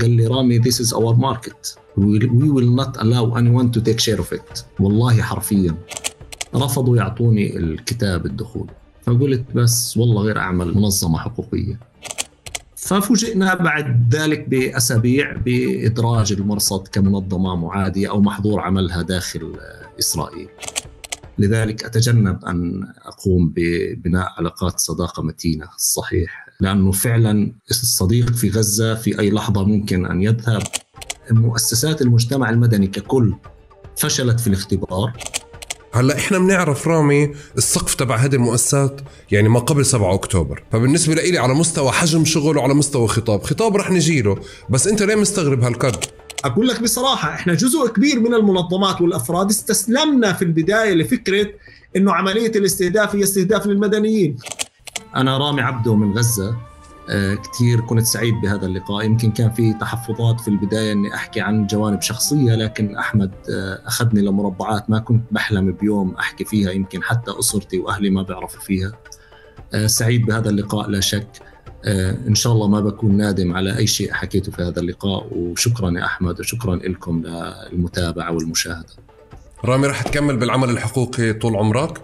قال لي رامي this is our market we will not allow anyone to take share of it. والله حرفيا رفضوا يعطوني الكتاب الدخول. فقلت بس والله غير أعمل منظمة حقوقية. ففوجئنا بعد ذلك بأسابيع بإدراج المرصد كمنظمة معادية أو محظور عملها داخل إسرائيل. لذلك أتجنب أن أقوم ببناء علاقات صداقة متينة صحيح، لأنه فعلا الصديق في غزة في أي لحظة ممكن أن يذهب. مؤسسات المجتمع المدني ككل فشلت في الاختبار. هلا احنا بنعرف رامي السقف تبع هذه المؤسسات يعني ما قبل 7 أكتوبر، فبالنسبة لي على مستوى حجم شغل وعلى مستوى خطاب رح نجيله، بس انت ليه مستغرب هالقد؟ أقول لك بصراحة إحنا جزء كبير من المنظمات والأفراد استسلمنا في البداية لفكرة إنه عملية الاستهداف هي استهداف للمدنيين. أنا رامي عبده من غزة، كتير كنت سعيد بهذا اللقاء. يمكن كان في تحفظات في البداية أني أحكي عن جوانب شخصية، لكن أحمد أخذني لمربعات ما كنت بحلم بيوم أحكي فيها، يمكن حتى أسرتي وأهلي ما بيعرفوا فيها. سعيد بهذا اللقاء لا شك. إن شاء الله ما بكون نادم على أي شيء حكيته في هذا اللقاء. وشكرا يا أحمد وشكرا لكم للمتابعة والمشاهدة. رامي رح تكمل بالعمل الحقوقي طول عمرك؟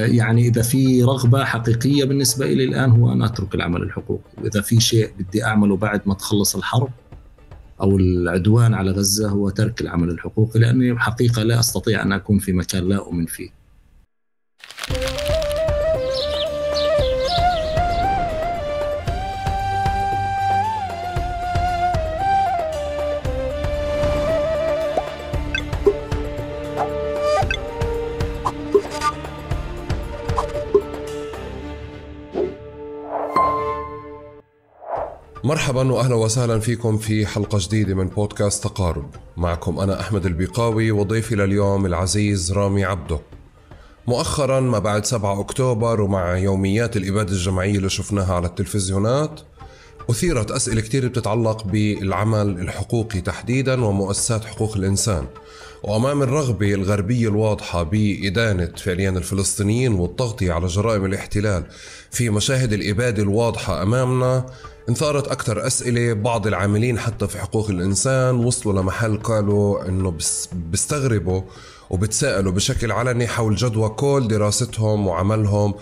يعني إذا في رغبة حقيقية بالنسبة إلي الآن هو أن أترك العمل الحقوقي، وإذا في شيء بدي أعمله بعد ما تخلص الحرب أو العدوان على غزة هو ترك العمل الحقوقي، لأني حقيقة لا أستطيع أن أكون في مكان لا أؤمن فيه. مرحبا وأهلا وسهلا فيكم في حلقة جديدة من بودكاست تقارب. معكم أنا أحمد البيقاوي وضيفي لليوم العزيز رامي عبده. مؤخرا ما بعد 7 أكتوبر ومع يوميات الإبادة الجماعية اللي شفناها على التلفزيونات أثيرت أسئلة كتير بتتعلق بالعمل الحقوقي تحديدا ومؤسسات حقوق الإنسان. وأمام الرغبة الغربية الواضحة بإدانة فعليا الفلسطينيين والتغطية على جرائم الاحتلال في مشاهد الإبادة الواضحة أمامنا، انثارت أكثر أسئلة. بعض العاملين حتى في حقوق الإنسان وصلوا لمحل قالوا أنه بيستغربوا وبتساءلوا بشكل علني حول جدوى كل دراستهم وعملهم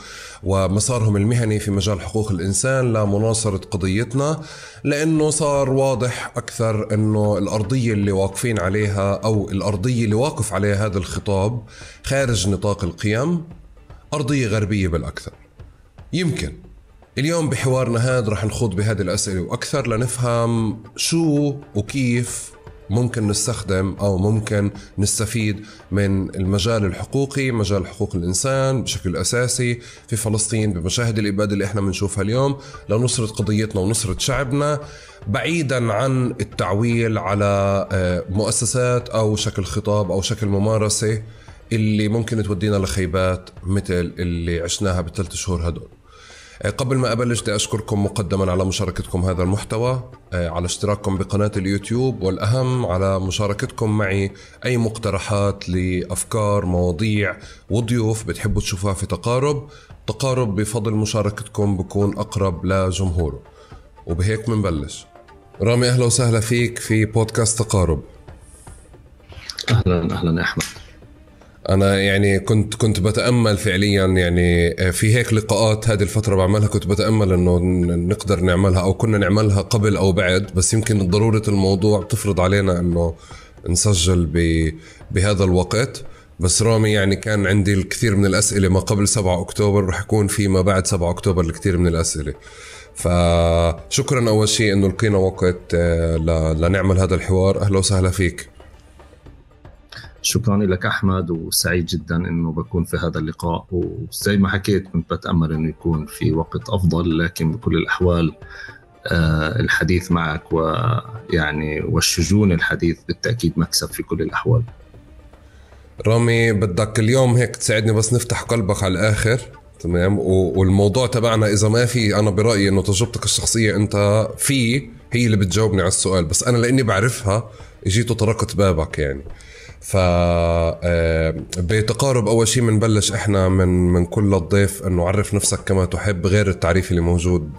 ومسارهم المهني في مجال حقوق الإنسان لمناصرة قضيتنا، لأنه صار واضح أكثر أنه الأرضية اللي واقفين عليها أو الأرضية اللي واقف عليها هذا الخطاب خارج نطاق القيم، أرضية غربية بالأكثر. يمكن اليوم بحوارنا هذا رح نخوض بهذه الأسئلة وأكثر لنفهم شو وكيف ممكن نستخدم أو ممكن نستفيد من المجال الحقوقي، مجال حقوق الإنسان بشكل أساسي في فلسطين بمشاهد الإبادة اللي إحنا بنشوفها اليوم لنصرة قضيتنا ونصرة شعبنا، بعيدا عن التعويل على مؤسسات أو شكل خطاب أو شكل ممارسة اللي ممكن تودينا لخيبات مثل اللي عشناها بالثلاث شهور هدول. قبل ما أبلش بدي أشكركم مقدما على مشاركتكم هذا المحتوى، على اشتراككم بقناة اليوتيوب، والأهم على مشاركتكم معي أي مقترحات لأفكار مواضيع وضيوف بتحبوا تشوفوها في تقارب بفضل مشاركتكم بكون أقرب لجمهوره. وبهيك منبلش. رامي أهلا وسهلا فيك في بودكاست تقارب. أهلا يا أحمد. أنا يعني كنت بتأمل فعليا يعني في هيك لقاءات هذه الفترة بعملها، كنت بتأمل إنه نقدر نعملها أو كنا نعملها قبل أو بعد، بس يمكن ضرورة الموضوع تفرض علينا إنه نسجل بهذا الوقت. بس رامي يعني كان عندي الكثير من الأسئلة ما قبل 7 أكتوبر، رح يكون في ما بعد 7 أكتوبر الكثير من الأسئلة. فشكرا أول شيء إنه لقينا وقت لنعمل هذا الحوار. أهلا وسهلا فيك. شكرا لك أحمد، وسعيد جدا أنه بكون في هذا اللقاء. وزي ما حكيت كنت بتأمل أنه يكون في وقت أفضل، لكن بكل الأحوال الحديث معك ويعني والشجون الحديث بالتأكيد مكسب في كل الأحوال. رامي بدك اليوم هيك تساعدني بس نفتح قلبك على الآخر، تمام؟ والموضوع تبعنا إذا ما في، أنا برأيي أنه تجربتك الشخصية أنت فيه هي اللي بتجاوبني على السؤال، بس أنا لأني بعرفها جيت وطرقت بابك يعني. بتقارب أول شيء منبلش إحنا من كل الضيف أنه عرف نفسك كما تحب غير التعريف اللي موجود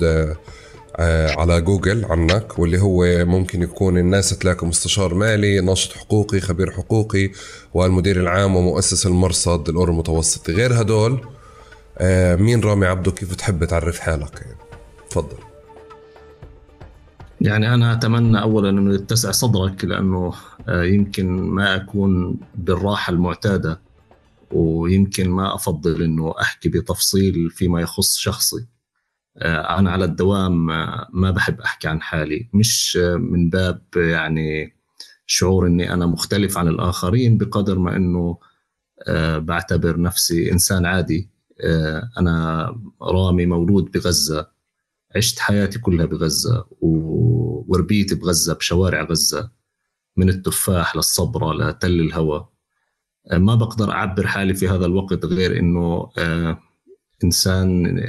على جوجل عنك، واللي هو ممكن يكون الناس تلاقي مستشار مالي، ناشط حقوقي، خبير حقوقي، والمدير العام ومؤسس المرصد الأورو المتوسطي. غير هدول مين رامي عبده؟ كيف تحب تعرف حالك يعني؟ تفضل. يعني أنا أتمنى أولا أنه يتسع صدرك، لأنه يمكن ما أكون بالراحة المعتادة، ويمكن ما أفضل أنه أحكي بتفصيل فيما يخص شخصي. أنا على الدوام ما بحب أحكي عن حالي، مش من باب يعني شعور أني أنا مختلف عن الآخرين، بقدر ما أنه بعتبر نفسي إنسان عادي. أنا رامي مولود بغزة، عشت حياتي كلها بغزة، وربيت بغزة بشوارع غزة، من التفاح للصبرة لتل الهوى. ما بقدر أعبر حالي في هذا الوقت غير أنه إنسان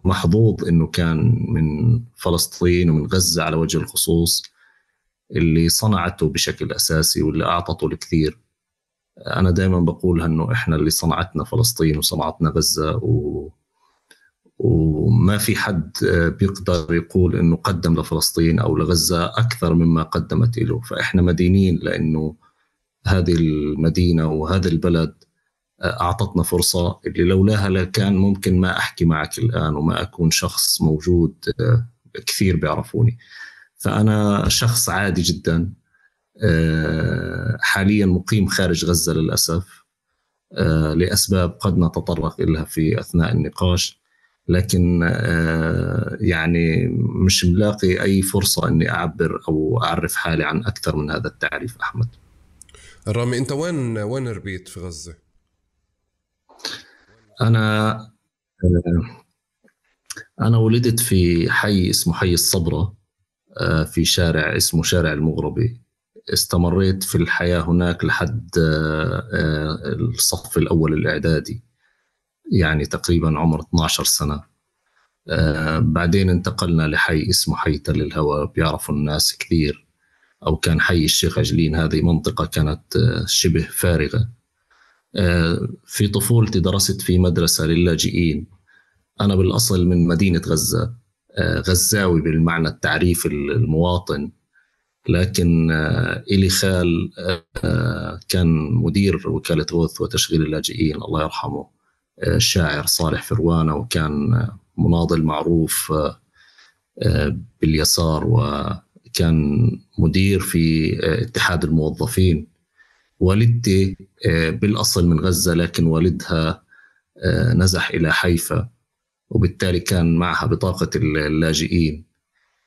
محظوظ أنه كان من فلسطين ومن غزة على وجه الخصوص، اللي صنعته بشكل أساسي واللي أعطته الكثير. أنا دائما بقول أنه إحنا اللي صنعتنا فلسطين وصنعتنا غزة، وما في حد بيقدر يقول أنه قدم لفلسطين أو لغزة أكثر مما قدمت له. فإحنا مدينين لأنه هذه المدينة وهذا البلد أعطتنا فرصة اللي لولاها لكان ممكن ما أحكي معك الآن وما أكون شخص موجود. كثير بيعرفوني، فأنا شخص عادي جدا، حاليا مقيم خارج غزة للأسف، لأسباب قد نتطرق إليها في أثناء النقاش، لكن يعني مش ملاقي أي فرصة أني أعبر أو أعرف حالي عن أكثر من هذا التعريف. أحمد رامي، أنت وين ربيت في غزة؟ أنا ولدت في حي اسمه حي الصبرة، في شارع اسمه شارع المغربي. استمريت في الحياة هناك لحد الصف الأول الإعدادي، يعني تقريبا عمر 12 سنة. بعدين انتقلنا لحي اسمه حي تل الهوى، بيعرفوا الناس كثير، أو كان حي الشيخ عجلين. هذه منطقة كانت شبه فارغة. في طفولتي درست في مدرسة للاجئين. أنا بالأصل من مدينة غزة، غزاوي بالمعنى التعريف المواطن، لكن إلي خال كان مدير وكالة غوث وتشغيل اللاجئين، الله يرحمه، الشاعر صالح فروانة، وكان مناضل معروف باليسار، وكان مدير في اتحاد الموظفين. والدتي بالأصل من غزة، لكن والدها نزح إلى حيفا، وبالتالي كان معها بطاقة اللاجئين،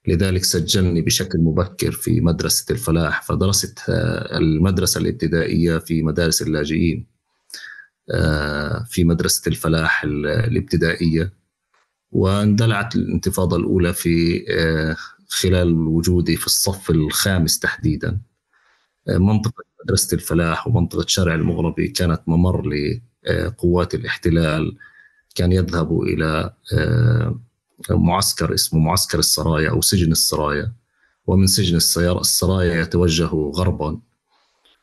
لذلك سجلني بشكل مبكر في مدرسة الفلاح. فدرست المدرسة الابتدائية في مدارس اللاجئين، في مدرسة الفلاح الابتدائية. واندلعت الانتفاضة الأولى في خلال وجودي في الصف الخامس تحديدا. منطقة مدرسة الفلاح ومنطقة شارع المغربي كانت ممر لقوات الاحتلال، كان يذهبوا إلى معسكر اسمه معسكر السرايا أو سجن السرايا، ومن سجن السرايا يتوجهوا غربا.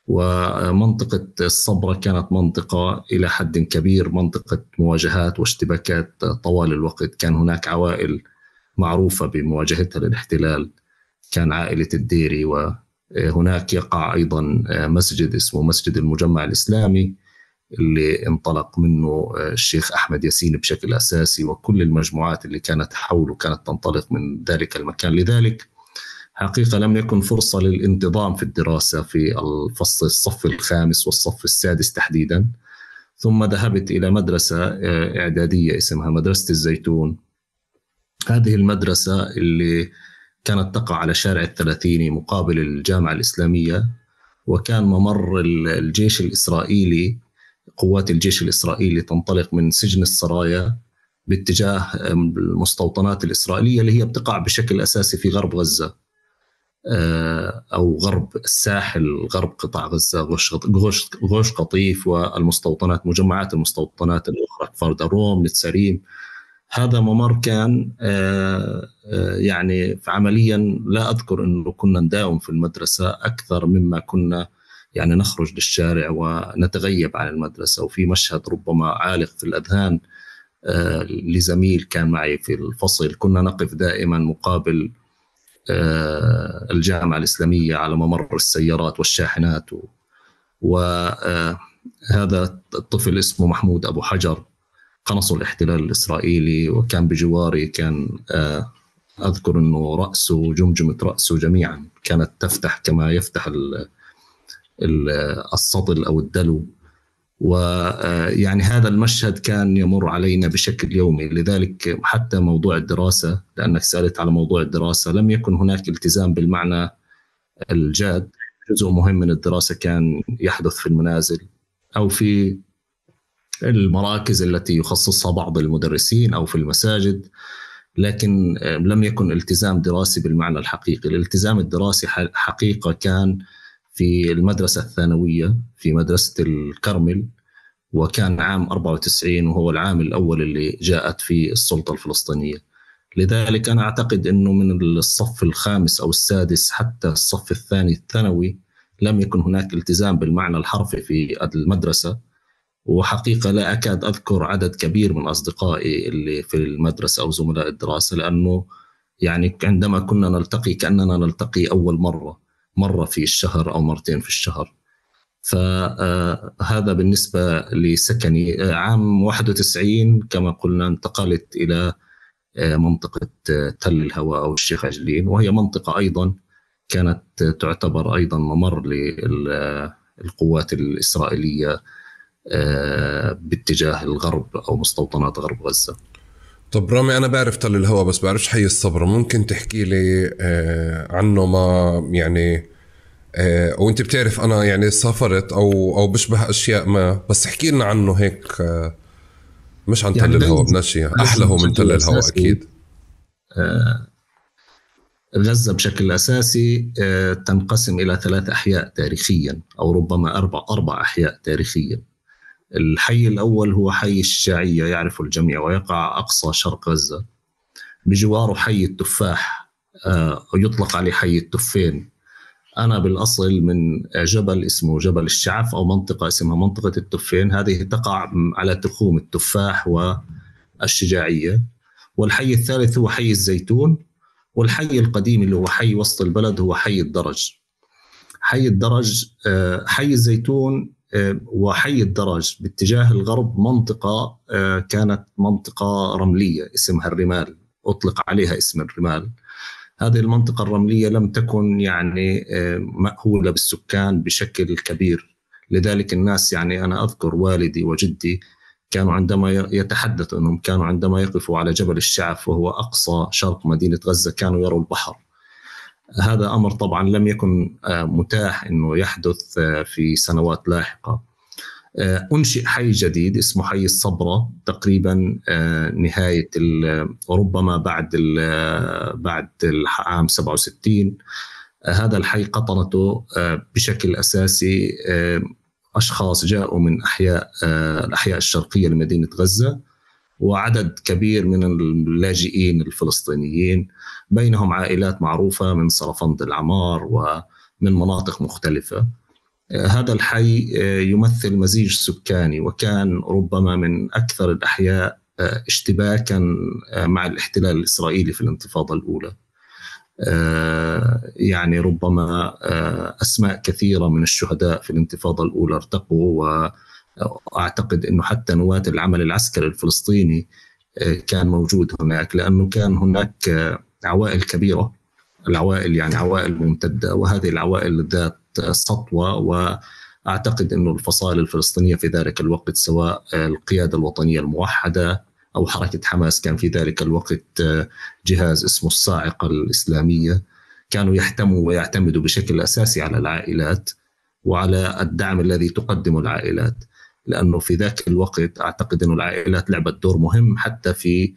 ومنطقة الصبرة كانت منطقة إلى حد كبير منطقة مواجهات واشتباكات طوال الوقت. كان هناك عوائل معروفة بمواجهتها للاحتلال، كان عائلة الديري، وهناك يقع أيضا مسجد اسمه مسجد المجمع الإسلامي اللي انطلق منه الشيخ أحمد ياسين بشكل أساسي، وكل المجموعات اللي كانت حوله كانت تنطلق من ذلك المكان. لذلك حقيقة لم يكن فرصة للانتظام في الدراسة في الصف الخامس والصف السادس تحديدا. ثم ذهبت إلى مدرسة إعدادية اسمها مدرسة الزيتون. هذه المدرسة اللي كانت تقع على شارع الثلاثيني مقابل الجامعة الإسلامية، وكان ممر الجيش الإسرائيلي، قوات الجيش الإسرائيلي تنطلق من سجن السرايا باتجاه المستوطنات الإسرائيلية اللي هي بتقع بشكل أساسي في غرب غزة، أو غرب الساحل، غرب قطاع غزة، غوش قطيف والمستوطنات، مجمعات المستوطنات الأخرى، كفر دروم، نتساريم. هذا ممر كان يعني عمليا لا أذكر أنه كنا نداوم في المدرسة أكثر مما كنا يعني نخرج للشارع ونتغيب عن المدرسة. وفي مشهد ربما عالق في الأذهان لزميل كان معي في الفصل، كنا نقف دائما مقابل الجامعة الإسلامية على ممر السيارات والشاحنات. وهذا الطفل اسمه محمود أبو حجر، قنصه الاحتلال الإسرائيلي، وكان بجواري. كان أذكر أنه رأسه وجمجمة رأسه جميعا كانت تفتح كما يفتح السطل أو الدلو. ويعني هذا المشهد كان يمر علينا بشكل يومي. لذلك حتى موضوع الدراسة، لأنك سألت على موضوع الدراسة، لم يكن هناك التزام بالمعنى الجاد. جزء مهم من الدراسة كان يحدث في المنازل أو في المراكز التي يخصصها بعض المدرسين أو في المساجد، لكن لم يكن التزام دراسي بالمعنى الحقيقي. الالتزام الدراسي حقيقة كان في المدرسة الثانوية في مدرسة الكرمل، وكان عام 94 وهو العام الأول اللي جاءت فيه السلطة الفلسطينية. لذلك أنا أعتقد أنه من الصف الخامس أو السادس حتى الصف الثاني الثانوي لم يكن هناك التزام بالمعنى الحرفي في المدرسة. وحقيقة لا أكاد أذكر عدد كبير من أصدقائي اللي في المدرسة أو زملاء الدراسة، لأنه يعني عندما كنا نلتقي كأننا نلتقي أول مرة في الشهر أو مرتين في الشهر. فهذا بالنسبة لسكني. عام 91 كما قلنا انتقلت إلى منطقة تل الهواء أو الشيخ عجلين، وهي منطقة أيضا كانت تعتبر أيضا ممر للقوات الإسرائيلية باتجاه الغرب أو مستوطنات غرب غزة. طب رامي، أنا بعرف تل الهواء بس بعرفش حي الصبرة، ممكن تحكي لي عنه؟ ما يعني وانت بتعرف أنا يعني سافرت أو بشبه أشياء ما، بس احكي لنا عنه هيك، مش عن يعني تل الهواء بناشية أحلى من تل الهواء أكيد. غزة بشكل أساسي تنقسم إلى 3 أحياء تاريخيا، أو ربما 4 أحياء تاريخيا. الحي الأول هو حي الشجاعية، يعرف الجميع، ويقع أقصى شرق غزة. بجواره حي التفاح، يطلق عليه حي التفين. أنا بالأصل من جبل اسمه جبل الشعف، أو منطقة اسمها منطقة التفين، هذه تقع على تخوم التفاح والشجاعية. والحي الثالث هو حي الزيتون. والحي القديم اللي هو حي وسط البلد هو حي الدرج. حي الدرج، حي الزيتون وحي الدرج باتجاه الغرب منطقة كانت منطقة رملية اسمها الرمال، أطلق عليها اسم الرمال. هذه المنطقة الرملية لم تكن يعني مأهولة بالسكان بشكل كبير. لذلك الناس، يعني أنا أذكر والدي وجدي كانوا عندما يتحدثوا أنهم كانوا عندما يقفوا على جبل الشعف وهو أقصى شرق مدينة غزة كانوا يروا البحر. هذا أمر طبعا لم يكن متاح أنه يحدث في سنوات لاحقة. أنشئ حي جديد اسمه حي الصبرة تقريبا نهاية ربما بعد العام 67. هذا الحي قطنته بشكل أساسي أشخاص جاءوا من الأحياء الشرقية لمدينة غزة، وعدد كبير من اللاجئين الفلسطينيين، بينهم عائلات معروفة من صرفند العمار ومن مناطق مختلفة. هذا الحي يمثل مزيج سكاني، وكان ربما من أكثر الأحياء اشتباكا مع الاحتلال الإسرائيلي في الانتفاضة الأولى. يعني ربما أسماء كثيرة من الشهداء في الانتفاضة الأولى ارتقوا، وأعتقد أنه حتى نواة العمل العسكري الفلسطيني كان موجود هناك، لأنه كان هناك عوائل كبيرة، العوائل يعني عوائل ممتدة، وهذه العوائل ذات سطوة. وأعتقد أنه الفصائل الفلسطينية في ذلك الوقت، سواء القيادة الوطنية الموحدة أو حركة حماس، كان في ذلك الوقت جهاز اسمه الصاعقة الإسلامية، كانوا يحتموا ويعتمدوا بشكل أساسي على العائلات وعلى الدعم الذي تقدمه العائلات، لأنه في ذاك الوقت أعتقد أن العائلات لعبت دور مهم حتى في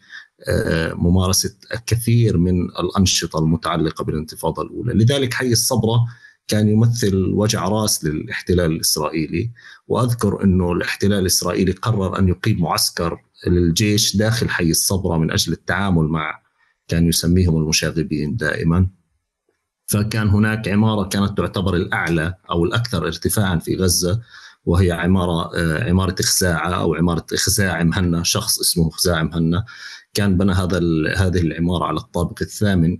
ممارسة الكثير من الأنشطة المتعلقة بالانتفاضة الأولى. لذلك حي الصبرة كان يمثل وجع راس للاحتلال الإسرائيلي. وأذكر أنه الاحتلال الإسرائيلي قرر أن يقيم معسكر للجيش داخل حي الصبرة من أجل التعامل مع، كان يسميهم المشاغبين دائما. فكان هناك عمارة كانت تعتبر الأعلى أو الأكثر ارتفاعا في غزة، وهي عمارة خزاعة أو عمارة خزاع مهنا، شخص اسمه خزاع مهنا كان بنى هذه العمارة على الطابق الثامن.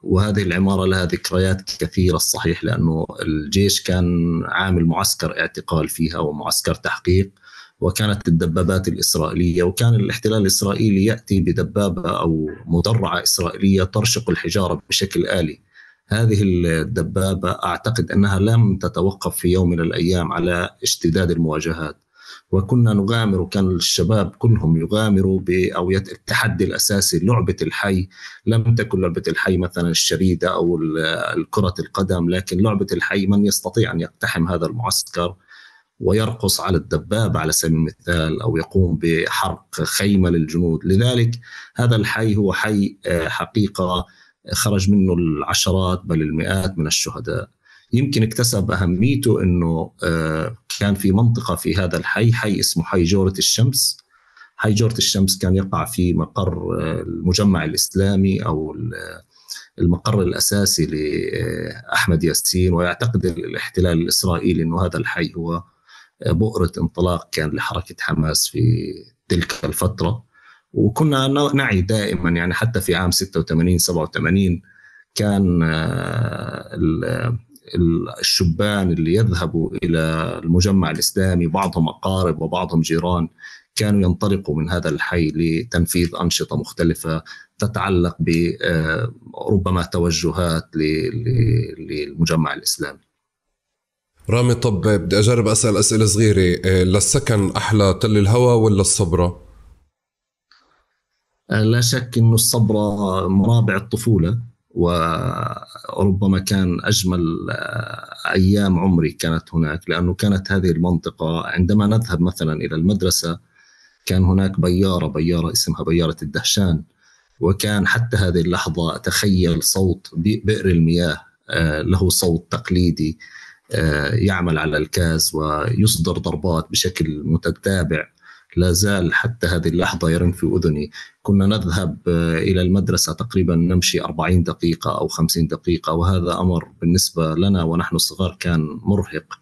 وهذه العمارة لها ذكريات كثيرة الصحيح، لأنه الجيش كان عامل معسكر اعتقال فيها ومعسكر تحقيق، وكانت الدبابات الإسرائيلية، وكان الاحتلال الإسرائيلي يأتي بدبابة أو مدرعة إسرائيلية ترشق الحجارة بشكل آلي. هذه الدبابة أعتقد أنها لم تتوقف في يوم من الأيام على اشتداد المواجهات، وكنا نغامر، وكان الشباب كلهم يغامروا أو التحدي الأساسي لعبة الحي. لم تكن لعبة الحي مثلا الشريدة أو كرة القدم، لكن لعبة الحي من يستطيع أن يقتحم هذا المعسكر ويرقص على الدبابة على سبيل المثال، أو يقوم بحرق خيمة للجنود. لذلك هذا الحي هو حي حقيقة خرج منه العشرات بل المئات من الشهداء. يمكن اكتسب أهميته أنه كان في منطقة في هذا حي اسمه حي جورة الشمس. حي جورة الشمس كان يقع في مقر المجمع الإسلامي أو المقر الأساسي لأحمد ياسين، ويعتقد الاحتلال الإسرائيلي أنه هذا الحي هو بؤرة انطلاق كان لحركة حماس في تلك الفترة. وكنا نعي دائما، يعني حتى في عام 86-87 كان الشبان اللي يذهبوا إلى المجمع الإسلامي بعضهم أقارب وبعضهم جيران، كانوا ينطلقوا من هذا الحي لتنفيذ أنشطة مختلفة تتعلق بربما توجهات للمجمع الإسلامي. رامي، طب بدي أجرب أسأل أسئلة صغيرة. للسكن أحلى تل الهوى ولا الصبرة؟ لا شك أنه الصبرة مرابع الطفولة، وربما كان أجمل أيام عمري كانت هناك، لأنه كانت هذه المنطقة عندما نذهب مثلا إلى المدرسة كان هناك بيارة اسمها بيارة الدهشان، وكان حتى هذه اللحظة أتخيل صوت بئر المياه، له صوت تقليدي يعمل على الكاز ويصدر ضربات بشكل متتابع، لا زال حتى هذه اللحظة يرن في أذني. كنا نذهب إلى المدرسة تقريبا نمشي 40 دقيقة أو 50 دقيقة، وهذا أمر بالنسبة لنا ونحن صغار كان مرهق،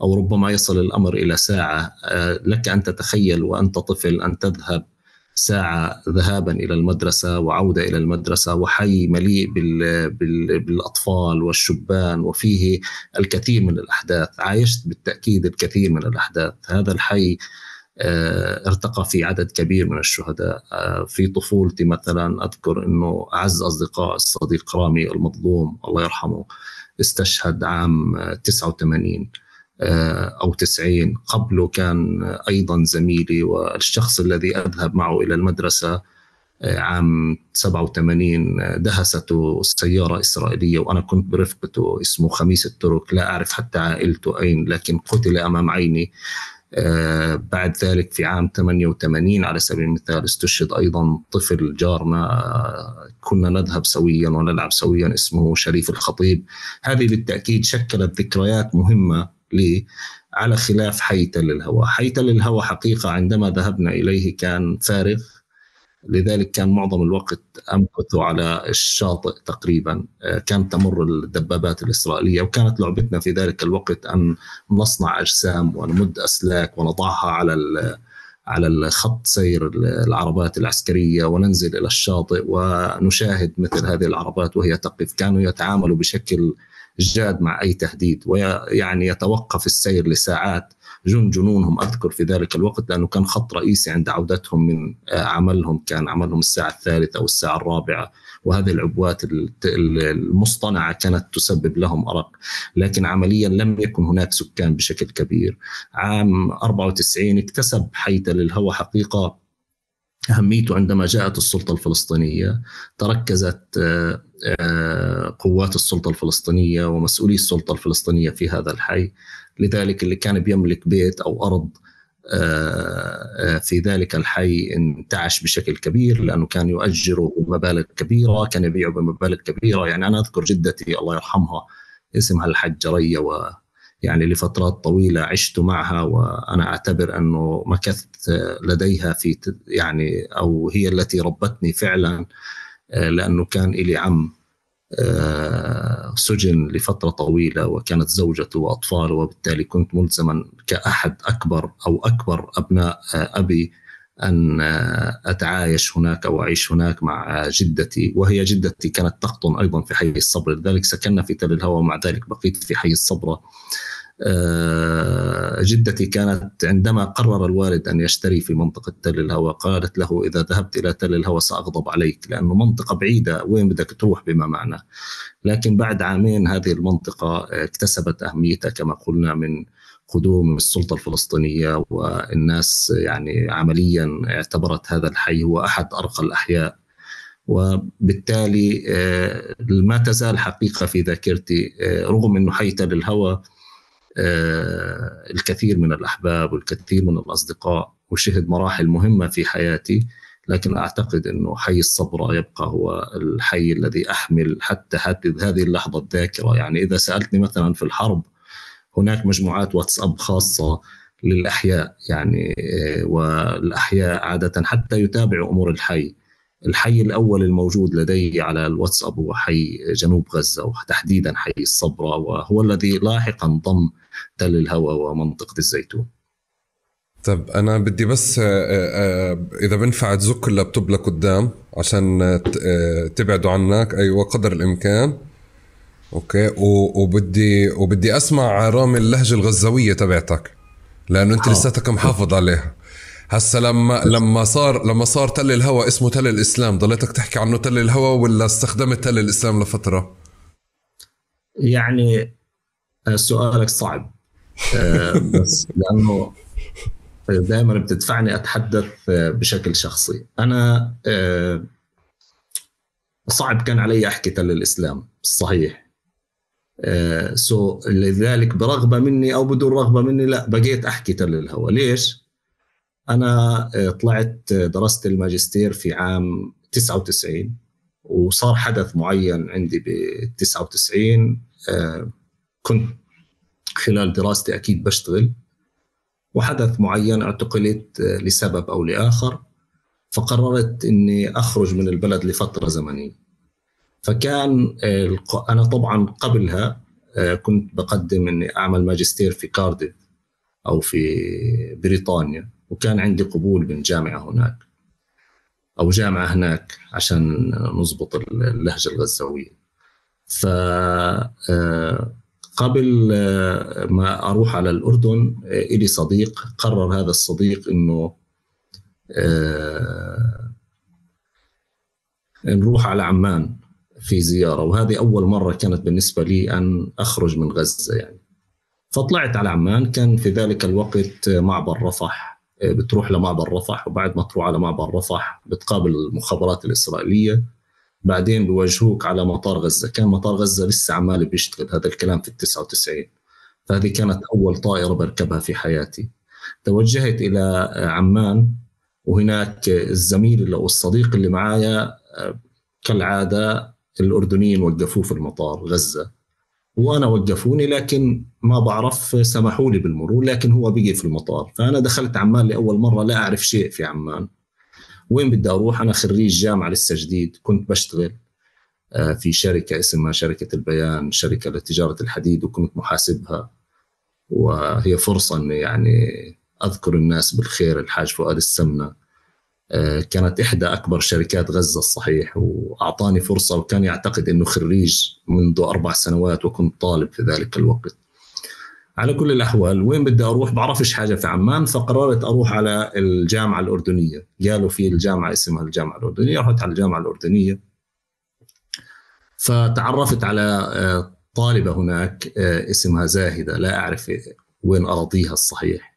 أو ربما يصل الأمر إلى ساعة. لك أن تتخيل وأنت طفل أن تذهب ساعة ذهابا إلى المدرسة وعودة إلى المدرسة، وحي مليء بالأطفال والشبان، وفيه الكثير من الأحداث. عايشت بالتأكيد الكثير من الأحداث. هذا الحي ارتقى في عدد كبير من الشهداء. في طفولتي مثلا أذكر أنه أعز أصدقاء الصديق رامي المظلوم الله يرحمه استشهد عام 89 أو 90. قبله كان أيضا زميلي والشخص الذي أذهب معه إلى المدرسة عام 87 دهسته سيارة إسرائيلية وأنا كنت برفقته، اسمه خميس الترك، لا أعرف حتى عائلته أين، لكن قتل أمام عيني. بعد ذلك في عام 88 على سبيل المثال استشهد أيضا طفل جارنا، كنا نذهب سويا ونلعب سويا، اسمه شريف الخطيب. هذه بالتأكيد شكلت ذكريات مهمة لي، على خلاف حي تل الهوى. حي تل الهوى حقيقة عندما ذهبنا إليه كان فارغ، لذلك كان معظم الوقت أمكث على الشاطئ تقريبا. كانت تمر الدبابات الإسرائيلية، وكانت لعبتنا في ذلك الوقت أن نصنع أجسام ونمد أسلاك ونضعها على الخط سير العربات العسكرية، وننزل إلى الشاطئ ونشاهد مثل هذه العربات وهي تقف. كانوا يتعاملوا بشكل جاد مع أي تهديد، ويعني يتوقف السير لساعات. جنونهم أذكر في ذلك الوقت، لأنه كان خط رئيسي عند عودتهم من عملهم، كان عملهم الساعة 3 أو الساعة 4، وهذه العبوات المصطنعة كانت تسبب لهم أرق، لكن عمليا لم يكن هناك سكان بشكل كبير. عام 94 اكتسب حي تل الهوى حقيقة أهميته عندما جاءت السلطة الفلسطينية. تركزت قوات السلطة الفلسطينية ومسؤولي السلطة الفلسطينية في هذا الحي، لذلك اللي كان بيملك بيت أو أرض في ذلك الحي انتعش بشكل كبير، لأنه كان يؤجره بمبالغ كبيرة، كان يبيعه بمبالغ كبيرة. يعني أنا أذكر جدتي الله يرحمها اسمها الحجة ريا، ويعني لفترات طويلة عشت معها، وأنا أعتبر أنه مكثت لديها في يعني، أو هي التي ربتني فعلا، لأنه كان إلي عم وسجن لفترة طويلة وكانت زوجته وأطفاله، وبالتالي كنت ملزما كأحد أكبر أبناء أبي أن أتعايش هناك أو أعيش هناك مع جدتي، وهي جدتي كانت تقطن أيضا في حي الصبر، لذلك سكننا في تل الهوى ومع ذلك بقيت في حي الصبرة. جدتي كانت عندما قرر الوالد أن يشتري في منطقة تل الهوى قالت له إذا ذهبت إلى تل الهوى سأغضب عليك، لأنه منطقة بعيدة وين بدك تروح بما معنى. لكن بعد عامين هذه المنطقة اكتسبت أهميتها كما قلنا من قدوم السلطة الفلسطينية، والناس يعني عمليا اعتبرت هذا الحي هو أحد أرقى الأحياء، وبالتالي ما تزال حقيقة في ذاكرتي رغم أنه حي تل الهوى الكثير من الأحباب والكثير من الأصدقاء وشهد مراحل مهمة في حياتي، لكن أعتقد أنه حي الصبرة يبقى هو الحي الذي أحمل حتى هذه اللحظة الذاكرة. يعني إذا سألتني مثلا في الحرب هناك مجموعات واتساب خاصة للأحياء، يعني والأحياء عادة حتى يتابعوا أمور الحي. الحي الأول الموجود لدي على الواتساب هو حي جنوب غزة وتحديدا حي الصبرة، وهو الذي لاحقا ضم تل الهوى ومنطقة الزيتون. طب أنا بدي بس إذا بنفع تزك اللابتوب لقدام عشان تبعدوا عنك، أيوة قدر الإمكان. أوكي. وبدي أسمع رامي اللهجة الغزاوية تبعتك، لأنه أنت لساتك محافظ عليها. هسا لما صار تل الهوى اسمه تل الإسلام، ضليتك تحكي عنه تل الهوى ولا استخدمت تل الإسلام لفترة؟ يعني سؤالك صعب بس لأنه دائما بتدفعني أتحدث بشكل شخصي. أنا صعب كان علي أحكي تل الإسلام صحيح، لذلك برغبة مني أو بدون رغبة مني لا بقيت أحكي تل الهوى. ليش؟ أنا طلعت درست الماجستير في عام 99 وصار حدث معين عندي ب99. كنت خلال دراستي أكيد بشتغل، وحدث معين اعتقلت لسبب أو لآخر، فقررت أني أخرج من البلد لفترة زمنية. فكان أنا طبعا قبلها كنت بقدم أني أعمل ماجستير في كارديف أو في بريطانيا، وكان عندي قبول من جامعة هناك أو جامعة هناك عشان نضبط اللهجة الغزاوية. قبل ما أروح على الأردن إلي صديق، قرر هذا الصديق إنه نروح على عمان في زيارة، وهذه أول مرة كانت بالنسبة لي أن أخرج من غزة يعني. فطلعت على عمان، كان في ذلك الوقت معبر رفح، بتروح لمعبر رفح، وبعد ما تروح على معبر رفح بتقابل المخابرات الإسرائيلية، بعدين بيواجهوك على مطار غزة. كان مطار غزة لسه عمال بيشتغل، هذا الكلام في 99. فهذه كانت أول طائرة بركبها في حياتي. توجهت إلى عمان، وهناك الزميل أو الصديق اللي معايا كالعادة الأردنيين وقفوه في المطار غزة، وأنا وقفوني لكن ما بعرف، سمحوا لي بالمرور لكن هو بقي في المطار. فأنا دخلت عمان لأول مرة، لا أعرف شيء في عمان، وين بدي أروح. أنا خريج جامعة لسه جديد، كنت بشتغل في شركة اسمها شركة البيان، شركة لتجارة الحديد، وكنت محاسبها. وهي فرصة أني يعني أذكر الناس بالخير، الحاج فؤاد السمنة كانت إحدى أكبر شركات غزة الصحيح، وأعطاني فرصة، وكان يعتقد أنه خريج منذ 4 سنوات وكنت طالب في ذلك الوقت. على كل الأحوال وين بدي أروح بعرفش حاجة في عمان، فقررت أروح على الجامعة الأردنية. قالوا في الجامعة اسمها الجامعة الأردنية، رحت على الجامعة الأردنية، فتعرفت على طالبة هناك اسمها زاهدة، لا أعرف وين أراضيها الصحيح.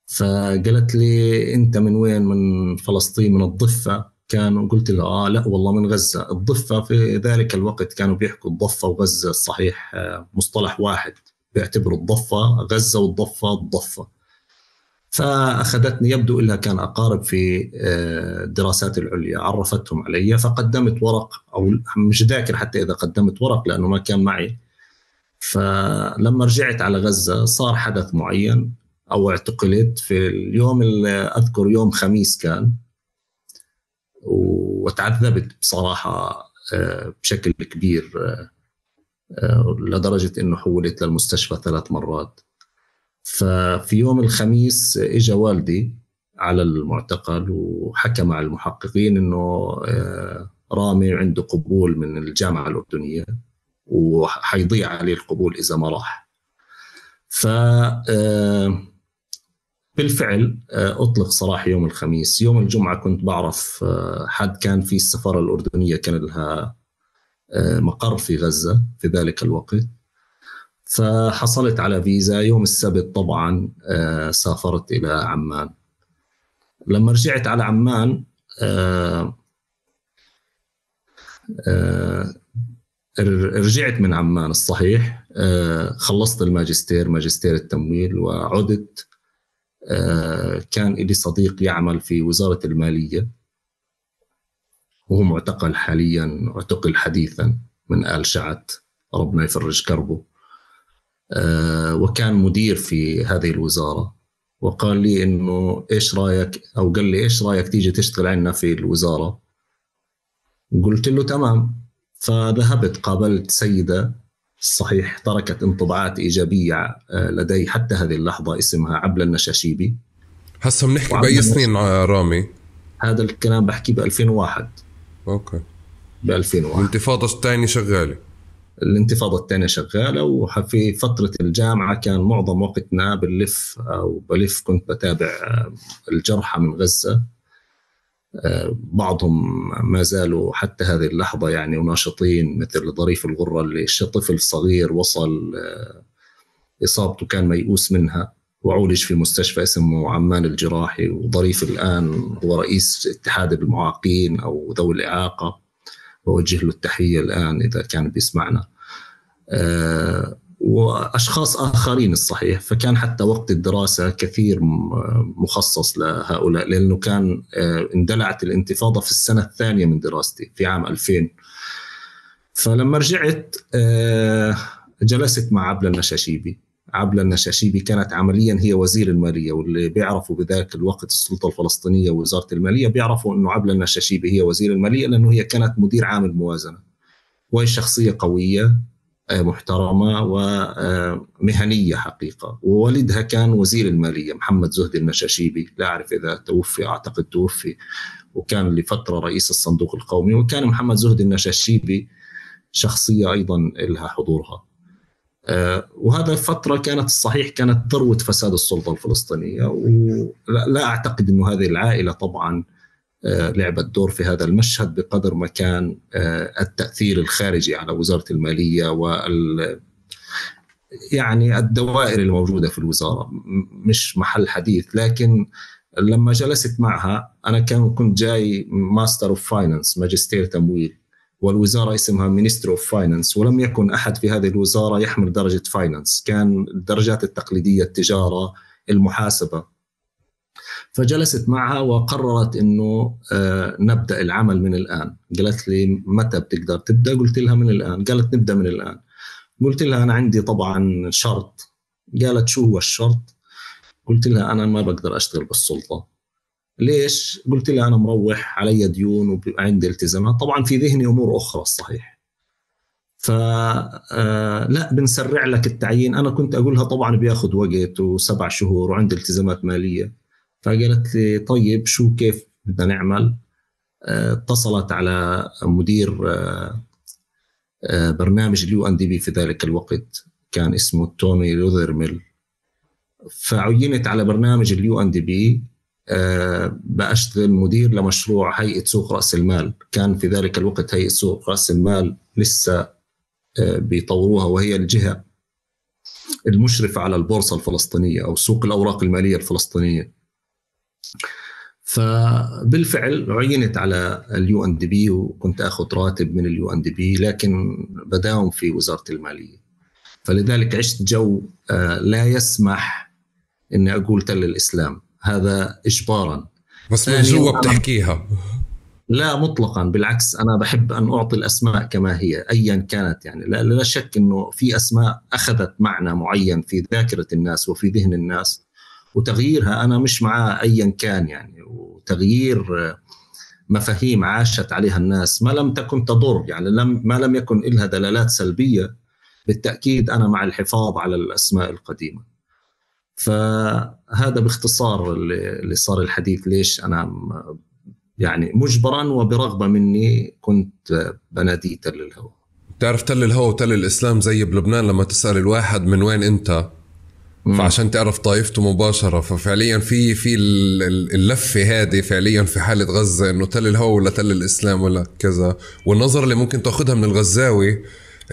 فقالت لي أنت من وين؟ من فلسطين، من الضفة. قلت لها لا والله من غزة. الضفة في ذلك الوقت كانوا بيحكوا الضفة وغزة الصحيح مصطلح واحد، بيعتبروا الضفة غزة والضفة الضفة. فأخذتني، يبدو إنها كان أقارب في الدراسات العليا، عرفتهم علي، فقدمت ورق، أو مش ذاكر حتى إذا قدمت ورق لأنه ما كان معي. فلما رجعت على غزة صار حدث معين، أو اعتقلت في اليوم اللي أذكر يوم خميس كان، وتعذبت بصراحة بشكل كبير لدرجة إنه حولت للمستشفى 3 مرات. ففي يوم الخميس إجا والدي على المعتقل وحكى مع المحققين إنه رامي عنده قبول من الجامعة الأردنية وحيضيع عليه القبول إذا ما راح. بالفعل أطلق سراح يوم الخميس. يوم الجمعة كنت بعرف حد كان في السفارة الأردنية كان لها مقر في غزة في ذلك الوقت، فحصلت على فيزا. يوم السبت طبعا سافرت إلى عمان. لما رجعت على عمان رجعت من عمان الصحيح، خلصت ماجستير التمويل وعدت. كان لي صديق يعمل في وزارة المالية وهو معتقل حاليا، اعتقل حديثا من آل شعت، ربنا يفرج كربه. وكان مدير في هذه الوزارة، وقال لي إنه إيش رأيك، أو قال لي إيش رأيك تيجي تشتغل عنا في الوزارة. قلت له تمام. فذهبت قابلت سيدة صحيح تركت انطباعات إيجابية لدي حتى هذه اللحظة، اسمها عبلة النشاشيبي. هسه بنحكي بأي سنين رامي؟ هذا الكلام بحكي ب2001. أوكي. ب2001 الانتفاضة الثانية شغالة. الانتفاضة الثانية شغالة. وفي فترة الجامعة كان معظم وقتنا بلف كنت بتابع الجرحى من غزة. بعضهم ما زالوا حتى هذه اللحظة يعني وناشطين، مثل ظريف الغرة اللي طفل صغير وصل إصابته كان ميؤوس منها وعولج في مستشفى اسمه عمان الجراحي. وظريف الآن هو رئيس اتحاد المعاقين أو ذوي الإعاقة، ووجه له التحية الآن إذا كان بيسمعنا. وأشخاص آخرين الصحيح. فكان حتى وقت الدراسة كثير مخصص لهؤلاء، لأنه كان اندلعت الانتفاضة في السنة الثانية من دراستي في عام 2000. فلما رجعت جلست مع عبلة النشاشيبي. عبلة النشاشيبي كانت عمليا هي وزير المالية، واللي بيعرفوا بذاك الوقت السلطة الفلسطينية ووزارة المالية بيعرفوا أنه عبلة النشاشيبي هي وزير المالية، لأنه هي كانت مدير عام الموازنة. وهي شخصية قوية محترمة ومهنية حقيقة. ووالدها كان وزير المالية محمد زهدي النشاشيبي، لا أعرف إذا توفي، أعتقد توفي، وكان لفترة رئيس الصندوق القومي. وكان محمد زهدي النشاشيبي شخصية أيضا لها حضورها. وهذا فترة كانت الصحيح كانت ذروة فساد السلطة الفلسطينية. ولا أعتقد أنه هذه العائلة طبعا لعبت دور في هذا المشهد بقدر ما كان التأثير الخارجي على وزارة المالية يعني الدوائر الموجودة في الوزارة مش محل حديث. لكن لما جلست معها أنا كنت جاي ماستر اوف فاينانس، ماجستير تمويل، والوزارة اسمها مينستر اوف فاينانس، ولم يكن أحد في هذه الوزارة يحمل درجة فاينانس، كان الدرجات التقليدية التجارة، المحاسبة. فجلست معها وقررت إنه نبدأ العمل من الآن. قالت لي متى بتقدر تبدأ؟ قلت لها من الآن. قالت نبدأ من الآن. قلت لها أنا عندي طبعا شرط. قالت شو هو الشرط؟ قلت لها أنا ما بقدر أشتغل بالسلطة. ليش؟ قلت لها أنا مروح علي ديون وعندي التزامات، طبعا في ذهني أمور أخرى الصحيح. لا بنسرع لك التعيين. أنا كنت أقولها طبعا بياخد وقت و7 شهور وعندي التزامات مالية. فقالت لي طيب شو كيف بدنا نعمل؟ اتصلت على مدير برنامج الUNDP في ذلك الوقت، كان اسمه توني لوذرميل. فعينت على برنامج الUNDP بأشتغل مدير لمشروع هيئة سوق رأس المال. كان في ذلك الوقت هيئة سوق رأس المال لسه بيطوروها، وهي الجهة المشرفة على البورصة الفلسطينية أو سوق الأوراق المالية الفلسطينية. فبالفعل عينت على الUNDP وكنت أخذ راتب من الUNDP، لكن بداوم في وزارة المالية. فلذلك عشت جو لا يسمح إني أقول تل الإسلام، هذا إجبارا. بس من جوا بتحكيها؟ لا مطلقا، بالعكس أنا بحب أن أعطي الأسماء كما هي أيا كانت. يعني لا شك إنه في أسماء أخذت معنى معين في ذاكرة الناس وفي ذهن الناس، وتغييرها أنا مش معاه أيا كان يعني. وتغيير مفاهيم عاشت عليها الناس ما لم تكن تضر، يعني ما لم يكن لها دلالات سلبية، بالتأكيد أنا مع الحفاظ على الأسماء القديمة. فهذا باختصار اللي صار الحديث ليش أنا يعني مجبرا وبرغبة مني كنت بنادي تل الهوى. تعرف تل الهوى وتل الإسلام زي بلبنان لما تسأل الواحد من وين أنت فعشان تعرف طائفته مباشرة. ففعليا في اللفة هذه فعليا في حالة غزة إنه تل الهوى ولا تل الإسلام ولا كذا. والنظرة اللي ممكن تأخذها من الغزاوي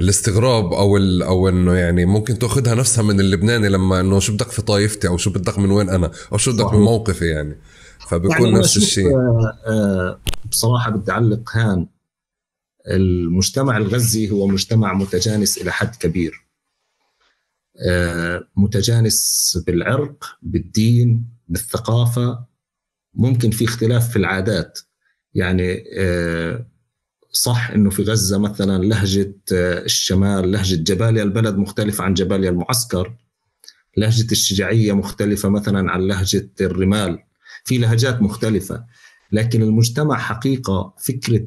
الاستغراب أو إنه يعني ممكن تأخذها نفسها من اللبناني لما إنه شو بدك في طائفتي أو شو بدك من وين أنا أو شو بدك من موقفي يعني. فبيكون يعني نفس الشيء. بصراحة بدي أعلق هان، المجتمع الغزي هو مجتمع متجانس إلى حد كبير، متجانس بالعرق، بالدين، بالثقافة، ممكن في اختلاف في العادات. يعني صح إنه في غزة مثلا لهجة الشمال، لهجة جباليا البلد مختلفة عن جباليا المعسكر، لهجة الشجاعية مختلفة مثلا عن لهجة الرمال، في لهجات مختلفة. لكن المجتمع حقيقة فكرة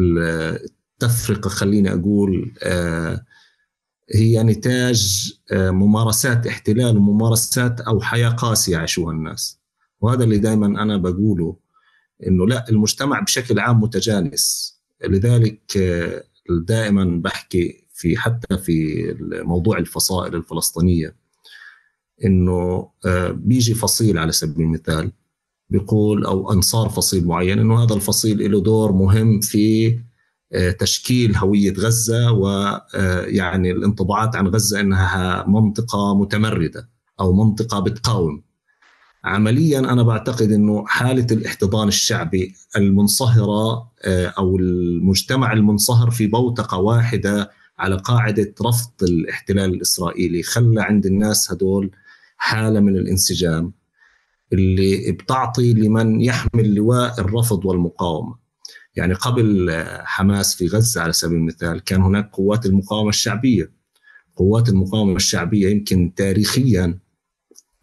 التفرقة خليني أقول هي نتاج ممارسات احتلال وممارسات أو حياة قاسية يعيشوها الناس. وهذا اللي دايما أنا بقوله، إنه لا، المجتمع بشكل عام متجانس. لذلك دائما بحكي حتى في موضوع الفصائل الفلسطينية، إنه بيجي فصيل على سبيل المثال بيقول، أو أنصار فصيل معين، إنه هذا الفصيل له دور مهم في تشكيل هوية غزة، ويعني الانطباعات عن غزة إنها منطقة متمردة أو منطقة بتقاوم. عمليا أنا بعتقد إنه حالة الاحتضان الشعبي المنصهرة أو المجتمع المنصهر في بوتقة واحدة على قاعدة رفض الاحتلال الإسرائيلي خلى عند الناس هدول حالة من الانسجام اللي بتعطي لمن يحمل لواء الرفض والمقاومة. يعني قبل حماس في غزة على سبيل المثال كان هناك قوات المقاومة الشعبية. قوات المقاومة الشعبية يمكن تاريخيا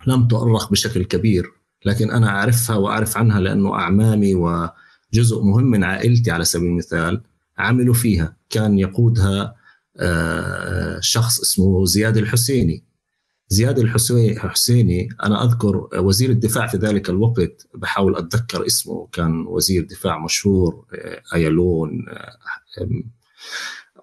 لم تؤرخ بشكل كبير، لكن أنا أعرفها وأعرف عنها لأنه أعمامي وجزء مهم من عائلتي على سبيل المثال عملوا فيها. كان يقودها شخص اسمه زياد الحسيني. زياد الحسيني أنا أذكر وزير الدفاع في ذلك الوقت، بحاول أتذكر اسمه، كان وزير دفاع مشهور أيالون،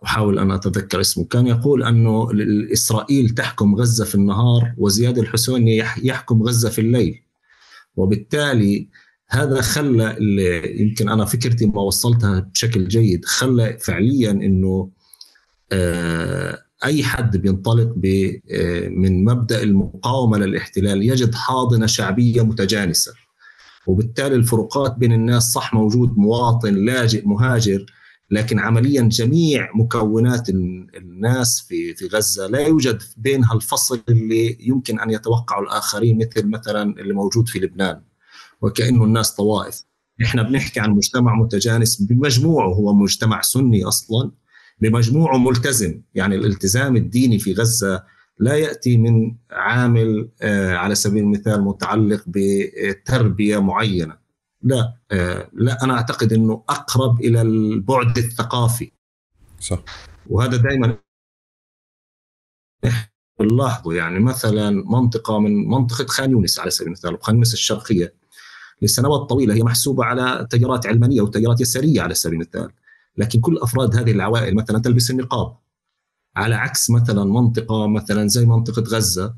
أحاول أن أتذكر اسمه. كان يقول أنه إسرائيل تحكم غزة في النهار وزياد الحسيني يحكم غزة في الليل. وبالتالي هذا خلى، يمكن أنا فكرتي ما وصلتها بشكل جيد، خلى فعليا أنه أي حد بينطلق من مبدأ المقاومة للاحتلال يجد حاضنة شعبية متجانسة. وبالتالي الفروقات بين الناس صح، موجود مواطن لاجئ مهاجر، لكن عمليا جميع مكونات الناس في غزة لا يوجد بينها الفصل اللي يمكن أن يتوقعه الآخرين، مثلا اللي موجود في لبنان، وكأنه الناس طوائف. إحنا بنحكي عن مجتمع متجانس بمجموعه، هو مجتمع سني أصلا، بمجموعه ملتزم. يعني الالتزام الديني في غزة لا يأتي من عامل على سبيل المثال متعلق بتربية معينة، لا أنا أعتقد أنه أقرب إلى البعد الثقافي. صح. وهذا دائما نلاحظه. يعني مثلا منطقة من منطقة خان يونس على سبيل المثال، خان يونس الشرقية لسنوات طويلة هي محسوبة على تيارات علمانية وتيارات يسارية على سبيل المثال، لكن كل أفراد هذه العوائل مثلا تلبس النقاب، على عكس مثلا منطقة مثلا زي منطقة غزة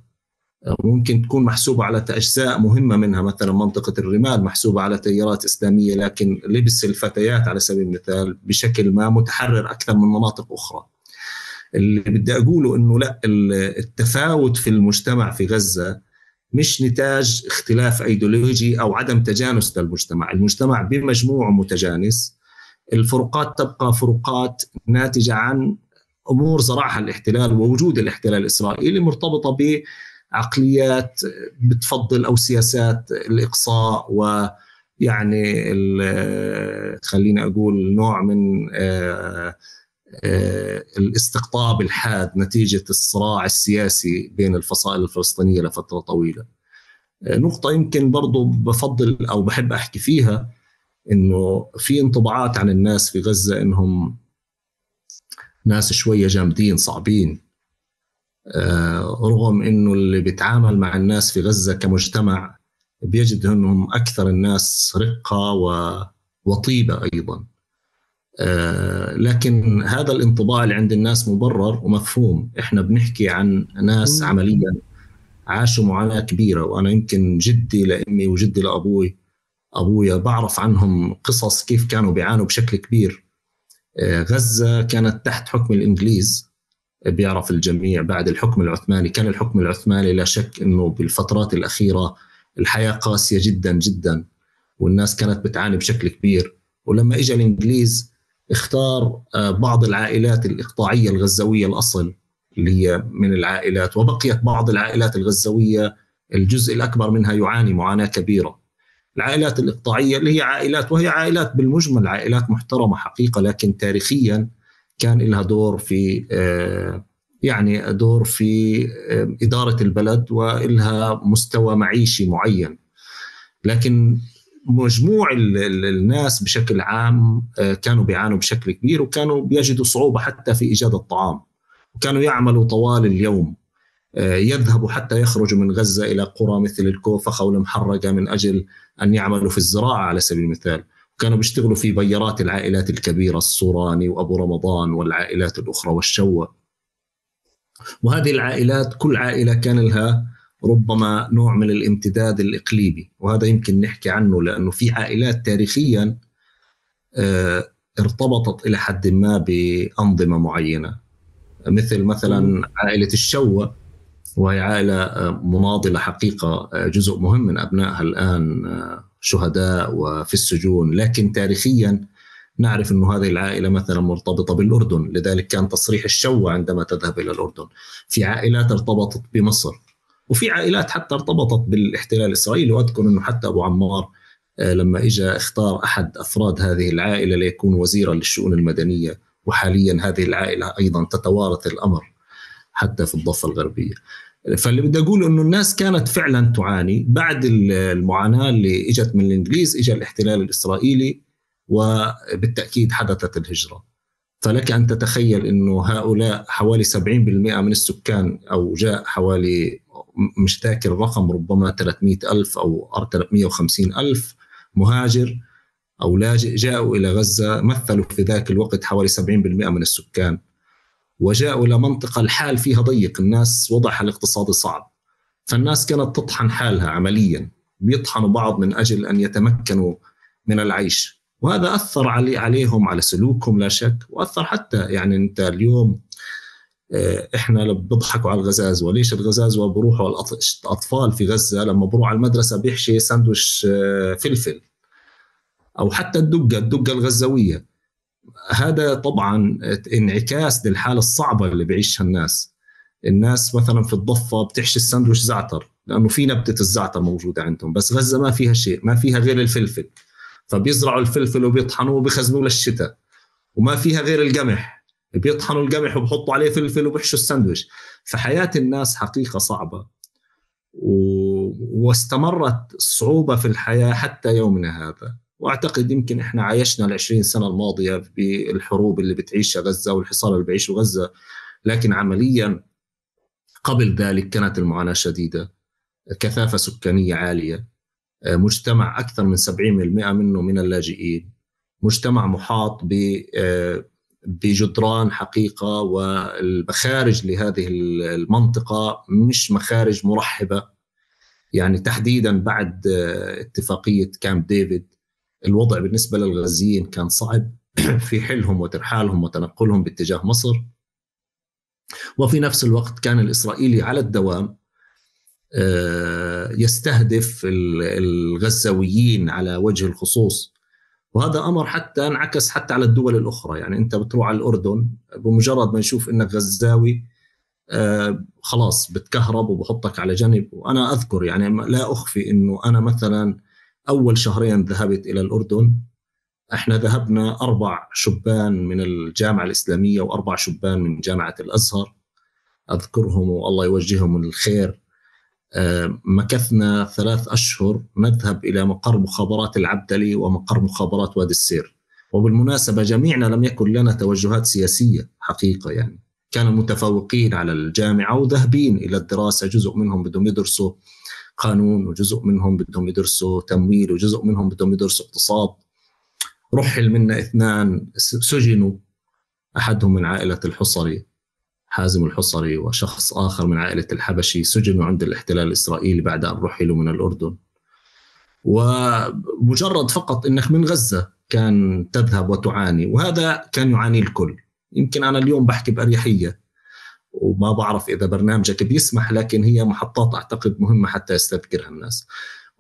ممكن تكون محسوبة على أجزاء مهمة منها، مثلا منطقة الرمال محسوبة على تيارات إسلامية، لكن لبس الفتيات على سبيل المثال بشكل ما متحرر أكثر من مناطق أخرى. اللي بدي أقوله إنه لا، التفاوت في المجتمع في غزة مش نتاج اختلاف أيديولوجي أو عدم تجانس للمجتمع. المجتمع بمجموعه متجانس، الفروقات تبقى فروقات ناتجة عن أمور زرعها الاحتلال ووجود الاحتلال الإسرائيلي، مرتبطة بعقليات بتفضل أو سياسات الإقصاء، ويعني خلينا أقول نوع من الاستقطاب الحاد نتيجة الصراع السياسي بين الفصائل الفلسطينية لفترة طويلة. نقطة يمكن برضو بفضل أو بحب أحكي فيها، إنه في انطباعات عن الناس في غزة إنهم ناس شوية جامدين صعبين، رغم إنه اللي بيتعامل مع الناس في غزة كمجتمع بيجد أنهم أكثر الناس رقة وطيبة أيضا. لكن هذا الانطباع اللي عند الناس مبرر ومفهوم. إحنا بنحكي عن ناس عمليا عاشوا معاناة كبيرة، وأنا يمكن جدي لأمي وجدي لأبويا بعرف عنهم قصص كيف كانوا بيعانوا بشكل كبير. غزة كانت تحت حكم الإنجليز، بيعرف الجميع. بعد الحكم العثماني، كان الحكم العثماني لا شك أنه بالفترات الأخيرة الحياة قاسية جدا جدا، والناس كانت بتعاني بشكل كبير. ولما إجا الإنجليز اختار بعض العائلات الإقطاعية الغزوية الأصل اللي هي من العائلات، وبقيت بعض العائلات الغزوية الجزء الأكبر منها يعاني معاناة كبيرة. العائلات الإقطاعية اللي هي عائلات، وهي عائلات بالمجمل عائلات محترمة حقيقة، لكن تاريخيا كان لها دور في يعني دور في إدارة البلد وإلها مستوى معيشي معين. لكن مجموع الناس بشكل عام كانوا بيعانوا بشكل كبير، وكانوا بيجدوا صعوبة حتى في إيجاد الطعام، وكانوا يعملوا طوال اليوم. يذهبوا حتى يخرجوا من غزة إلى قرى مثل الكوفخة والمحرقة من أجل أن يعملوا في الزراعة على سبيل المثال. كانوا بيشتغلوا في بيارات العائلات الكبيرة، الصوراني وأبو رمضان والعائلات الأخرى والشوة. وهذه العائلات كل عائلة كان لها ربما نوع من الامتداد الإقليمي، وهذا يمكن نحكي عنه لأنه في عائلات تاريخيا ارتبطت إلى حد ما بأنظمة معينة، مثل مثلا عائلة الشوة، وهي عائلة مناضلة حقيقة، جزء مهم من أبنائها الآن شهداء وفي السجون. لكن تاريخيا نعرف أن هذه العائلة مثلا مرتبطة بالأردن، لذلك كان تصريح الشوة عندما تذهب إلى الأردن. في عائلات ارتبطت بمصر، وفي عائلات حتى ارتبطت بالاحتلال الإسرائيلي. وأذكر أنه حتى أبو عمار لما إجا اختار أحد أفراد هذه العائلة ليكون وزيرا للشؤون المدنية، وحاليا هذه العائلة أيضا تتوارث الأمر حتى في الضفة الغربية. فاللي بدي أقول أنه الناس كانت فعلا تعاني. بعد المعاناة اللي إجت من الإنجليز إجا الاحتلال الإسرائيلي، وبالتأكيد حدثت الهجرة. فلك أن تتخيل أنه هؤلاء حوالي 70% من السكان، أو جاء حوالي، مش ذاكر الرقم، ربما 300,000 أو 350,000 مهاجر أو لاجئ جاءوا إلى غزة، مثلوا في ذاك الوقت حوالي 70% من السكان، وجاءوا إلى منطقة الحال فيها ضيق، الناس وضعها الاقتصادي صعب. فالناس كانت تطحن حالها عمليا، بيطحنوا بعض من أجل أن يتمكنوا من العيش. وهذا أثر عليهم، على سلوكهم لا شك، وأثر حتى يعني أنت اليوم إحنا بضحكوا على الغزازوة. ليش الغزازوة بروحوا الأطفال في غزة لما بروح على المدرسة بيحشي ساندويش فلفل، أو حتى الدقة الغزاوية. هذا طبعا انعكاس للحالة الصعبة اللي بيعيشها الناس مثلا في الضفة بتحشي الساندويش زعتر، لأنه في نبتة الزعتر موجودة عندهم، بس غزة ما فيها شيء، ما فيها غير الفلفل، فبيزرعوا الفلفل وبيطحنوه وبيخزنوه للشتاء. وما فيها غير القمح، بيطحنوا القمح وبحطوا عليه فلفل وبيحشوا الساندويش. فحياة الناس حقيقة صعبة، واستمرت الصعوبة في الحياة حتى يومنا هذا. واعتقد يمكن احنا عايشنا 20 سنة الماضية بالحروب اللي بتعيشها غزة والحصار اللي بيعيشه غزة، لكن عمليا قبل ذلك كانت المعاناة شديدة. كثافة سكانية عالية، مجتمع أكثر من 70% منه من اللاجئين، مجتمع محاط بجدران حقيقة، والمخارج لهذه المنطقة مش مخارج مرحبة. يعني تحديدا بعد اتفاقية كامب ديفيد الوضع بالنسبة للغزيين كان صعب في حلهم وترحالهم وتنقلهم باتجاه مصر. وفي نفس الوقت كان الإسرائيلي على الدوام يستهدف الغزاويين على وجه الخصوص، وهذا أمر حتى انعكس حتى على الدول الأخرى. يعني أنت بتروح على الأردن، بمجرد ما يشوف إنك غزاوي خلاص بتكهرب وبحطك على جنب. وأنا أذكر يعني لا أخفي إنه أنا مثلا أول شهرين ذهبت إلى الأردن، إحنا ذهبنا 4 شبان من الجامعة الإسلامية و4 شبان من جامعة الأزهر، أذكرهم والله يوجههم من الخير. مكثنا 3 أشهر نذهب إلى مقر مخابرات العبدلي ومقر مخابرات وادي السير. وبالمناسبة جميعنا لم يكن لنا توجهات سياسية حقيقة، يعني كانوا متفوقين على الجامعة وذهبين إلى الدراسة، جزء منهم بدهم يدرسوا قانون، وجزء منهم بدهم يدرسوا تمويل، وجزء منهم بدهم يدرسوا اقتصاد. رحل منا 2 سجنوا، أحدهم من عائلة الحصري حازم الحصري، وشخص آخر من عائلة الحبشي، سجنوا عند الاحتلال الإسرائيلي بعد أن رحلوا من الأردن. ومجرد فقط أنك من غزة كان تذهب وتعاني، وهذا كان يعاني الكل. يمكن أنا اليوم بحكي بأريحية وما بعرف إذا برنامجك بيسمح، لكن هي محطات أعتقد مهمة حتى يستذكرها الناس.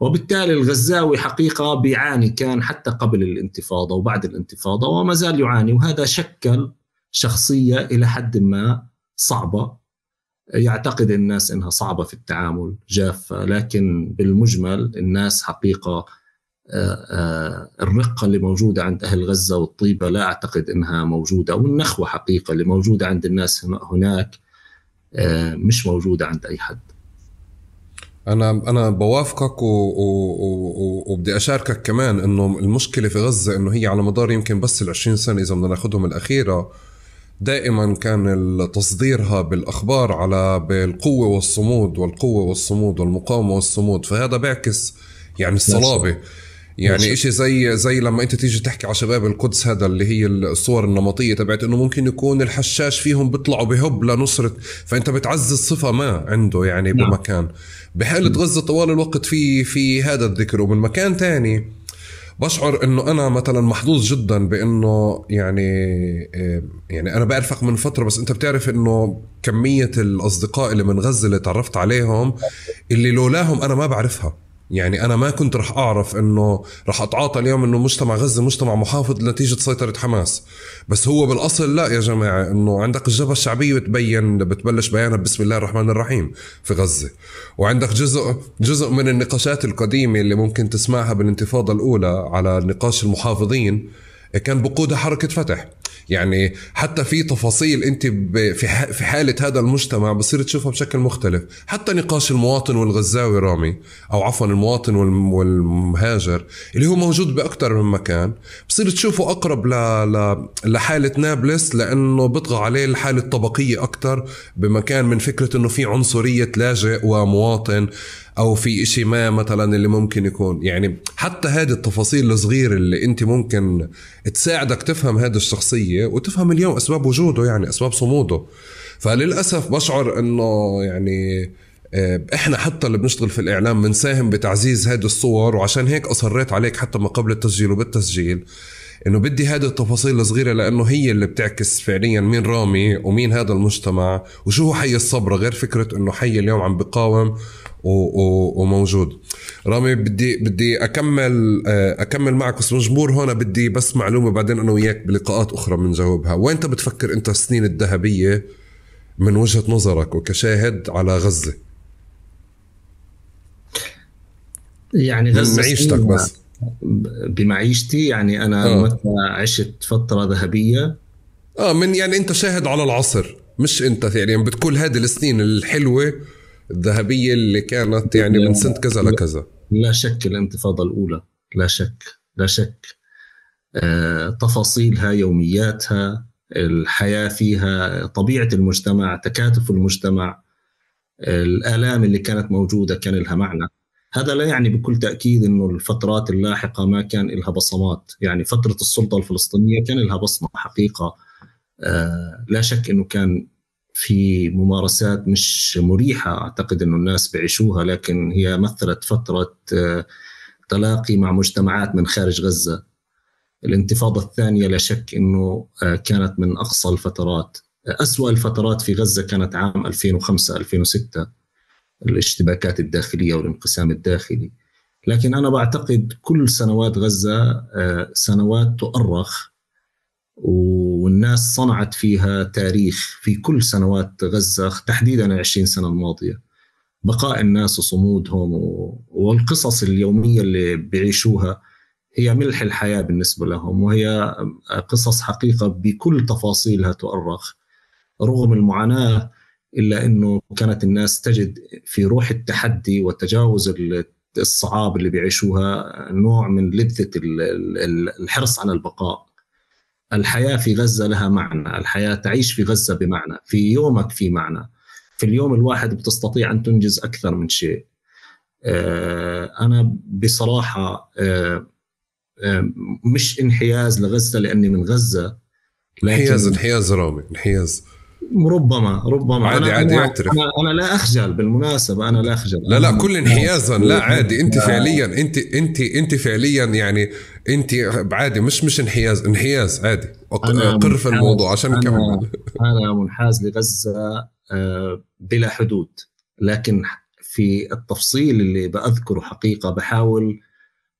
وبالتالي الغزاوي حقيقة بيعاني، كان حتى قبل الانتفاضة وبعد الانتفاضة وما زال يعاني، وهذا شكل شخصية إلى حد ما صعبة، يعتقد الناس إنها صعبة في التعامل، جافة، لكن بالمجمل الناس حقيقة الرقة اللي موجودة عند أهل غزة والطيبة لا أعتقد إنها موجودة، والنخوة حقيقة اللي موجودة عند الناس هناك مش موجودة عند أي حد. أنا بوافقك وبدي أشاركك كمان إنه المشكلة في غزة إنه هي على مدار يمكن بس 20 سنة إذا بدنا ناخدهم الأخيرة، دائما كان تصديرها بالأخبار على بالقوة والصمود والقوة والصمود والمقاومة والصمود، فهذا بيعكس يعني الصلابة. يعني إشي زي لما أنت تيجي تحكي على شباب القدس، هذا اللي هي الصور النمطية تبعت إنه ممكن يكون الحشاش فيهم بيطلعوا بهب لنصرة، فأنت بتعزز صفة ما عنده يعني بمكان. بحالة غزة طوال الوقت في هذا الذكر. ومن مكان تاني بشعر إنه أنا مثلا محظوظ جدا بإنه يعني أنا بعرفك من فترة، بس أنت بتعرف إنه كمية الأصدقاء اللي من غزة اللي تعرفت عليهم اللي لولاهم أنا ما بعرفها. يعني أنا ما كنت رح أعرف إنه رح أتعاطى اليوم إنه مجتمع غزة مجتمع محافظ نتيجة سيطرة حماس، بس هو بالأصل لا يا جماعة، إنه عندك الجبهة الشعبية بتبلش بيانها بسم الله الرحمن الرحيم في غزة، وعندك جزء من النقاشات القديمة اللي ممكن تسمعها بالانتفاضة الأولى على نقاش المحافظين كان بقودها حركة فتح. يعني حتى في تفاصيل انت في حالة هذا المجتمع بصير تشوفها بشكل مختلف. حتى نقاش المواطن والغزاوي رامي، او عفوا المواطن والمهاجر اللي هو موجود باكثر من مكان، بصير تشوفه اقرب لحالة نابلس، لانه بيطغى عليه الحالة الطبقية اكثر بمكان من فكرة انه في عنصرية لاجئ ومواطن، او في اشي ما مثلا اللي ممكن يكون. يعني حتى هذه التفاصيل الصغيرة اللي انت ممكن تساعدك تفهم هذه الشخصية وتفهم اليوم اسباب وجوده، يعني اسباب صموده. فللأسف بشعر انه يعني احنا حتى اللي بنشتغل في الاعلام بنساهم بتعزيز هذه الصور، وعشان هيك اصريت عليك حتى ما قبل التسجيل وبالتسجيل انه بدي هذه التفاصيل الصغيرة، لانه هي اللي بتعكس فعليا مين رامي ومين هذا المجتمع وشو هو حي الصبر، غير فكرة انه حي اليوم عم بقاوم وموجود. رامي بدي اكمل معك، بس مجبور هون بدي بس معلومة بعدين انا وياك بلقاءات اخرى بنجاوبها. وين انت بتفكر انت السنين الذهبية من وجهة نظرك وكشاهد على غزة؟ يعني غزة معيشتك بس. بمعيشتي يعني أنا متى عشت فترة ذهبية من يعني أنت شاهد على العصر، مش أنت يعني بتقول هذه السنين الحلوة الذهبية اللي كانت يعني من سنة كذا لكذا. لا شك الانتفاضة الأولى، لا شك تفاصيلها، يومياتها، الحياة فيها، طبيعة المجتمع، تكاتف المجتمع، الآلام اللي كانت موجودة كان لها معنى. هذا لا يعني بكل تأكيد إنه الفترات اللاحقة ما كان لها بصمات. يعني فترة السلطة الفلسطينية كان لها بصمة حقيقة، لا شك إنه كان في ممارسات مش مريحة أعتقد إنه الناس بيعيشوها، لكن هي مثلت فترة تلاقي مع مجتمعات من خارج غزة. الانتفاضة الثانية لا شك إنه كانت من أقصى الفترات. أسوأ الفترات في غزة كانت عام 2005-2006، الاشتباكات الداخلية والانقسام الداخلي. لكن أنا بعتقد كل سنوات غزة سنوات تؤرخ، والناس صنعت فيها تاريخ في كل سنوات غزة، تحديدا 20 سنة الماضية. بقاء الناس وصمودهم والقصص اليومية اللي بيعيشوها هي ملح الحياة بالنسبة لهم، وهي قصص حقيقة بكل تفاصيلها تؤرخ. رغم المعاناة إلا أنه كانت الناس تجد في روح التحدي وتجاوز الصعاب اللي بيعيشوها نوع من لذة الحرص على البقاء. الحياة في غزة لها معنى، الحياة تعيش في غزة بمعنى، في يومك في معنى، في اليوم الواحد بتستطيع أن تنجز أكثر من شيء. أنا بصراحة مش انحياز لغزة لأني من غزة، لكن انحياز رامي، انحياز ربما عادي يعترف. أنا لا أخجل، بالمناسبة أنا لا أخجل. لا كل انحيازا لا عادي. انت فعليا انت فعليا يعني انت عادي، مش انحياز عادي. قر في الموضوع عشان نكمل. أنا منحاز لغزة بلا حدود، لكن في التفصيل اللي بأذكره حقيقة بحاول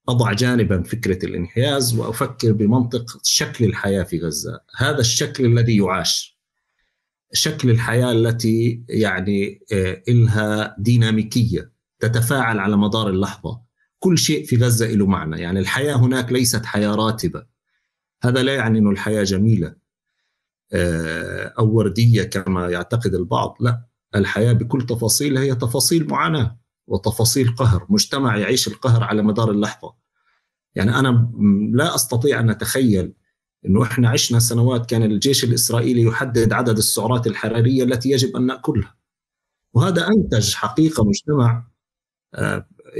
أضع جانبا فكرة الانحياز وأفكر بمنطق شكل الحياة في غزة. هذا الشكل الذي يعاش، شكل الحياة التي يعني إلها ديناميكية تتفاعل على مدار اللحظة. كل شيء في غزة له معنى، يعني الحياة هناك ليست حياة راتبة. هذا لا يعني أن الحياة جميلة أو وردية كما يعتقد البعض، لا، الحياة بكل تفاصيلها هي تفاصيل معاناة وتفاصيل قهر، مجتمع يعيش القهر على مدار اللحظة. يعني أنا لا أستطيع أن أتخيل أنه إحنا عشنا سنوات كان الجيش الإسرائيلي يحدد عدد السعرات الحرارية التي يجب أن نأكلها، وهذا أنتج حقيقة مجتمع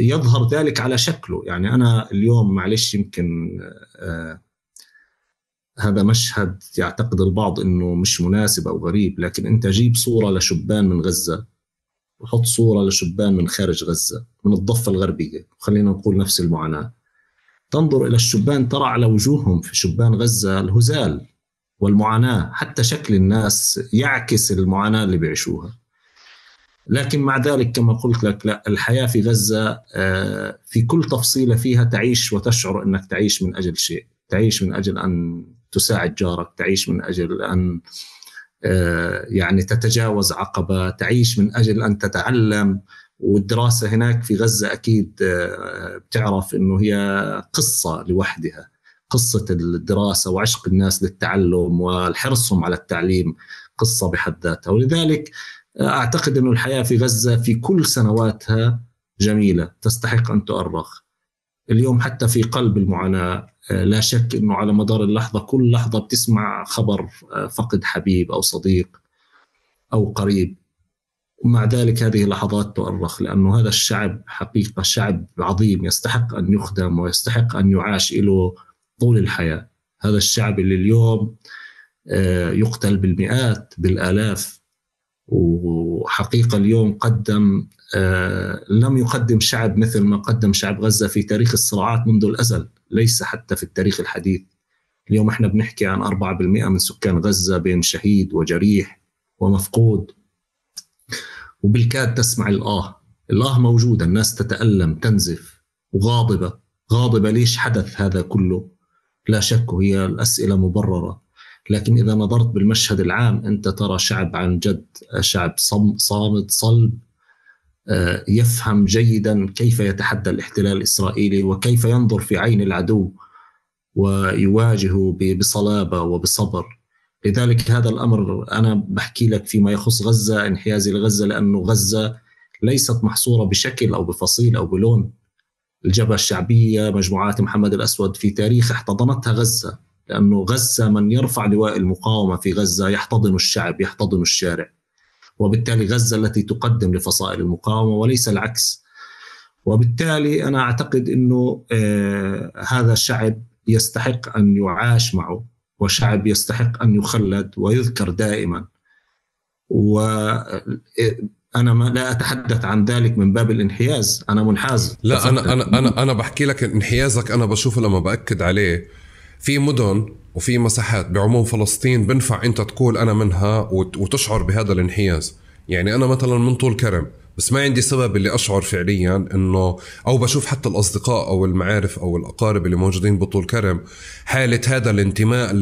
يظهر ذلك على شكله. يعني أنا اليوم معلش يمكن هذا مشهد يعتقد البعض أنه مش مناسب أو غريب، لكن أنت جيب صورة لشبان من غزة وحط صورة لشبان من خارج غزة من الضفة الغربية، وخلينا نقول نفس المعاناة. تنظر إلى الشبان ترى على وجوههم في شبان غزة الهزال والمعاناة، حتى شكل الناس يعكس المعاناة اللي بيعيشوها. لكن مع ذلك كما قلت لك، لا، الحياة في غزة في كل تفصيلة فيها تعيش وتشعر أنك تعيش من أجل شيء، تعيش من أجل أن تساعد جارك، تعيش من أجل أن يعني تتجاوز عقبة، تعيش من أجل أن تتعلم. والدراسة هناك في غزة أكيد بتعرف أنه هي قصة لوحدها، قصة الدراسة وعشق الناس للتعلم والحرصهم على التعليم قصة بحد ذاتها. ولذلك أعتقد أنه الحياة في غزة في كل سنواتها جميلة تستحق أن تؤرخ. اليوم حتى في قلب المعاناة لا شك أنه على مدار اللحظة كل لحظة بتسمع خبر فقد حبيب أو صديق أو قريب، ومع ذلك هذه اللحظات تؤرخ، لأنه هذا الشعب حقيقة شعب عظيم يستحق أن يخدم ويستحق أن يعاش له طول الحياة. هذا الشعب اللي اليوم يقتل بالمئات بالآلاف، وحقيقة اليوم قدم لم يقدم شعب مثل ما قدم شعب غزة في تاريخ الصراعات منذ الأزل، ليس حتى في التاريخ الحديث. اليوم احنا بنحكي عن 4% من سكان غزة بين شهيد وجريح ومفقود، وبالكاد تسمع الآه موجودة، الناس تتألم تنزف وغاضبة ليش حدث هذا كله؟ لا شك هي الأسئلة مبررة، لكن إذا نظرت بالمشهد العام أنت ترى شعب عن جد شعب صامد صلب، يفهم جيدا كيف يتحدى الاحتلال الإسرائيلي وكيف ينظر في عين العدو ويواجهه بصلابة وبصبر. لذلك هذا الأمر أنا بحكي لك فيما يخص غزة، انحيازي لغزة، لأنه غزة ليست محصورة بشكل أو بفصيل أو بلون. الجبهة الشعبية، مجموعات محمد الأسود في تاريخ احتضنتها غزة، لأنه غزة من يرفع لواء المقاومة في غزة يحتضن الشعب، يحتضن الشارع، وبالتالي غزة التي تقدم لفصائل المقاومة وليس العكس. وبالتالي أنا أعتقد أنه هذا الشعب يستحق أن يعاش معه، وشعب يستحق أن يخلد ويذكر دائما. وأنا لا أتحدث عن ذلك من باب الانحياز، أنا منحاز. لا أنا بحكي لك انحيازك أنا بشوفه لما بأكد عليه في مدن وفي مساحات بعموم فلسطين بنفع أنت تقول أنا منها وتشعر بهذا الانحياز. يعني أنا مثلا من طول كرم، بس ما عندي سبب اللي أشعر فعليا إنه، أو بشوف حتى الأصدقاء أو المعارف أو الأقارب اللي موجودين بطول كرم حالة هذا الانتماء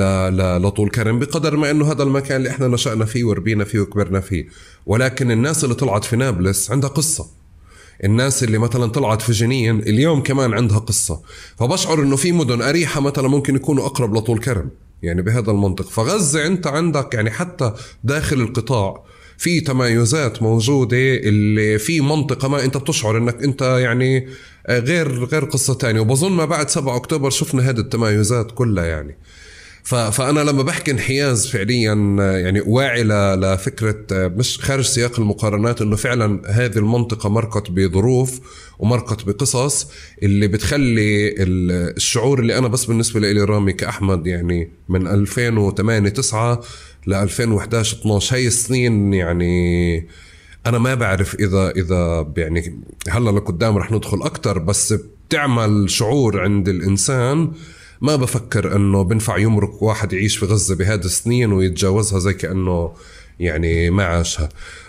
لطول كرم، بقدر ما إنه هذا المكان اللي إحنا نشأنا فيه وربينا فيه وكبرنا فيه. ولكن الناس اللي طلعت في نابلس عندها قصة، الناس اللي مثلا طلعت في جنين اليوم كمان عندها قصة. فبشعر إنه في مدن أريحة مثلا ممكن يكونوا أقرب لطول كرم، يعني بهذا المنطق. فغزة أنت عندك يعني حتى داخل القطاع في تمايزات موجودة، اللي في منطقة ما أنت بتشعر أنك أنت يعني غير قصة تانية. وبظن ما بعد 7 أكتوبر شفنا هذه التمايزات كلها. يعني فأنا لما بحكي انحياز فعليا يعني واعي لفكرة مش خارج سياق المقارنات، إنه فعلا هذه المنطقة مرقت بظروف ومرقت بقصص اللي بتخلي الشعور اللي أنا بس بالنسبة لي رامي كأحمد يعني من 2008-9 ل 2011-12 هاي السنين، يعني أنا ما بعرف إذا يعني هلا لقدام رح ندخل أكتر، بس بتعمل شعور عند الإنسان ما بفكر انه بنفع يمرق واحد يعيش في غزة بهذه السنين ويتجاوزها زي كأنه يعني ما عاشها.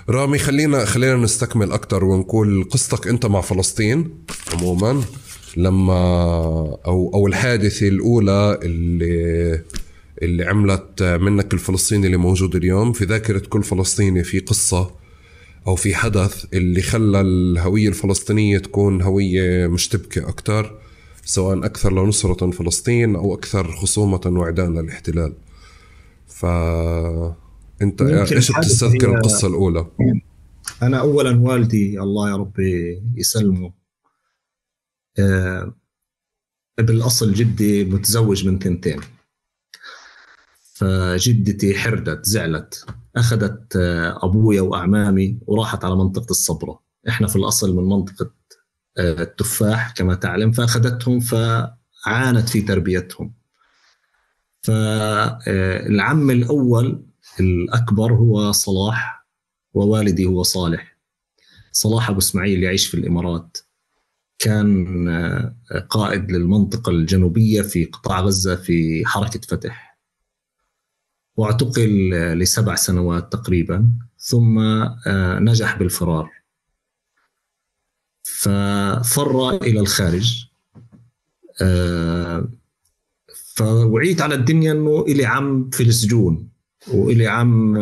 رامي خلينا نستكمل اكتر ونقول قصتك انت مع فلسطين عموما، لما او الحادثة الاولى اللي عملت منك الفلسطيني اللي موجود اليوم. في ذاكرة كل فلسطيني في قصة او في حدث اللي خلى الهوية الفلسطينية تكون هوية مشتبكة اكتر، سواء أكثر لنصرة فلسطين أو أكثر خصومة وعداء للاحتلال. فأنت إيش بتستذكر القصة الأولى؟ أنا أولا والدي الله يا ربي يسلمه، بالأصل جدي متزوج من 2، فجدتي حردت زعلت، أخذت أبويا وأعمامي وراحت على منطقة الصبرة. إحنا في الأصل من منطقة التفاح كما تعلم، فأخذتهم فعانت في تربيتهم. فالعم الأول الأكبر هو صلاح، ووالدي هو صالح. صلاح أبو إسماعيل يعيش في الإمارات، كان قائد للمنطقة الجنوبية في قطاع غزة في حركة فتح، واعتقل ل7 سنوات تقريبا، ثم نجح بالفرار، ففر إلى الخارج. فوعيت على الدنيا أنه إلي عم في السجون، وإلي عم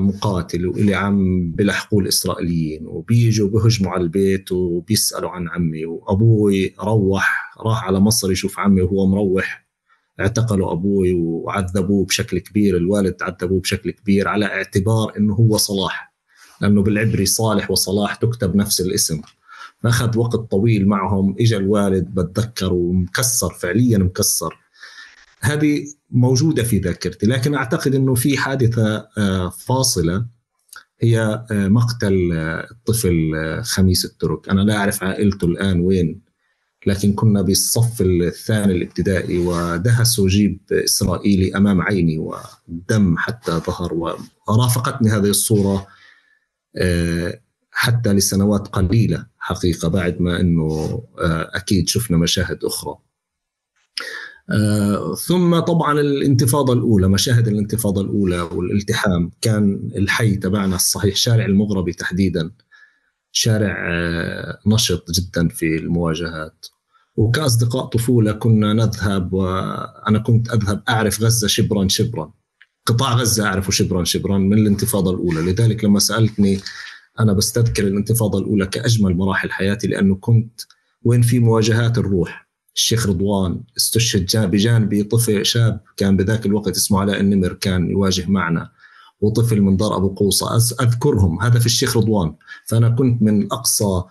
مقاتل، وإلي عم بلحقوا الإسرائيليين وبيجوا بهجموا على البيت وبيسألوا عن عمي. وأبوي راح على مصر يشوف عمي وهو مروح، اعتقلوا أبوي وعذبوه بشكل كبير. الوالد عذبوه بشكل كبير على اعتبار أنه هو صلاح، لأنه بالعبري صالح وصلاح تكتب نفس الاسم. فأخذ وقت طويل معهم. إجا الوالد بتذكر ومكسر، فعليا مكسر. هذه موجودة في ذاكرتي. لكن أعتقد أنه في حادثة فاصلة، هي مقتل الطفل خميس الترك. أنا لا أعرف عائلته الآن وين، لكن كنا بالصف الثاني الابتدائي ودهسوا جيب إسرائيلي أمام عيني ودم حتى ظهر. ورافقتني هذه الصورة حتى لسنوات قليلة حقيقة، بعد ما أنه أكيد شفنا مشاهد أخرى. ثم طبعا الانتفاضة الأولى، مشاهد الانتفاضة الأولى والالتحام. كان الحي تبعنا الصحيح شارع المغربي تحديدا شارع نشط جدا في المواجهات. وكأصدقاء طفولة كنا نذهب، وأنا كنت أذهب أعرف غزة شبرا شبرا، قطاع غزة أعرفه شبرا شبرا من الانتفاضة الأولى. لذلك لما سألتني أنا بستذكر الانتفاضة الأولى كأجمل مراحل حياتي، لأنه كنت وين في مواجهات الروح. الشيخ رضوان استشهد بجانبي طفل شاب كان بذاك الوقت اسمه علاء النمر، كان يواجه معنا، وطفل من دار أبو قوصة أذكرهم. هذا في الشيخ رضوان. فأنا كنت من أقصى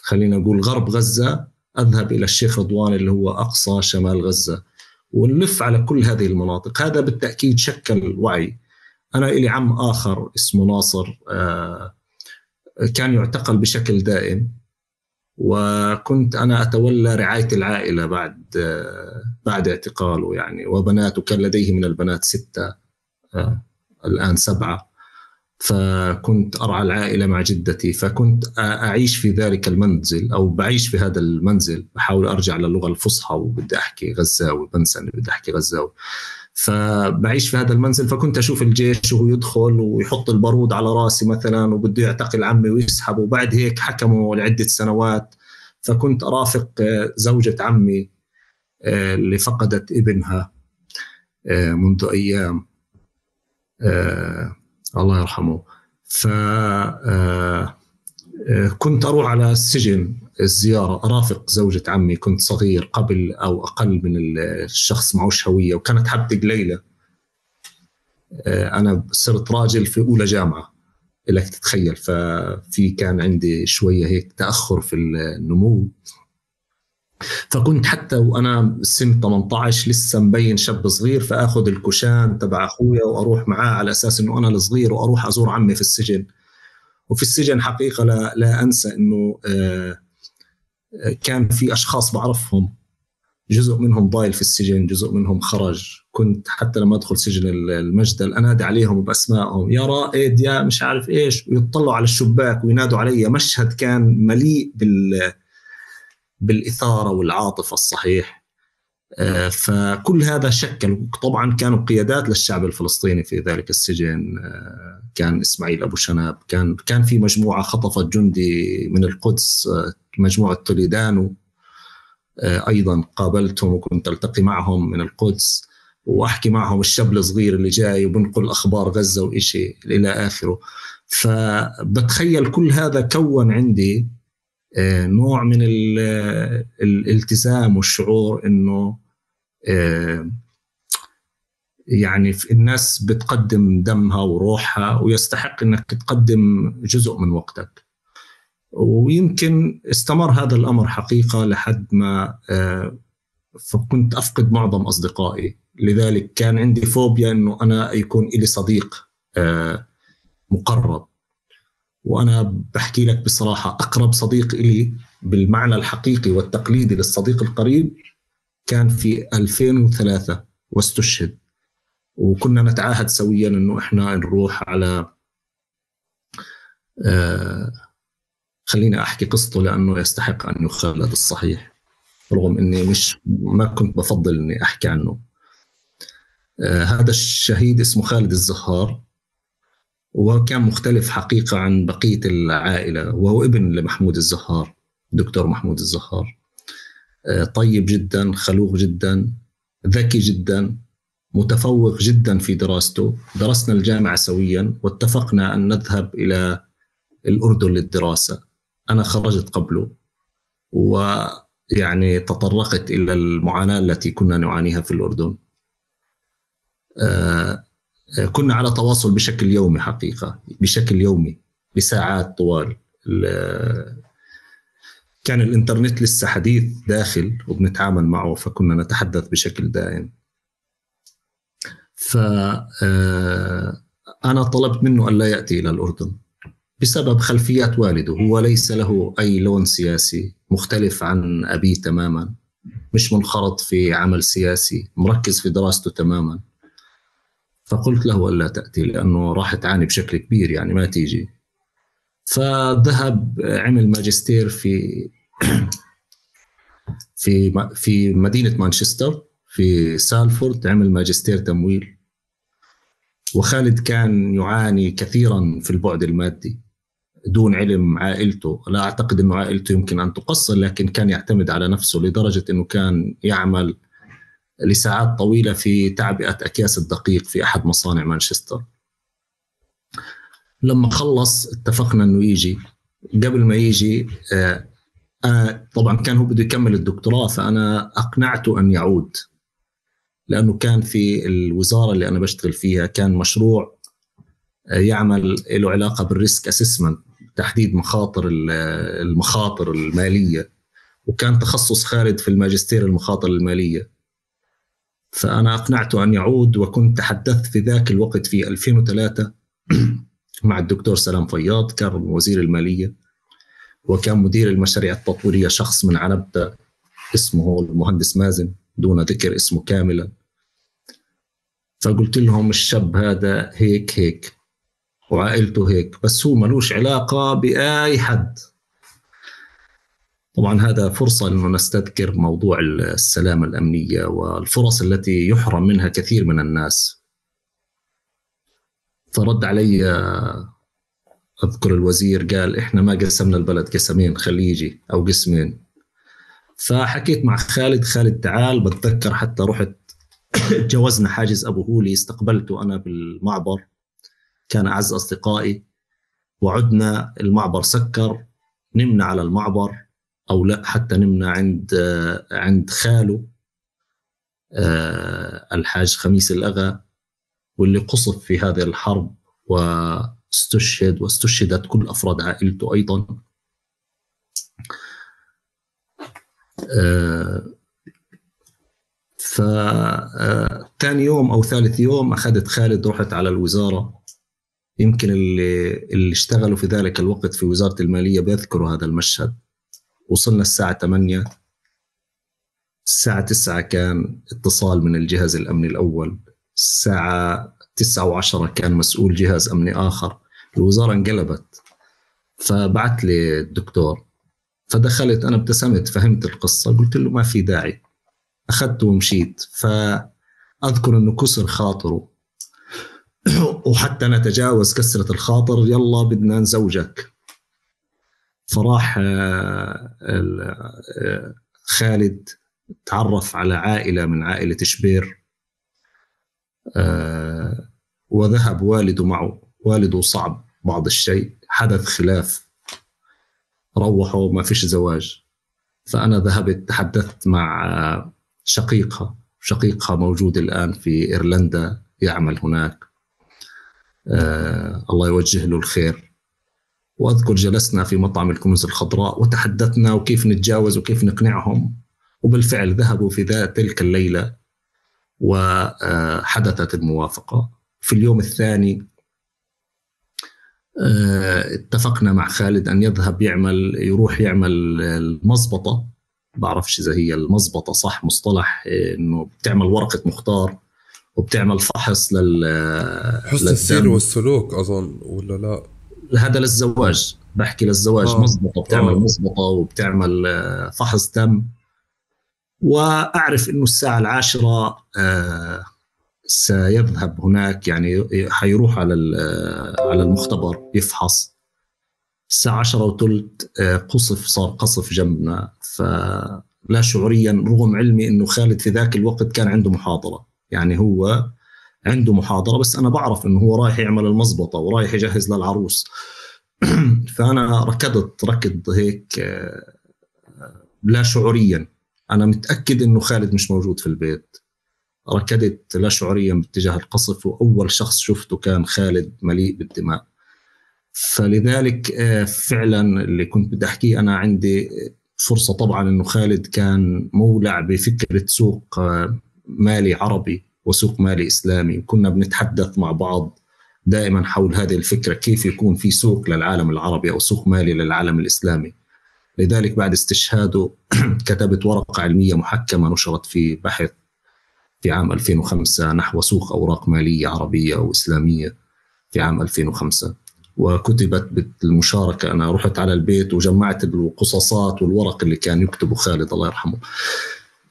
خلينا نقول غرب غزة أذهب إلى الشيخ رضوان اللي هو أقصى شمال غزة، ونلف على كل هذه المناطق. هذا بالتأكيد شكل وعي. أنا إلي عم آخر اسمه ناصر، كان يعتقل بشكل دائم، وكنت أنا أتولى رعاية العائلة بعد اعتقاله يعني. وبناته كان لديه من البنات 6، الآن 7. فكنت أرعى العائلة مع جدتي، فكنت أعيش في ذلك المنزل أو بعيش في هذا المنزل، بحاول أرجع للغة الفصحى وبدي أحكي غزاوي، بنسى أني بدي أحكي غزاوي. فبعيش في هذا المنزل، فكنت أشوف الجيش وهو يدخل ويحط البارود على راسي مثلا وبده يعتقل عمي ويسحب، وبعد هيك حكموا لعدة سنوات. فكنت أرافق زوجة عمي اللي فقدت ابنها منذ أيام، الله يرحمه. فكنت أروح على السجن الزيارة، أرافق زوجة عمي. كنت صغير قبل أو أقل من الشخص معوش هوية، وكانت حبتي قليلة. أنا صرت راجل في أولى جامعة لك تتخيل، ففي كان عندي شوية هيك تأخر في النمو. فكنت حتى وأنا سن 18 لسه مبين شاب صغير، فأخذ الكشان تبع أخويا وأروح معاه على أساس أنه أنا الصغير، وأروح أزور عمي في السجن. وفي السجن حقيقة لا أنسى أنه كان في أشخاص بعرفهم، جزء منهم ضايل في السجن، جزء منهم خرج. كنت حتى لما أدخل سجن المجدل أنادي عليهم بأسمائهم، يا رائد، يا مش عارف إيش، ويطلعوا على الشباك وينادوا علي. مشهد كان مليء بالإثارة والعاطفة الصحيح. فكل هذا شكل. طبعا كانوا قيادات للشعب الفلسطيني في ذلك السجن. كان إسماعيل أبو شنب، كان في مجموعة خطفت جندي من القدس، مجموعة توليدانو، أيضا قابلتهم وكنت ألتقي معهم من القدس وأحكي معهم، الشاب الصغير اللي جاي وبنقل أخبار غزة وإشي إلى آخره. فبتخيل كل هذا كون عندي نوع من الالتزام والشعور إنه يعني الناس بتقدم دمها وروحها، ويستحق إنك تقدم جزء من وقتك. ويمكن استمر هذا الأمر حقيقة لحد ما فكنت أفقد معظم أصدقائي. لذلك كان عندي فوبيا إنه أنا يكون إلي صديق مقرب. وأنا بحكي لك بصراحة، أقرب صديق إلي بالمعنى الحقيقي والتقليدي للصديق القريب كان في 2003 واستشهد. وكنا نتعاهد سويا إنه إحنا نروح على خليني أحكي قصته لأنه يستحق أن يخلد الصحيح، رغم أني ما كنت بفضل أني أحكي عنه. هذا الشهيد اسمه خالد الزهار، وكان مختلف حقيقة عن بقية العائلة، وهو ابن لمحمود الزهار، دكتور محمود الزهار. طيب جدا، خلوق جدا، ذكي جدا، متفوق جدا في دراسته. درسنا الجامعة سويا واتفقنا أن نذهب إلى الأردن للدراسة. أنا خرجت قبله، ويعني تطرقت إلى المعاناة التي كنا نعانيها في الأردن. كنا على تواصل بشكل يومي حقيقة، بشكل يومي بساعات طوال. كان الإنترنت لسه حديث داخل وبنتعامل معه، فكنا نتحدث بشكل دائم. فأنا طلبت منه أن لا يأتي إلى الأردن بسبب خلفيات والده. هو ليس له أي لون سياسي، مختلف عن أبيه تماما، مش منخرط في عمل سياسي، مركز في دراسته تماما. فقلت له ألا تأتي لأنه راح تعاني بشكل كبير، يعني ما تيجي. فذهب عمل ماجستير في مدينة مانشستر في سالفورد، عمل ماجستير تمويل. وخالد كان يعاني كثيرا في البعد المادي دون علم عائلته. لا أعتقد أنه عائلته يمكن أن تقصر، لكن كان يعتمد على نفسه لدرجة أنه كان يعمل لساعات طويلة في تعبئة أكياس الدقيق في أحد مصانع مانشستر. لما خلص اتفقنا أنه يجي. قبل ما يجي طبعا كان هو بده يكمل الدكتوراه، فأنا أقنعته أن يعود، لأنه كان في الوزارة اللي أنا بشتغل فيها كان مشروع يعمل له علاقة بالريسك أسسمنت، تحديد المخاطر المالية. وكان تخصص خالد في الماجستير المخاطر المالية. فأنا أقنعته أن يعود، وكنت تحدثت في ذاك الوقت في 2003 مع الدكتور سلام فياض، كان وزير المالية وكان مدير المشاريع التطويرية شخص من عنبتة اسمه المهندس مازن دون ذكر اسمه كاملا. فقلت لهم الشاب هذا هيك وعائلته هيك، بس هو ملوش علاقة بأي حد. طبعا هذا فرصة أنه نستذكر موضوع السلامة الأمنية والفرص التي يحرم منها كثير من الناس. فرد علي أذكر الوزير قال إحنا ما قسمنا البلد قسمين، خليجي أو قسمين. فحكيت مع خالد تعال. بتذكر حتى رحت جوزنا حاجز أبو هولي، استقبلته أنا بالمعبر، كان أعز أصدقائي. وعدنا المعبر سكر، نمنا على المعبر أو لا، حتى نمنا عند خاله الحاج خميس الأغا، واللي قصف في هذه الحرب واستشهدت كل أفراد عائلته أيضا. ثاني يوم أو ثالث يوم أخذت خالد، رحت على الوزارة. يمكن اللي اشتغلوا في ذلك الوقت في وزارة المالية بيذكروا هذا المشهد. وصلنا الساعة 8، الساعة 9 كان اتصال من الجهاز الأمني الأول، الساعة 9:10 كان مسؤول جهاز أمني آخر. الوزارة انقلبت. فبعت لي الدكتور، فدخلت، أنا ابتسمت، فهمت القصة، قلت له ما في داعي، أخذته ومشيت. فأذكر أنه كسر خاطره وحتى نتجاوز كسرة الخاطر، يلا بدنا نزوجك. فراح خالد تعرف على عائلة من عائلة شبير، وذهب والده معه. والده صعب بعض الشيء، حدث خلاف، روحوا ما فيش زواج. فأنا ذهبت تحدثت مع شقيقها موجود الآن في إيرلندا، يعمل هناك، الله يوجه له الخير. وأذكر جلسنا في مطعم الكنوز الخضراء وتحدثنا وكيف نتجاوز وكيف نقنعهم. وبالفعل ذهبوا في تلك الليلة وحدثت الموافقة. في اليوم الثاني اتفقنا مع خالد أن يروح يعمل المضبطة. بعرفش إذا هي المضبطة صح مصطلح، إنه بتعمل ورقة مختار وبتعمل فحص حسن السير والسلوك أظن، ولا لا؟ هذا للزواج، بحكي للزواج. مضبطة، بتعمل مضبطة وبتعمل فحص دم. وأعرف إنه الساعة 10 سيذهب هناك، يعني حيروح على المختبر يفحص. الساعة 10:15 صار قصف جنبنا. فلا شعوريا، رغم علمي إنه خالد في ذاك الوقت كان عنده محاضرة، يعني هو عنده محاضرة، بس أنا بعرف إنه هو رايح يعمل المضبطة ورايح يجهز للعروس. فأنا ركض هيك لا شعوريا، أنا متأكد إنه خالد مش موجود في البيت. ركضت لا شعوريا باتجاه القصف، وأول شخص شفته كان خالد مليء بالدماء. فلذلك فعلا اللي كنت بدي أحكيه، أنا عندي فرصة طبعا إنه خالد كان مولع بفكرة سوق مالي عربي وسوق مالي إسلامي، وكنا بنتحدث مع بعض دائما حول هذه الفكرة، كيف يكون في سوق للعالم العربي أو سوق مالي للعالم الإسلامي. لذلك بعد استشهاده كتبت ورقة علمية محكمة نشرت في بحث في عام 2005 نحو سوق أوراق مالية عربية وإسلامية في عام 2005، وكتبت بالمشاركة. أنا رحت على البيت وجمعت القصصات والورق اللي كان يكتبه خالد الله يرحمه.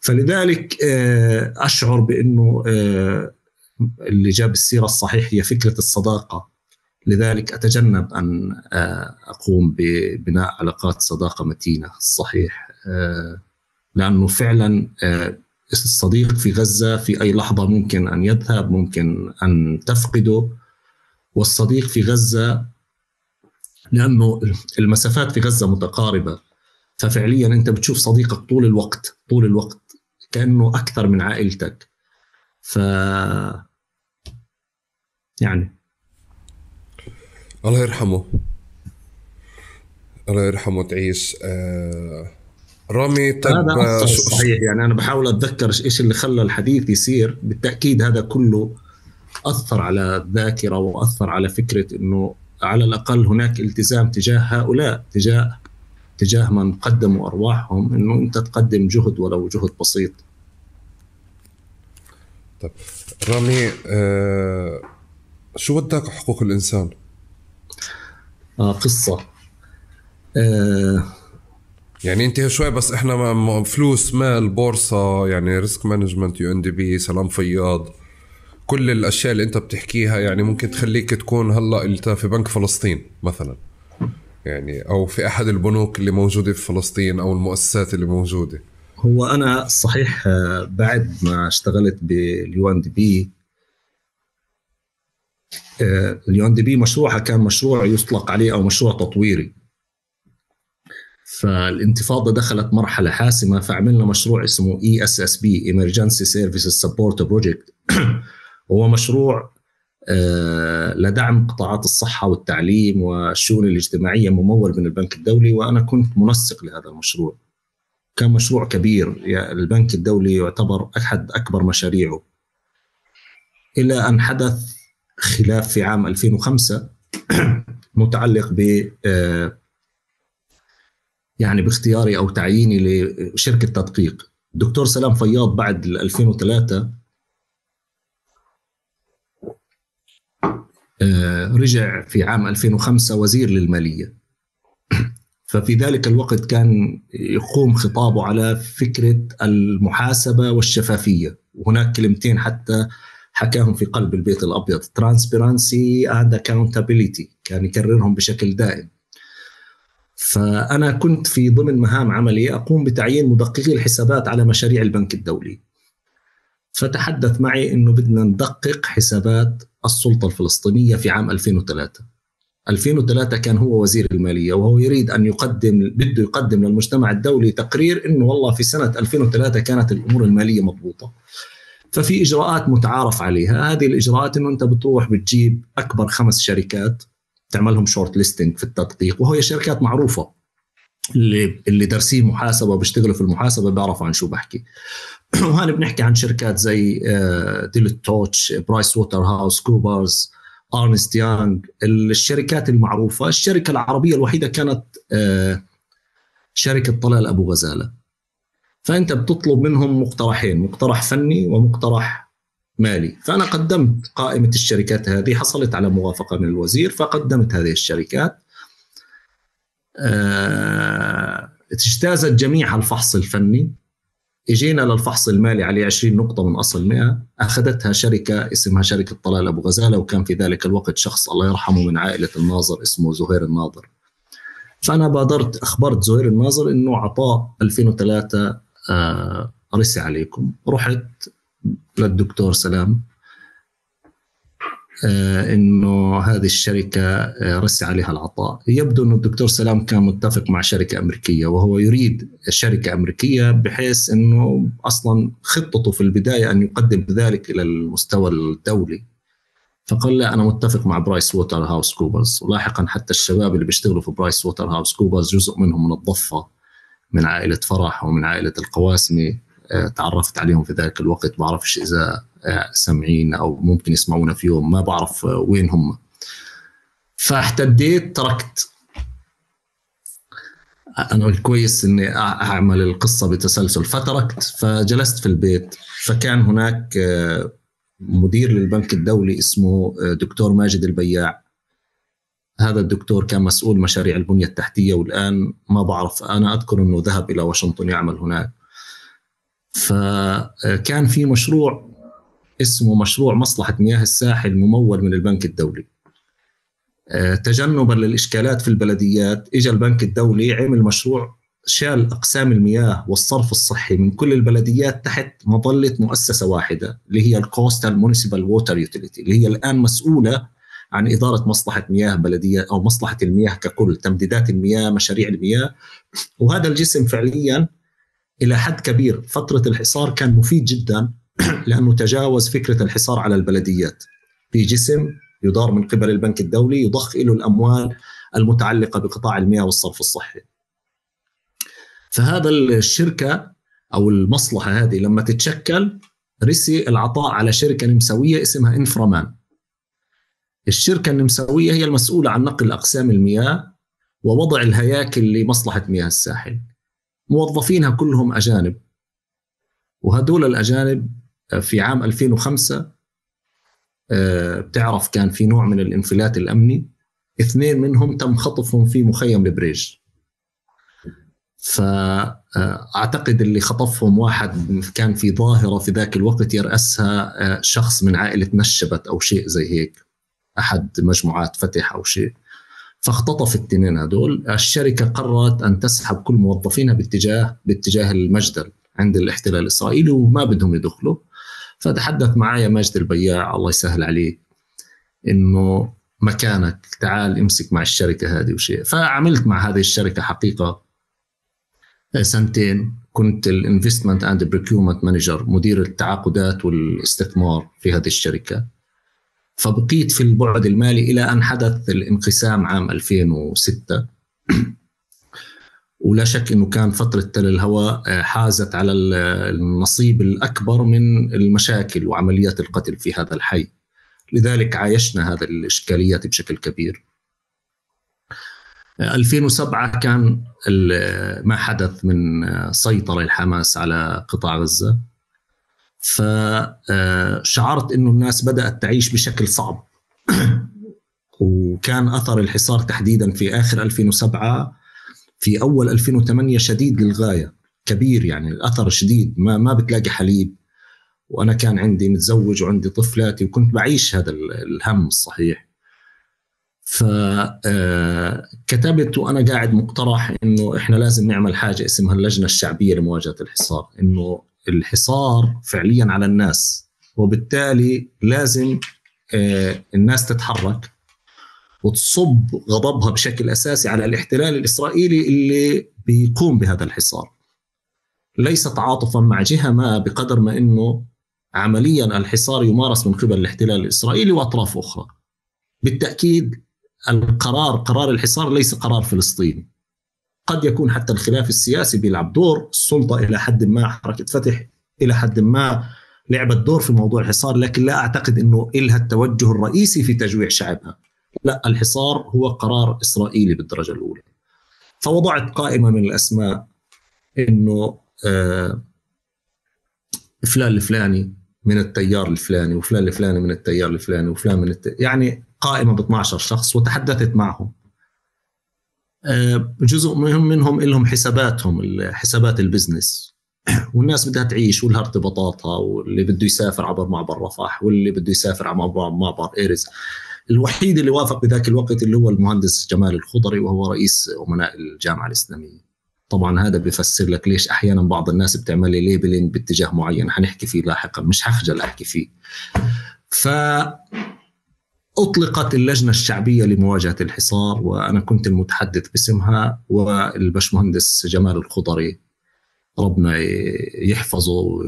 فلذلك أشعر بأنه اللي جاب السيرة الصحيح هي فكرة الصداقة. لذلك أتجنب أن أقوم ببناء علاقات صداقة متينة الصحيح، لأنه فعلا الصديق في غزة في أي لحظة ممكن أن يذهب، ممكن أن تفقده. والصديق في غزة، لأنه المسافات في غزة متقاربة، ففعليا أنت بتشوف صديقك طول الوقت كأنه أكثر من عائلتك. يعني الله يرحمه، الله يرحمه. تعيش رامي. هذا صحيح، يعني أنا بحاول أتذكر إيش اللي خلى الحديث يصير. بالتأكيد هذا كله أثر على الذاكرة وأثر على فكرة أنه على الأقل هناك التزام تجاه هؤلاء، تجاه من قدموا أرواحهم، أنه أنت تقدم جهد ولو جهد بسيط. طيب رامي، شو وداك حقوق الإنسان؟ قصة يعني انت شوي بس احنا فلوس، مال، بورصة، يعني ريسك مانجمنت، UNDP، سلام فياض، كل الاشياء اللي انت بتحكيها يعني ممكن تخليك تكون هلا انت في بنك فلسطين مثلا، يعني او في احد البنوك اللي موجودة في فلسطين او المؤسسات اللي موجودة. هو انا صحيح بعد ما اشتغلت بالUNDP، الUNDP مشروعها كان مشروع يطلق عليه او مشروع تطويري. فالانتفاضة دخلت مرحلة حاسمة، فعملنا مشروع اسمه ESSP Emergency Services Support Project. هو مشروع لدعم قطاعات الصحة والتعليم والشؤون الاجتماعية، ممول من البنك الدولي، وأنا كنت منسق لهذا المشروع. كان مشروع كبير، يعني البنك الدولي يعتبر أحد أكبر مشاريعه، إلى أن حدث خلاف في عام 2005 متعلق ب يعني باختياري أو تعييني لشركة تدقيق. الدكتور سلام فياض بعد 2003 رجع في عام 2005 وزير للمالية، ففي ذلك الوقت كان يقوم خطابه على فكرة المحاسبة والشفافية، وهناك كلمتين حتى حكاهم في قلب البيت الأبيض: transparency and accountability، كان يكررهم بشكل دائم. فأنا كنت في ضمن مهام عملي أقوم بتعيين مدققي الحسابات على مشاريع البنك الدولي، فتحدث معي إنه بدنا ندقق حسابات السلطة الفلسطينية في عام 2003 كان هو وزير المالية، وهو يريد أن بده يقدم للمجتمع الدولي تقرير إنه والله في سنة 2003 كانت الأمور المالية مضبوطة. ففي إجراءات متعارف عليها، هذه الإجراءات إنه أنت بتروح بتجيب أكبر 5 شركات تعملهم شورت ليستنج في التدقيق، وهي شركات معروفة اللي دارسين محاسبة وبيشتغلوا في المحاسبة بيعرفوا عن شو بحكي. وهنا بنحكي عن شركات زي ديلويت توتش، برايس ووتر هاوس كوبرز، أرنست يانغ، الشركات المعروفة. الشركة العربية الوحيدة كانت شركة طلال أبو غزالة. فأنت بتطلب منهم مقترحين: مقترح فني ومقترح مالي. فأنا قدمت قائمة الشركات هذه، حصلت على موافقة من الوزير، فقدمت هذه الشركات. اجتازت جميع الفحص الفني، اجينا للفحص المالي عليه 20 نقطة من أصل 100. أخذتها شركة اسمها شركة طلال أبو غزالة، وكان في ذلك الوقت شخص الله يرحمه من عائلة الناظر اسمه زهير الناظر. فأنا بادرت أخبرت زهير الناظر إنه عطاء 2003 رسي عليكم. رحت للدكتور سلام إنه هذه الشركة رسي عليها العطاء. يبدو إنه الدكتور سلام كان متفق مع شركة أمريكية، وهو يريد شركة أمريكية، بحيث إنه أصلاً خطته في البداية أن يقدم ذلك إلى المستوى الدولي. فقال لا، أنا متفق مع برايس ووتر هاوس كوبرز. ولاحقاً حتى الشباب اللي بيشتغلوا في برايس ووتر هاوس كوبرز جزء منهم من الضفة، من عائلة فرح ومن عائلة القواسمي، تعرفت عليهم في ذلك الوقت. بعرفش إذا سمعين أو ممكن يسمعونا في يوم، ما بعرف وين هم. فاحتديت، تركت. أنا كويس إني أعمل القصة بتسلسل، فتركت. فجلست في البيت. فكان هناك مدير للبنك الدولي اسمه دكتور ماجد البياع. هذا الدكتور كان مسؤول مشاريع البنية التحتية، والآن ما بعرف، أنا أذكر أنه ذهب إلى واشنطن يعمل هناك. فكان في مشروع اسمه مشروع مصلحة مياه الساحل ممول من البنك الدولي. تجنبا للإشكالات في البلديات، إجا البنك الدولي عمل مشروع، شال أقسام المياه والصرف الصحي من كل البلديات تحت مظلة مؤسسة واحدة، اللي هي الكوستال مونيسيبال ووتر يوتيليتي، اللي هي الآن مسؤولة عن إدارة مصلحة مياه بلدية أو مصلحة المياه ككل، تمديدات المياه، مشاريع المياه. وهذا الجسم فعليا إلى حد كبير فترة الحصار كان مفيد جدا، لأنه تجاوز فكرة الحصار على البلديات. في جسم يدار من قبل البنك الدولي يضخ له الأموال المتعلقة بقطاع المياه والصرف الصحي. فهذا الشركة أو المصلحة هذه لما تتشكل رسي العطاء على شركة نمساوية اسمها إنفرامان. الشركة النمساوية هي المسؤولة عن نقل أقسام المياه ووضع الهياكل لمصلحة مياه الساحل. موظفينها كلهم أجانب، وهدول الأجانب في عام 2005 بتعرف كان في نوع من الانفلات الأمني، 2 منهم تم خطفهم في مخيم البريج. فأعتقد اللي خطفهم واحد كان في ظاهرة في ذاك الوقت يرأسها شخص من عائلة نشبت أو شيء زي هيك، أحد مجموعات فتح أو شيء. فاختطف 2 هدول. الشركة قررت أن تسحب كل موظفينها باتجاه المجدل عند الاحتلال الإسرائيلي، وما بدهم يدخلوا. فتحدث معايا ماجد البياع الله يسهل عليه إنه مكانك، تعال امسك مع الشركة هذه وشيء. فعملت مع هذه الشركة حقيقة 2 كنت الانفستمنت اند بريكيومنت مانجر، مدير التعاقدات والاستثمار في هذه الشركة. فبقيت في البعد المالي إلى أن حدث الانقسام عام 2006. ولا شك أنه كان فترة تل الهواء حازت على النصيب الأكبر من المشاكل وعمليات القتل في هذا الحي، لذلك عايشنا هذا الإشكاليات بشكل كبير. 2007 كان ما حدث من سيطرة الحماس على قطاع غزة، فشعرت أنه الناس بدأت تعيش بشكل صعب. وكان أثر الحصار تحديدا في آخر 2007 في أول 2008 شديد للغاية، كبير يعني الأثر شديد، ما بتلاقي حليب، وأنا كان عندي متزوج وعندي طفلاتي وكنت بعيش هذا الهم الصحيح. فكتبت وأنا قاعد مقترح إنه إحنا لازم نعمل حاجة اسمها اللجنة الشعبية لمواجهة الحصار، إنه الحصار فعليا على الناس، وبالتالي لازم الناس تتحرك وتصب غضبها بشكل أساسي على الاحتلال الإسرائيلي اللي بيقوم بهذا الحصار، ليس تعاطفا مع جهة ما بقدر ما إنه عمليا الحصار يمارس من قبل الاحتلال الإسرائيلي وأطراف أخرى. بالتأكيد قرار الحصار ليس قرار فلسطيني، قد يكون حتى الخلاف السياسي بيلعب دور، السلطة إلى حد ما، حركة فتح إلى حد ما لعبت دور في موضوع الحصار، لكن لا أعتقد أنه إلها التوجه الرئيسي في تجويع شعبها. لا، الحصار هو قرار إسرائيلي بالدرجة الأولى. فوضعت قائمة من الأسماء، إنه فلان الفلاني من التيار الفلاني، وفلان الفلاني من التيار الفلاني، وفلان من يعني قائمة ب 12 شخص، وتحدثت معهم. جزء منهم لهم حساباتهم، حسابات البزنس، والناس بدها تعيش ولها ارتباطاتها، واللي بده يسافر عبر معبر رفح، واللي بده يسافر عبر معبر إيرز. الوحيد اللي وافق بذاك الوقت اللي هو المهندس جمال الخضري، وهو رئيس أمناء الجامعة الإسلامية. طبعا هذا بيفسر لك ليش أحيانا بعض الناس بتعمل لي ليبلينج باتجاه معين، حنحكي فيه لاحقا، مش هخجل أحكي فيه. فأطلقت اللجنة الشعبية لمواجهة الحصار، وأنا كنت المتحدث باسمها، والبشمهندس جمال الخضري ربنا يحفظه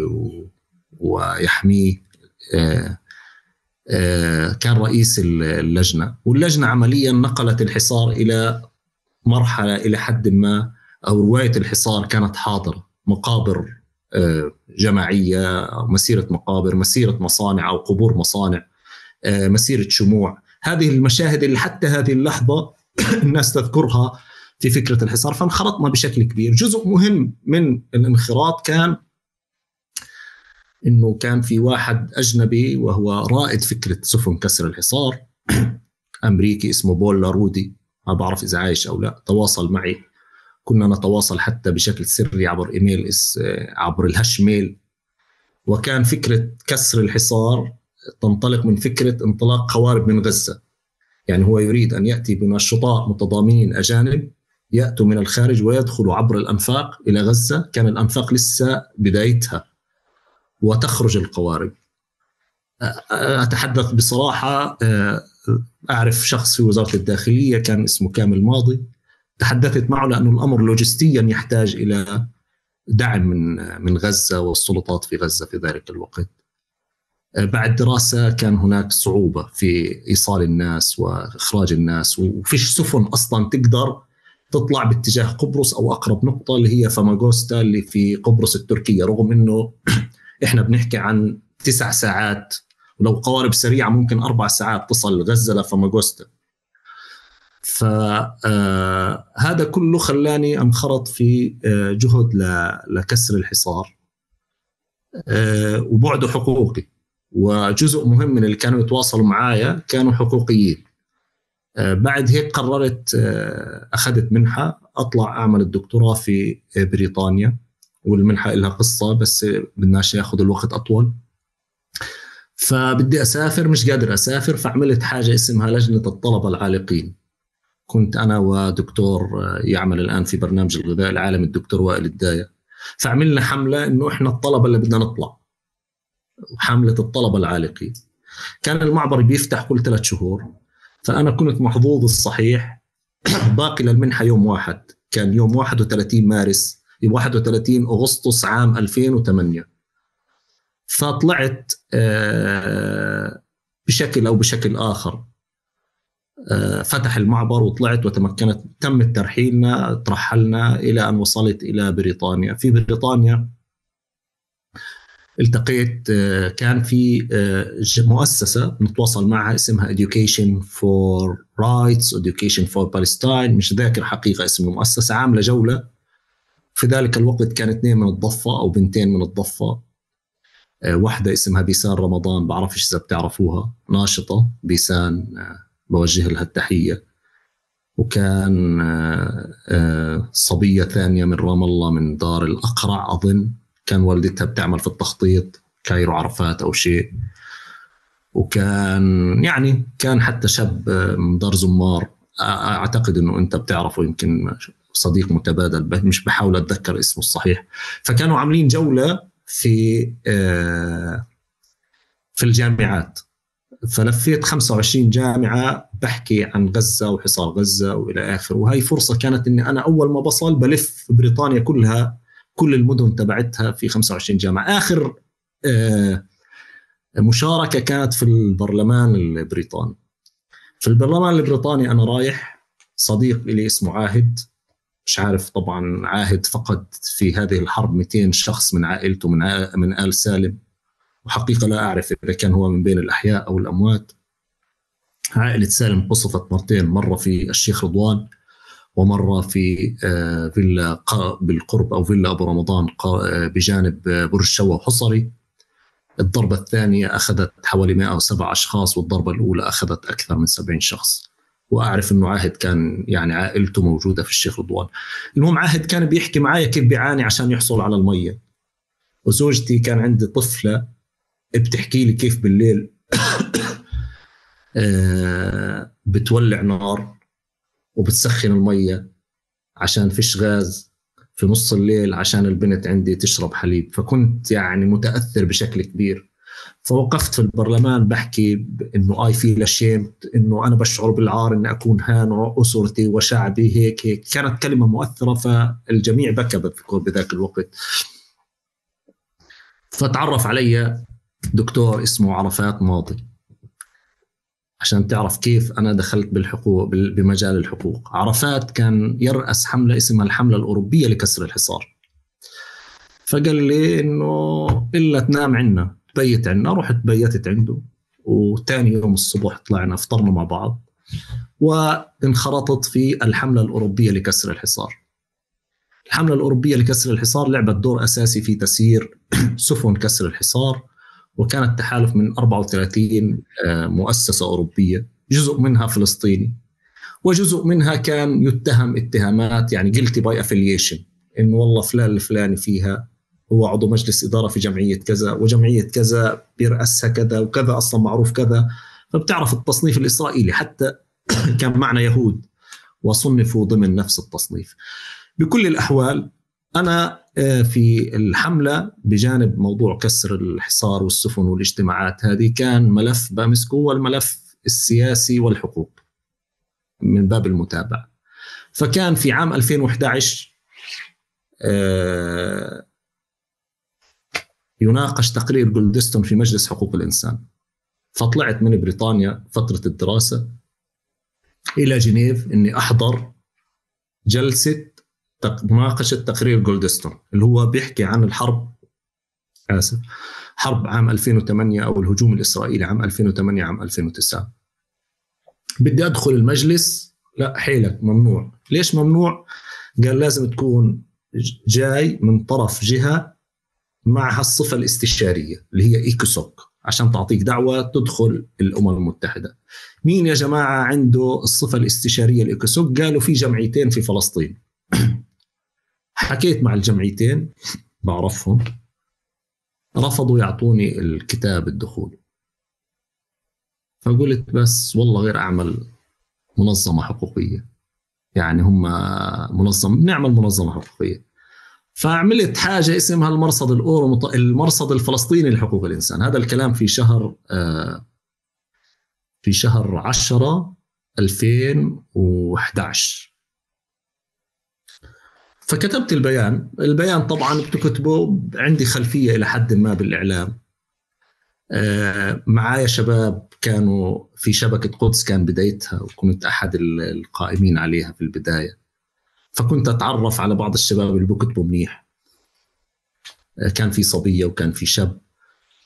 ويحميه كان رئيس اللجنة. واللجنة عمليا نقلت الحصار إلى مرحلة إلى حد ما، أو رواية الحصار كانت حاضرة، مقابر جماعية، مسيرة مقابر، مسيرة مصانع أو قبور مصانع، مسيرة شموع. هذه المشاهد اللي حتى هذه اللحظة الناس تذكرها في فكرة الحصار. فانخرطنا بشكل كبير. جزء مهم من الانخراط كان إنه كان في واحد أجنبي وهو رائد فكرة سفن كسر الحصار، أمريكي اسمه بول لارودي، ما بعرف إذا عايش أو لا، تواصل معي، كنا نتواصل حتى بشكل سري عبر إيميل عبر الهاش ميل. وكان فكرة كسر الحصار تنطلق من فكرة انطلاق قوارب من غزة، يعني هو يريد أن يأتي بنشطاء متضامنين أجانب يأتوا من الخارج ويدخلوا عبر الأنفاق إلى غزة، كان الأنفاق لسه بدايتها، وتخرج القوارب. أتحدث بصراحة، أعرف شخص في وزارة الداخلية كان اسمه كامل ماضي، تحدثت معه لأنه الأمر لوجستيا يحتاج إلى دعم من غزة والسلطات في غزة في ذلك الوقت. بعد دراسة كان هناك صعوبة في إيصال الناس وإخراج الناس، وفيش سفن أصلا تقدر تطلع باتجاه قبرص أو أقرب نقطة اللي هي فاماغوستا اللي في قبرص التركية، رغم أنه إحنا بنحكي عن 9 ساعات، ولو قوارب سريعة ممكن 4 ساعات تصل غزة لفاماغوستا. فهذا كله خلاني أنخرط في جهد لكسر الحصار، وبعده حقوقي. وجزء مهم من اللي كانوا يتواصلوا معايا كانوا حقوقيين. بعد هيك قررت، أخذت منحة أطلع أعمل الدكتوراه في بريطانيا، والمنحة لها قصة بس بدناش ياخد الوقت أطول. فبدي أسافر، مش قادر أسافر، فعملت حاجة اسمها لجنة الطلبة العالقين. كنت أنا ودكتور يعمل الآن في برنامج الغذاء العالمي الدكتور وائل الداية، فعملنا حملة إنه إحنا الطلبة اللي بدنا نطلع، حملة الطلبة العالقين. كان المعبر بيفتح كل 3 شهور، فأنا كنت محظوظ الصحيح باقي للمنحة يوم واحد، كان يوم 31 مارس 31 أغسطس عام 2008. فطلعت بشكل أو بشكل آخر فتح المعبر وطلعت وتمكنت، تم ترحيلنا، ترحلنا إلى أن وصلت إلى بريطانيا. في بريطانيا التقيت، كان في مؤسسة نتواصل معها اسمها Education for Rights Education for Palestine، مش ذاكر حقيقة اسم المؤسسة، عاملة جولة. في ذلك الوقت كان 2 من الضفة أو بنتين من الضفة، واحدة اسمها بيسان رمضان، بعرفش إذا بتعرفوها، ناشطة بيسان، بوجه لها التحية. وكان صبية ثانية من رام الله من دار الأقرع أظن، كان والدتها بتعمل في التخطيط كايرو عرفات أو شيء. وكان يعني كان حتى شاب من دار زمار، أعتقد أنه أنت بتعرفه، يمكن صديق متبادل، مش بحاول أتذكر اسمه الصحيح. فكانوا عاملين جولة في الجامعات، فلفيت 25 جامعة بحكي عن غزة وحصار غزة وإلى آخر. وهي فرصة كانت إني أنا أول ما بصل بلف بريطانيا كلها، كل المدن تبعتها في 25 جامعة. آخر مشاركة كانت في البرلمان البريطاني. في البرلمان البريطاني أنا رايح، صديق لي اسمه عاهد، مش عارف طبعا، عاهد فقد في هذه الحرب 200 شخص من عائلته، من آل سالم، وحقيقة لا أعرف إذا كان هو من بين الأحياء أو الأموات. عائلة سالم قصفت مرتين، مرة في الشيخ رضوان ومرة في فيلا بالقرب أو فيلا أبو رمضان بجانب برج شوا وحصري. الضربة الثانية أخذت حوالي 107 أشخاص، والضربة الأولى أخذت أكثر من 70 شخص. وأعرف أنه عاهد كان يعني عائلته موجودة في الشيخ رضوان. المهم عاهد كان بيحكي معايا كيف بيعاني عشان يحصل على المية، وزوجتي كان عندي طفلة بتحكي لي كيف بالليل بتولع نار وبتسخن المية عشان فيش غاز في نص الليل عشان البنت عندي تشرب حليب. فكنت يعني متأثر بشكل كبير. فوقفت في البرلمان بحكي إنه feel ashamed، إنه أنا بشعر بالعار إن أكون هان أسرتي وشعبي هيك. كانت كلمة مؤثرة، فالجميع بكى بذاك الوقت. فتعرف علي دكتور اسمه عرفات ماضي، عشان تعرف كيف أنا دخلت بالحقوق، بمجال الحقوق. عرفات كان يرأس حملة اسمها الحملة الأوروبية لكسر الحصار. فقال لي إنه إلا تنام عنا، تبيت عنا. رحت بيتت عنده، وتاني يوم الصبح طلعنا فطرنا مع بعض، وانخرطت في الحملة الأوروبية لكسر الحصار. الحملة الأوروبية لكسر الحصار لعبت دور أساسي في تسيير سفن كسر الحصار، وكانت تحالف من 34 مؤسسة أوروبية، جزء منها فلسطيني، وجزء منها كان يتهم اتهامات يعني guilty by affiliation، إنه والله فلان الفلاني فيها هو عضو مجلس إدارة في جمعية كذا، وجمعية كذا بيرأسها كذا وكذا، أصلا معروف كذا. فبتعرف التصنيف الإسرائيلي، حتى كان معنا يهود وصنفوا ضمن نفس التصنيف. بكل الأحوال أنا في الحملة بجانب موضوع كسر الحصار والسفن والاجتماعات هذه، كان ملف بمسكه هو الملف السياسي والحقوق من باب المتابعة. فكان في عام 2011 يناقش تقرير جولدستون في مجلس حقوق الإنسان. فطلعت من بريطانيا فترة الدراسة إلى جنيف إني أحضر جلسة مناقشة تقرير جولدستون، اللي هو بيحكي عن الحرب، حرب عام 2008 أو الهجوم الإسرائيلي عام 2008 عام 2009. بدي أدخل المجلس، لا حيلك ممنوع. ليش ممنوع؟ قال لازم تكون جاي من طرف جهة معها الصفة الاستشارية اللي هي إيكوسوك، عشان تعطيك دعوة تدخل الأمم المتحدة. مين يا جماعة عنده الصفة الاستشارية الإيكوسوك؟ قالوا في جمعيتين في فلسطين. حكيت مع الجمعيتين بعرفهم، رفضوا يعطوني الكتاب الدخول. فقلت بس والله غير أعمل منظمة حقوقية، يعني هم نعمل منظمة حقوقية. فعملت حاجة اسمها المرصد المرصد الفلسطيني لحقوق الإنسان. هذا الكلام في شهر 10 2011. فكتبت البيان طبعا بتكتبه، عندي خلفية إلى حد ما بالإعلام، معايا شباب كانوا في شبكة قدس كان بدايتها، وكنت أحد القائمين عليها في البداية، فكنت أتعرف على بعض الشباب اللي بكتبوا منيح. كان في صبية وكان في شاب،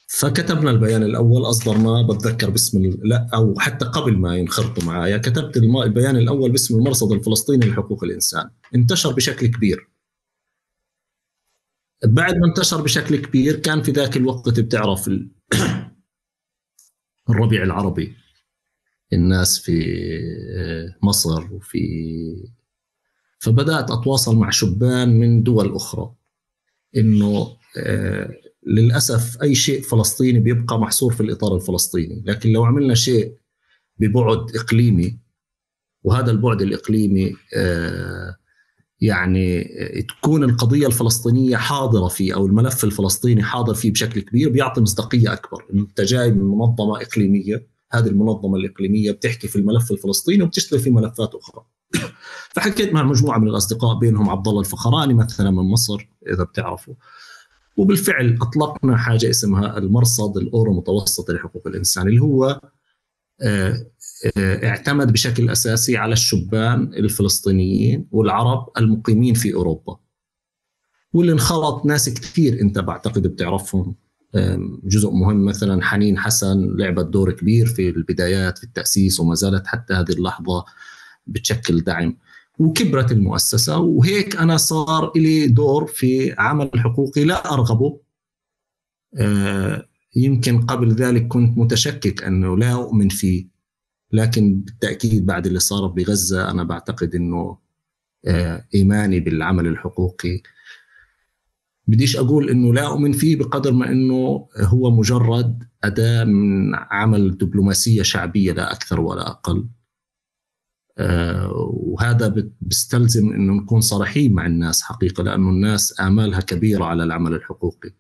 فكتبنا البيان الأول، أصدرناه بتذكر باسم لا أو حتى قبل ما ينخرطوا معايا كتبت البيان الأول باسم المرصد الفلسطيني لحقوق الإنسان. انتشر بشكل كبير. بعد ما انتشر بشكل كبير كان في ذاك الوقت بتعرف الربيع العربي، الناس في مصر فبدأت أتواصل مع شبان من دول أخرى إنه للأسف أي شيء فلسطيني بيبقى محصور في الإطار الفلسطيني، لكن لو عملنا شيء ببعد إقليمي، وهذا البعد الإقليمي يعني تكون القضية الفلسطينية حاضرة فيه أو الملف الفلسطيني حاضر فيه بشكل كبير، بيعطي مصداقية أكبر. أنت جاي من منظمة إقليمية، هذه المنظمة الإقليمية بتحكي في الملف الفلسطيني وبتشتغل في ملفات أخرى. فحكيت مع مجموعة من الأصدقاء بينهم عبد الله الفخراني مثلا من مصر إذا بتعرفوا، وبالفعل أطلقنا حاجة اسمها المرصد الأورو متوسطي لحقوق الإنسان، اللي هو اعتمد بشكل أساسي على الشبان الفلسطينيين والعرب المقيمين في أوروبا، واللي انخرط ناس كثير أنت بعتقد بتعرفهم. جزء مهم مثلا حنين حسن لعبت دور كبير في البدايات في التأسيس، وما زالت حتى هذه اللحظة بتشكل دعم، وكبرت المؤسسة. وهيك أنا صار لي دور في عمل حقوقي لا أرغبه. يمكن قبل ذلك كنت متشكك أنه لا أؤمن فيه، لكن بالتأكيد بعد اللي صار بغزة أنا بعتقد أنه إيماني بالعمل الحقوقي بديش أقول أنه لا أؤمن فيه بقدر ما أنه هو مجرد أداة من عمل دبلوماسية شعبية لا أكثر ولا أقل. وهذا بيستلزم أنه نكون صريحين مع الناس حقيقة، لأنه الناس آمالها كبيرة على العمل الحقوقي.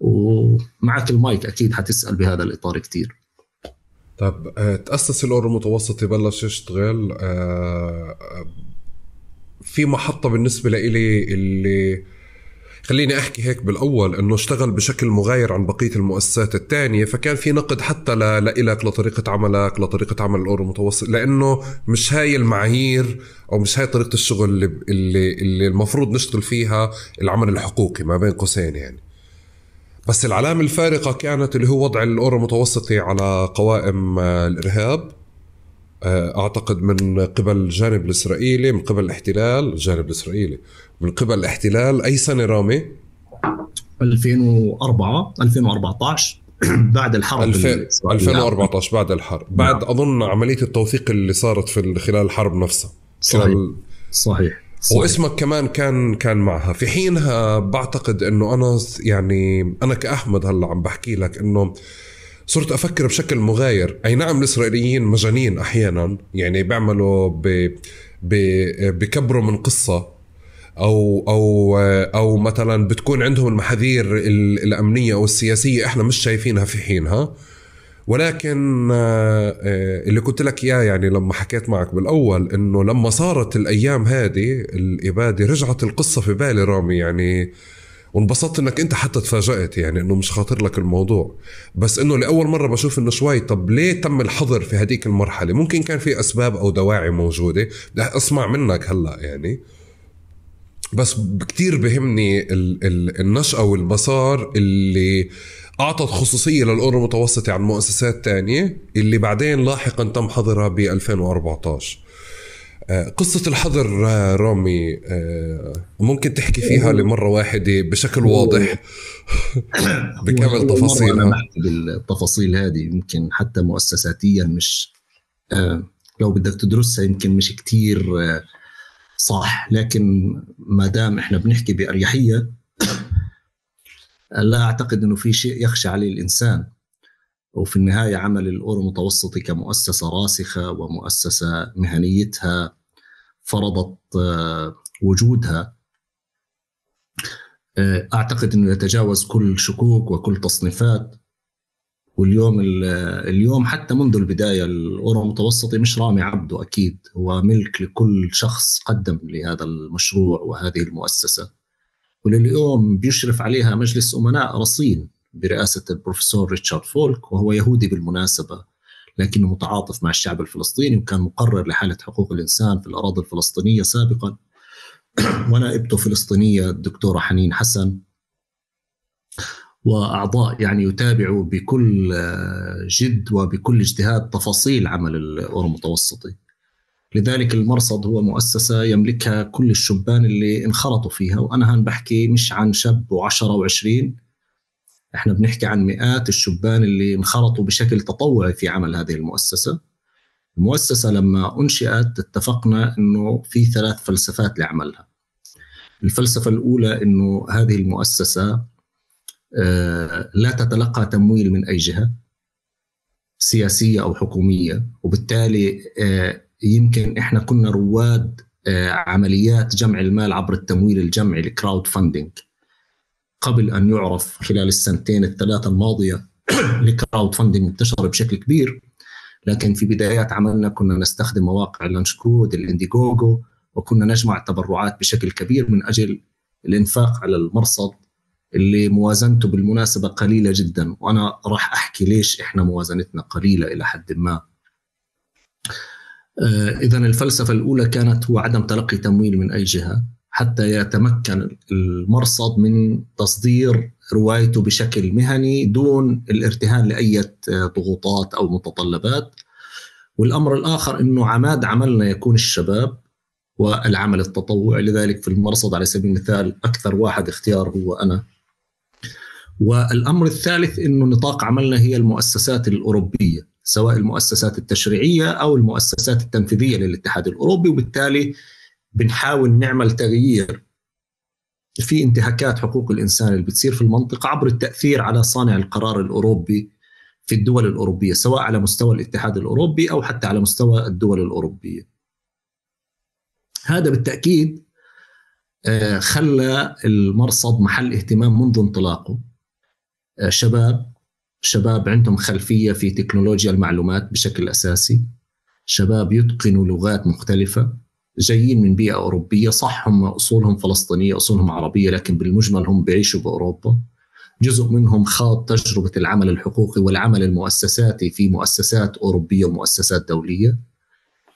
ومعك المايك أكيد حتسأل بهذا الإطار كتير. طب تأسس الأورو المتوسطي بلش يشتغل في محطة بالنسبة لإلي اللي خليني أحكي هيك بالأول إنه اشتغل بشكل مغاير عن بقية المؤسسات التانية، فكان في نقد حتى لإلك لطريقة عملك لطريقة عمل الأورو المتوسط، لأنه مش هاي المعايير أو مش هاي طريقة الشغل اللي المفروض نشتغل فيها العمل الحقوقي ما بين قوسين يعني. بس العلامة الفارقة كانت اللي هو وضع الأورو المتوسطي على قوائم الإرهاب، أعتقد من قبل الجانب الإسرائيلي، من قبل الاحتلال الجانب الإسرائيلي، من قبل الاحتلال. أي سنة رامي؟ 2014 بعد الحرب 2014 بعد الحرب، بعد أظن عملية التوثيق اللي صارت في خلال الحرب نفسها. صحيح. واسمك كمان كان معها في حينها. بعتقد انه انا كأحمد هلا عم بحكي لك انه صرت افكر بشكل مغاير. اي نعم الاسرائيليين مجانين احيانا، يعني بيعملوا بكبروا من قصة او مثلا بتكون عندهم المحاذير الامنية او السياسية احنا مش شايفينها في حينها. ولكن اللي قلت لك إياه يعني لما حكيت معك بالأول إنه لما صارت الأيام هذه الإبادة رجعت القصة في بالي رامي يعني، وانبسطت إنك أنت حتى تفاجأت يعني إنه مش خاطر لك الموضوع، بس إنه لأول مرة بشوف إنه شوي طب ليه تم الحظر في هذيك المرحلة؟ ممكن كان في أسباب أو دواعي موجودة، بدي أسمع منك هلأ يعني. بس كتير بهمني النشأة والمسار اللي أعطت خصوصية للأورو المتوسطي عن مؤسسات تانية اللي بعدين لاحقا تم حظرها ب 2014. قصة الحظر رامي ممكن تحكي فيها لمرة واحدة بشكل واضح بكامل تفاصيلها؟ أنا بحكي بالتفاصيل هذه يمكن حتى مؤسساتيا مش لو بدك تدرسها يمكن مش كتير صح، لكن ما دام احنا بنحكي بأريحية لا أعتقد أنه في شيء يخشى عليه الإنسان. وفي النهاية عمل الأورو المتوسطي كمؤسسة راسخة ومؤسسة مهنيتها فرضت وجودها، أعتقد أنه يتجاوز كل شكوك وكل تصنيفات. واليوم حتى منذ البداية الأورو المتوسطي مش رامي عبده، أكيد هو ملك لكل شخص قدم لهذا المشروع وهذه المؤسسة، ولليوم بيشرف عليها مجلس أمناء رصين برئاسة البروفيسور ريتشارد فولك، وهو يهودي بالمناسبة لكنه متعاطف مع الشعب الفلسطيني، وكان مقرر لحالة حقوق الإنسان في الأراضي الفلسطينية سابقا، ونائبته فلسطينية الدكتورة حنين حسن، وأعضاء يعني يتابعوا بكل جد وبكل اجتهاد تفاصيل عمل الأورو المتوسطي. لذلك المرصد هو مؤسسة يملكها كل الشبان اللي انخرطوا فيها، وأنا هان بحكي مش عن شاب و10 و20، احنا بنحكي عن مئات الشبان اللي انخرطوا بشكل تطوعي في عمل هذه المؤسسة. المؤسسة لما أنشئت اتفقنا أنه في 3 فلسفات لعملها. الفلسفة الأولى أنه هذه المؤسسة لا تتلقى تمويل من أي جهة سياسية أو حكومية، وبالتالي يمكن إحنا كنا رواد عمليات جمع المال عبر التمويل الجمعي الكراود فاندينج قبل أن يعرف خلال السنتين الثلاثة الماضية. الكراود فاندينج انتشر بشكل كبير، لكن في بدايات عملنا كنا نستخدم مواقع لانشكود الانديغوغو، وكنا نجمع تبرعات بشكل كبير من أجل الإنفاق على المرصد اللي موازنته بالمناسبة قليلة جدا، وأنا راح أحكي ليش إحنا موازنتنا قليلة إلى حد ما. إذن الفلسفة الأولى كانت هو عدم تلقي تمويل من أي جهة حتى يتمكن المرصد من تصدير روايته بشكل مهني دون الارتهان لأي ضغوطات أو متطلبات. والأمر الآخر أنه عماد عملنا يكون الشباب والعمل التطوعي، لذلك في المرصد على سبيل المثال أكثر واحد اختيار هو أنا. والأمر الثالث أنه نطاق عملنا هي المؤسسات الأوروبية، سواء المؤسسات التشريعية أو المؤسسات التنفيذية للاتحاد الأوروبي، وبالتالي بنحاول نعمل تغيير في انتهاكات حقوق الإنسان اللي بتصير في المنطقة عبر التأثير على صانع القرار الأوروبي في الدول الأوروبية، سواء على مستوى الاتحاد الأوروبي أو حتى على مستوى الدول الأوروبية. هذا بالتأكيد خلى المرصد محل اهتمام منذ انطلاقه. شباب عندهم خلفية في تكنولوجيا المعلومات بشكل أساسي، شباب يتقنوا لغات مختلفة، جايين من بيئة أوروبية، صح هم أصولهم فلسطينية أصولهم عربية، لكن بالمجمل هم بيعيشوا بأوروبا. جزء منهم خاض تجربة العمل الحقوقي والعمل المؤسساتي في مؤسسات أوروبية ومؤسسات دولية،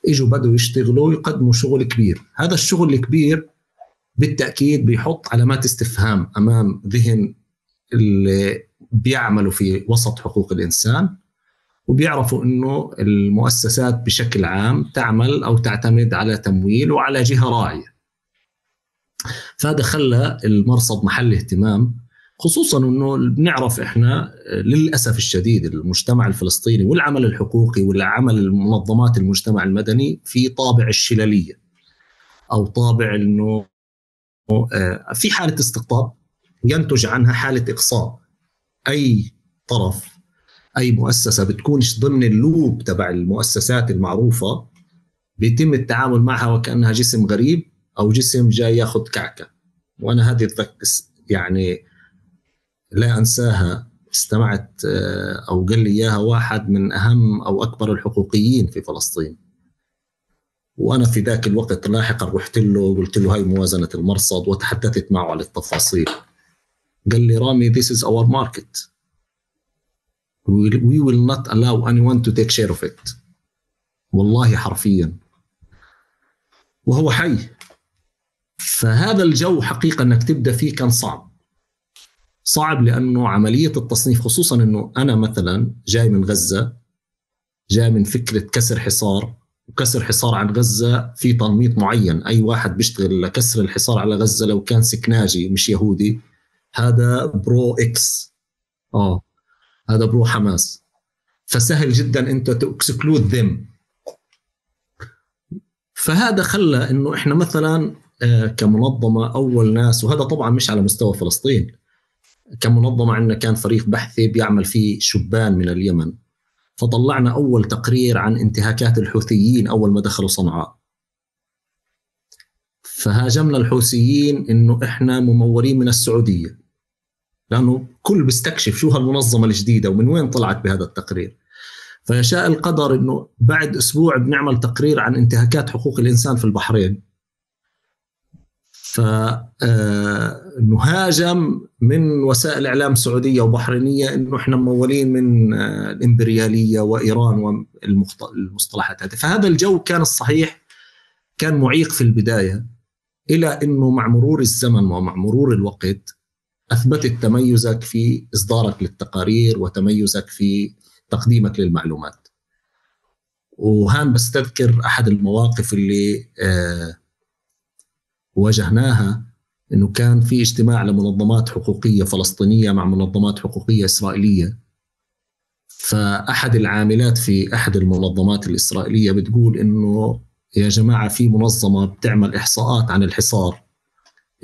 إجوا بدوا يشتغلوا ويقدموا شغل كبير. هذا الشغل الكبير بالتأكيد بيحط علامات استفهام أمام ذهن اللي بيعملوا في وسط حقوق الإنسان، وبيعرفوا أنه المؤسسات بشكل عام تعمل أو تعتمد على تمويل وعلى جهة راعية. فهذا خلى المرصد محل اهتمام، خصوصا أنه بنعرف إحنا للأسف الشديد المجتمع الفلسطيني والعمل الحقوقي والعمل المنظمات المجتمع المدني في طابع الشلالية، أو طابع أنه في حالة استقطاب ينتج عنها حالة إقصاء. أي طرف أي مؤسسة بتكونش ضمن اللوب تبع المؤسسات المعروفة بيتم التعامل معها وكأنها جسم غريب أو جسم جاي ياخد كعكة. وأنا هذه يعني لا أنساها، استمعت أو قال لي إياها واحد من أهم أو أكبر الحقوقيين في فلسطين، وأنا في ذاك الوقت لاحقا رحت له وقلت له هاي موازنة المرصد وتحدثت معه على التفاصيل. قال لي رامي this is our market, we will not allow anyone to take share of it. والله حرفيا، وهو حي. فهذا الجو حقيقة أنك تبدأ فيه كان صعب لأنه عملية التصنيف، خصوصا أنه أنا مثلا جاي من غزة، جاي من فكرة كسر حصار، وكسر حصار عن غزة في تنميط معين. أي واحد بيشتغل لكسر الحصار على غزة لو كان سكناجي مش يهودي هذا برو إكس، هذا برو حماس، فسهل جدا أنت تكسكلود ذم. فهذا خلى أنه إحنا مثلا كمنظمة أول ناس، وهذا طبعا مش على مستوى فلسطين، كمنظمة عندنا كان فريق بحثي بيعمل فيه شبان من اليمن، فطلعنا أول تقرير عن انتهاكات الحوثيين أول ما دخلوا صنعاء. فهاجمنا الحوثيين إنه إحنا ممورين من السعودية، لأنه كل بيستكشف شو هالمنظمة الجديدة ومن وين طلعت بهذا التقرير. فيشاء القدر إنه بعد أسبوع بنعمل تقرير عن انتهاكات حقوق الإنسان في البحرين. فنهاجم من وسائل إعلام سعودية وبحرينية إنه إحنا ممولين من الإمبريالية وإيران والمصطلحات هذه. فهذا الجو كان الصحيح كان معيق في البداية، إلى إنه مع مرور الزمن ومع مرور الوقت أثبتت تميزك في إصدارك للتقارير وتميزك في تقديمك للمعلومات. وهان بستذكر أحد المواقف اللي واجهناها، إنه كان في اجتماع لمنظمات حقوقية فلسطينية مع منظمات حقوقية إسرائيلية. فأحد العاملات في أحد المنظمات الإسرائيلية بتقول إنه يا جماعة في منظمة بتعمل إحصاءات عن الحصار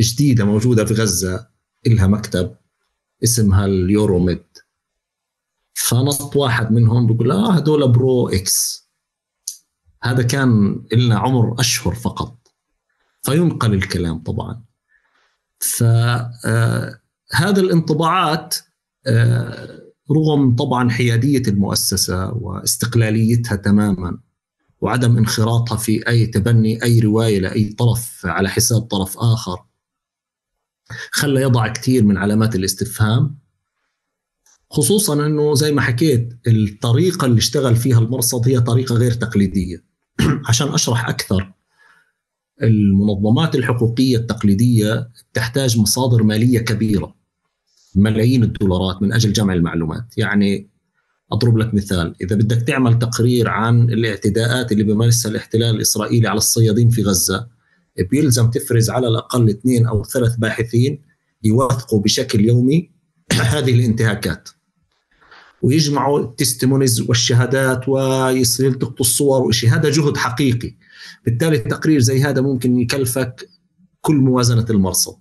جديدة موجودة في غزة، إلها مكتب اسمها اليوروميد. فنصت واحد منهم بيقول هدول برو إكس. هذا كان إلنا عمر أشهر فقط، فينقل الكلام طبعا. فهذا الانطباعات رغم طبعا حيادية المؤسسة واستقلاليتها تماما وعدم انخراطها في أي تبني أي رواية لأي طرف على حساب طرف آخر، خلى يضع كثير من علامات الاستفهام. خصوصا أنه زي ما حكيت الطريقة اللي اشتغل فيها المرصد هي طريقة غير تقليدية. عشان أشرح أكثر، المنظمات الحقوقية التقليدية تحتاج مصادر مالية كبيرة، ملايين الدولارات من أجل جمع المعلومات. يعني أضرب لك مثال، إذا بدك تعمل تقرير عن الاعتداءات اللي بيمارسها الاحتلال الإسرائيلي على الصيادين في غزة، بيلزم تفرز على الأقل 2 أو 3 باحثين يوثقوا بشكل يومي هذه الانتهاكات، ويجمعوا التستمونيز والشهادات ويلتقطوا الصور وإشي. هذا جهد حقيقي. بالتالي التقرير زي هذا ممكن يكلفك كل موازنة المرصد.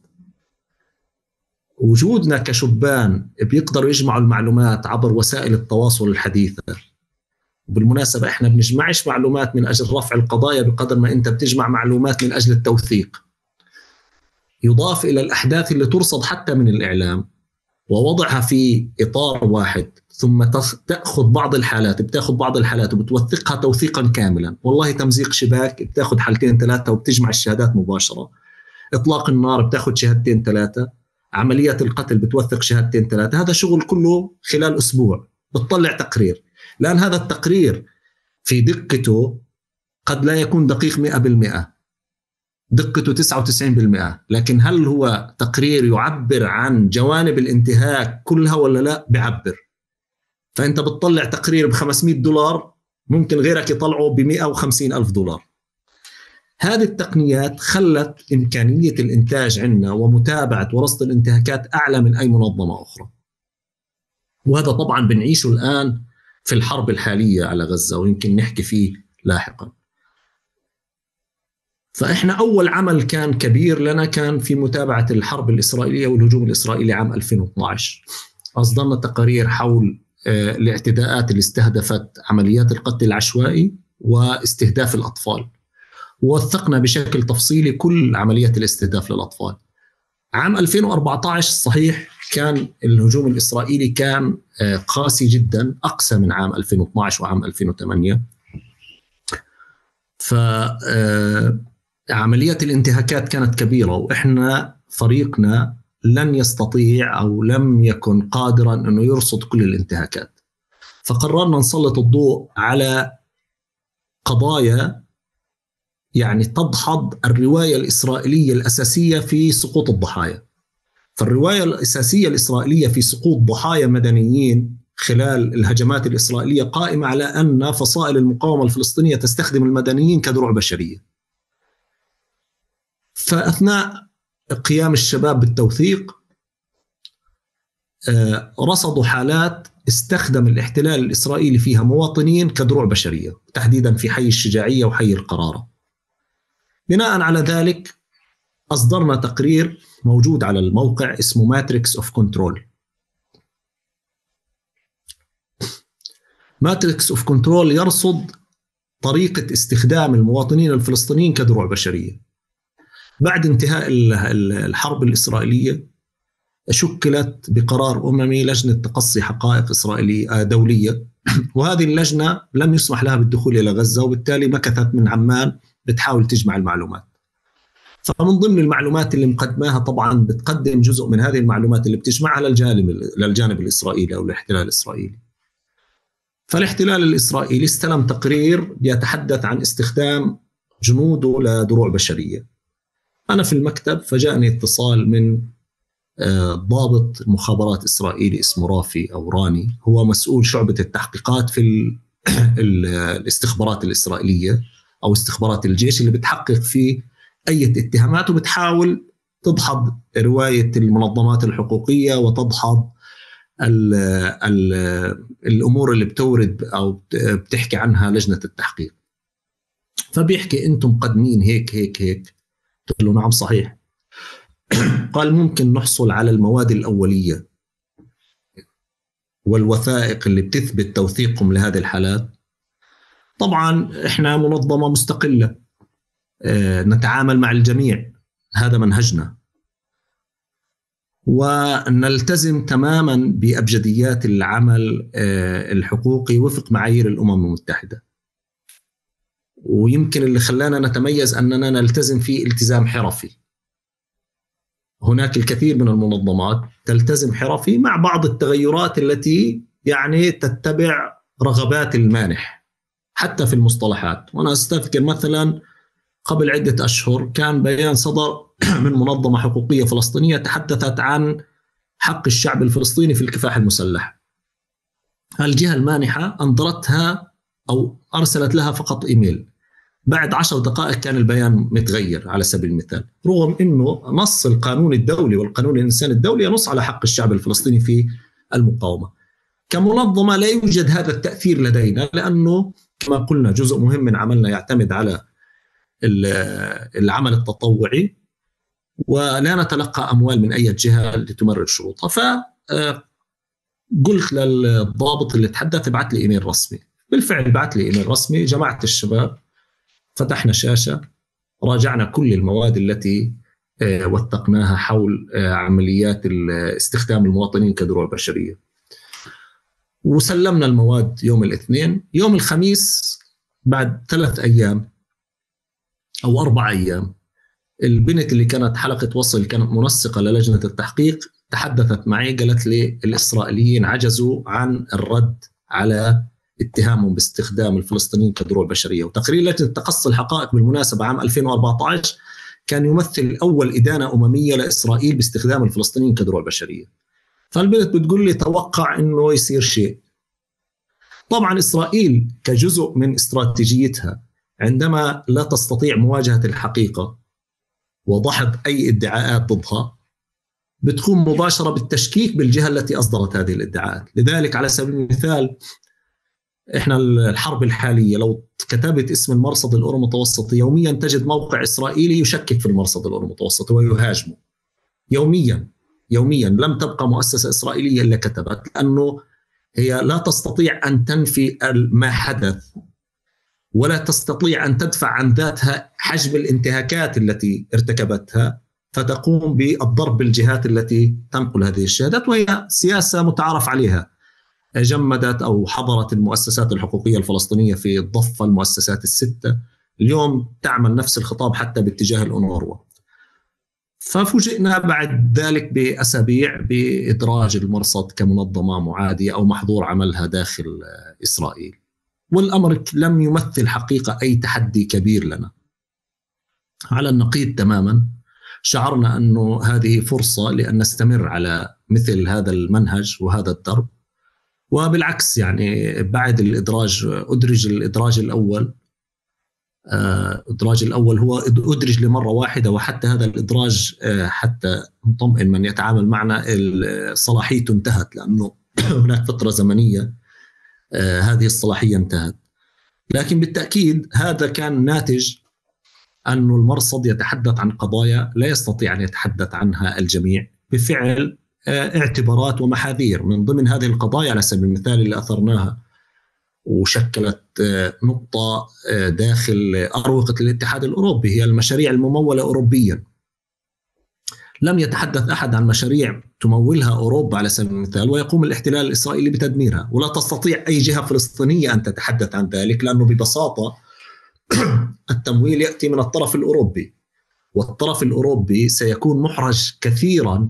وجودنا كشبان بيقدروا يجمعوا المعلومات عبر وسائل التواصل الحديثة. وبالمناسبة احنا بنجمعش معلومات من أجل رفع القضايا بقدر ما انت بتجمع معلومات من أجل التوثيق، يضاف إلى الأحداث اللي ترصد حتى من الإعلام ووضعها في إطار واحد، ثم تأخذ بعض الحالات، بتاخذ بعض الحالات وبتوثقها توثيقا كاملا. والله تمزيق شباك بتاخذ 2-3 وبتجمع الشهادات مباشرة. إطلاق النار بتاخذ 2-3. عمليات القتل بتوثق 2-3. هذا شغل كله خلال أسبوع بتطلع تقرير. لأن هذا التقرير في دقته قد لا يكون دقيق 100%، دقته 99%، لكن هل هو تقرير يعبر عن جوانب الانتهاك كلها ولا لا؟ بعبر. فأنت بتطلع تقرير $500 ممكن غيرك يطلعه $150,000. هذه التقنيات خلت إمكانية الإنتاج عندنا ومتابعة ورصد الانتهاكات أعلى من أي منظمة أخرى. وهذا طبعا بنعيشه الآن في الحرب الحالية على غزة، ويمكن نحكي فيه لاحقا. فإحنا أول عمل كان كبير لنا كان في متابعة الحرب الإسرائيلية والهجوم الإسرائيلي عام 2012. أصدرنا تقارير حول الاعتداءات اللي استهدفت عمليات القتل العشوائي واستهداف الأطفال، ووثقنا بشكل تفصيلي كل عمليات الاستهداف للأطفال. عام 2014 صحيح كان الهجوم الإسرائيلي كان قاسي جدا، أقسى من عام 2012 وعام 2008. فعمليات الانتهاكات كانت كبيرة، وإحنا فريقنا لن يستطيع أو لم يكن قادرا أنه يرصد كل الانتهاكات. فقررنا نسلط الضوء على قضايا يعني تدحض الرواية الإسرائيلية الأساسية في سقوط الضحايا. فالرواية الأساسية الإسرائيلية في سقوط ضحايا مدنيين خلال الهجمات الإسرائيلية قائمة على أن فصائل المقاومة الفلسطينية تستخدم المدنيين كدروع بشرية. فأثناء قيام الشباب بالتوثيق رصدوا حالات استخدم الاحتلال الإسرائيلي فيها مواطنين كدروع بشرية، تحديدا في حي الشجاعية وحي القرارة. بناء على ذلك أصدرنا تقرير موجود على الموقع اسمه ماتريكس اوف كنترول. ماتريكس اوف كنترول يرصد طريقة استخدام المواطنين الفلسطينيين كدروع بشرية. بعد انتهاء الحرب الإسرائيلية شكلت بقرار أممي لجنة تقصي حقائق إسرائيلية دولية، وهذه اللجنة لم يسمح لها بالدخول إلى غزة، وبالتالي مكثت من عمان بتحاول تجمع المعلومات. فمن ضمن المعلومات اللي مقدماها طبعا بتقدم جزء من هذه المعلومات اللي بتجمعها للجانب الإسرائيلي أو الاحتلال الإسرائيلي. فالاحتلال الإسرائيلي استلم تقرير يتحدث عن استخدام جنوده لدروع بشرية. أنا في المكتب فجاءني اتصال من ضابط مخابرات إسرائيلي اسمه رافي أو راني، هو مسؤول شعبة التحقيقات في الاستخبارات الإسرائيلية أو استخبارات الجيش اللي بتحقق في أي اتهامات وبتحاول تدحض رواية المنظمات الحقوقية وتدحض الأمور اللي بتورد أو بتحكي عنها لجنة التحقيق. فبيحكي أنتم مقدمين هيك هيك هيك. قلت له نعم صحيح. قال ممكن نحصل على المواد الأولية والوثائق اللي بتثبت توثيقكم لهذه الحالات. طبعا إحنا منظمة مستقلة، نتعامل مع الجميع، هذا منهجنا، ونلتزم تماما بأبجديات العمل الحقوقي وفق معايير الأمم المتحدة. ويمكن اللي خلانا نتميز أننا نلتزم فيه التزام حرفي. هناك الكثير من المنظمات تلتزم حرفي مع بعض التغيرات التي يعني تتبع رغبات المانح حتى في المصطلحات. وأنا أستذكر مثلا قبل عدة أشهر كان بيان صدر من منظمة حقوقية فلسطينية تحدثت عن حق الشعب الفلسطيني في الكفاح المسلح. الجهة المانحة أنظرتها أو أرسلت لها فقط إيميل، بعد 10 دقائق كان البيان متغير على سبيل المثال، رغم أنه نص القانون الدولي والقانون الإنساني الدولي ينص على حق الشعب الفلسطيني في المقاومة. كمنظمة لا يوجد هذا التأثير لدينا، لأنه كما قلنا جزء مهم من عملنا يعتمد على العمل التطوعي، ولا نتلقى أموال من أي جهة لتمرر شروطها. فقلت للضابط اللي تحدث ابعث لي إيميل رسمي. بالفعل بعث لي إيميل رسمي، جمعت الشباب، فتحنا شاشة، راجعنا كل المواد التي وثقناها حول عمليات استخدام المواطنين كدروع بشرية، وسلمنا المواد يوم الاثنين. يوم الخميس بعد 3 أيام أو 4 أيام البنت اللي كانت حلقة وصل كانت منسقة للجنة التحقيق تحدثت معي، قالت لي الإسرائيليين عجزوا عن الرد على اتهامهم باستخدام الفلسطينيين كدروع بشرية. وتقرير لجنة تقصي الحقائق بالمناسبة عام 2014 كان يمثل أول إدانة أممية لإسرائيل باستخدام الفلسطينيين كدروع بشرية. فالبنت بتقول لي توقع إنه يصير شيء. طبعا إسرائيل كجزء من استراتيجيتها عندما لا تستطيع مواجهة الحقيقة وضحض أي ادعاءات ضدها بتقوم مباشرة بالتشكيك بالجهة التي أصدرت هذه الادعاءات. لذلك على سبيل المثال إحنا الحرب الحالية لو كتبت اسم المرصد الأورو متوسطي يوميا تجد موقع إسرائيلي يشكك في المرصد الأورو متوسطي ويهاجمه يوميا. لم تبقى مؤسسة إسرائيلية إلا كتبت، لأنه هي لا تستطيع أن تنفي ما حدث ولا تستطيع أن تدفع عن ذاتها حجم الانتهاكات التي ارتكبتها، فتقوم بالضرب بالجهات التي تنقل هذه الشهادات، وهي سياسة متعارف عليها. جمدت أو حضرت المؤسسات الحقوقية الفلسطينية في الضفة المؤسسات ال6 اليوم تعمل نفس الخطاب حتى باتجاه الأونروا. ففوجئنا بعد ذلك بأسابيع بإدراج المرصد كمنظمة معادية أو محظور عملها داخل إسرائيل، والأمر لم يمثل حقيقة أي تحدي كبير لنا. على النقيض تماما، شعرنا أنه هذه فرصة لأن نستمر على مثل هذا المنهج وهذا الدرب. وبالعكس يعني بعد الإدراج أدرج الإدراج الأول هو أدرج لمرة واحدة، وحتى هذا الإدراج حتى نطمئن من يتعامل معنا صلاحيته انتهت، لأنه هناك فترة زمنية هذه الصلاحية انتهت. لكن بالتأكيد هذا كان ناتج أن المرصد يتحدث عن قضايا لا يستطيع أن يتحدث عنها الجميع بفعل اعتبارات ومحاذير. من ضمن هذه القضايا على سبيل المثال اللي أثرناها وشكلت نقطة داخل أروقة الاتحاد الأوروبي هي المشاريع الممولة أوروبيا. لم يتحدث أحد عن مشاريع تمولها أوروبا على سبيل المثال ويقوم الاحتلال الإسرائيلي بتدميرها، ولا تستطيع أي جهة فلسطينية أن تتحدث عن ذلك، لأنه ببساطة التمويل يأتي من الطرف الأوروبي، والطرف الأوروبي سيكون محرج كثيرا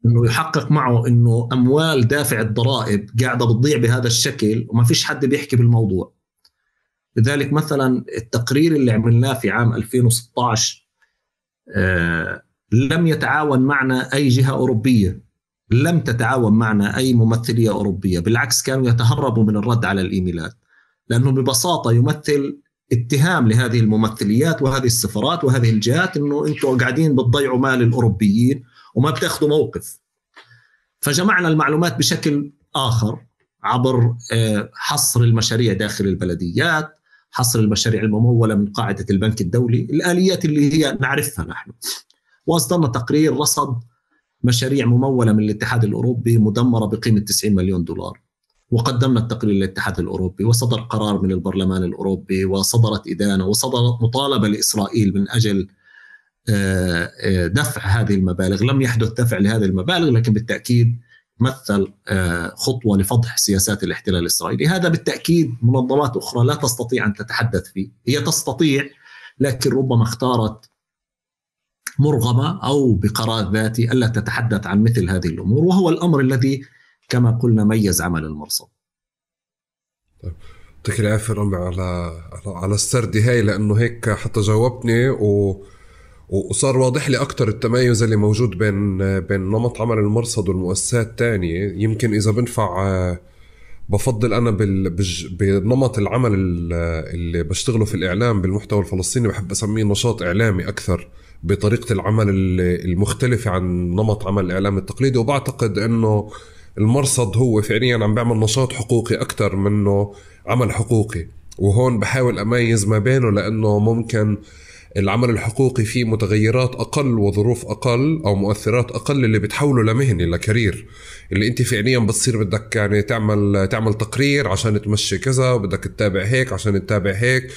أنه يحقق معه أنه أموال دافع الضرائب قاعدة بتضيع بهذا الشكل وما فيش حد بيحكي بالموضوع. لذلك مثلا التقرير اللي عملناه في عام 2016 لم يتعاون معنا أي جهة أوروبية، لم تتعاون معنا أي ممثلية أوروبية، بالعكس كانوا يتهربوا من الرد على الإيميلات، لأنه ببساطة يمثل اتهام لهذه الممثليات وهذه السفارات وهذه الجهات أنه أنتوا قاعدين بتضيعوا مال الأوروبيين وما بتاخدوا موقف. فجمعنا المعلومات بشكل آخر عبر حصر المشاريع داخل البلديات، حصر المشاريع الممولة من قاعدة البنك الدولي، الآليات اللي هي نعرفها نحن، وأصدرنا تقرير رصد مشاريع ممولة من الاتحاد الأوروبي مدمرة بقيمة 90 مليون دولار، وقدمنا التقرير للاتحاد الأوروبي، وصدر قرار من البرلمان الأوروبي، وصدرت إدانة، وصدرت مطالبة لإسرائيل من أجل دفع هذه المبالغ. لم يحدث دفع لهذه المبالغ، لكن بالتأكيد مثل خطوة لفضح سياسات الاحتلال الإسرائيلي. هذا بالتأكيد منظمات أخرى لا تستطيع أن تتحدث فيه، هي تستطيع لكن ربما اختارت مرغمة أو بقرار ذاتي ألا تتحدث عن مثل هذه الأمور، وهو الأمر الذي كما قلنا ميز عمل المرصد. يعطيك العافية رامي على السرد هاي، لأنه هيك حتى جاوبني وصار واضح لي أكتر التمايز اللي موجود بين نمط عمل المرصد والمؤسسات الثانية. يمكن إذا بنفع بفضل أنا بنمط العمل اللي بشتغله في الإعلام بالمحتوى الفلسطيني، بحب أسميه نشاط إعلامي أكثر بطريقة العمل المختلفة عن نمط عمل الإعلام التقليدي. وبعتقد أنه المرصد هو فعليا عم بيعمل نشاط حقوقي أكتر منه عمل حقوقي، وهون بحاول أميز ما بينه، لأنه ممكن العمل الحقوقي فيه متغيرات أقل وظروف أقل أو مؤثرات أقل اللي بتحوله لمهني لكارير، اللي أنت فعليا بتصير بدك يعني تعمل تقرير عشان تمشي كذا، وبدك تتابع هيك عشان تتابع هيك.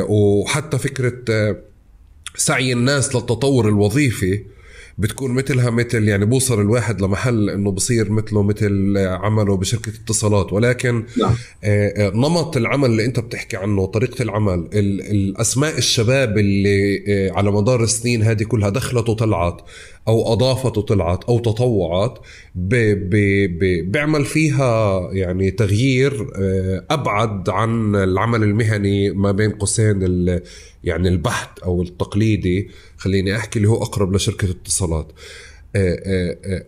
وحتى فكرة سعي الناس للتطور الوظيفي بتكون مثل يعني بوصل الواحد لمحل انه بصير مثل عمله بشركة اتصالات. ولكن نمط العمل اللي انت بتحكي عنه، طريقة العمل، الاسماء الشباب اللي على مدار السنين هذه كلها دخلت وطلعت او اضافت وطلعت او تطوعت، بيعمل فيها يعني تغيير ابعد عن العمل المهني ما بين قوسين يعني البحث او التقليدي، خليني احكي اللي هو اقرب لشركة اتصالات.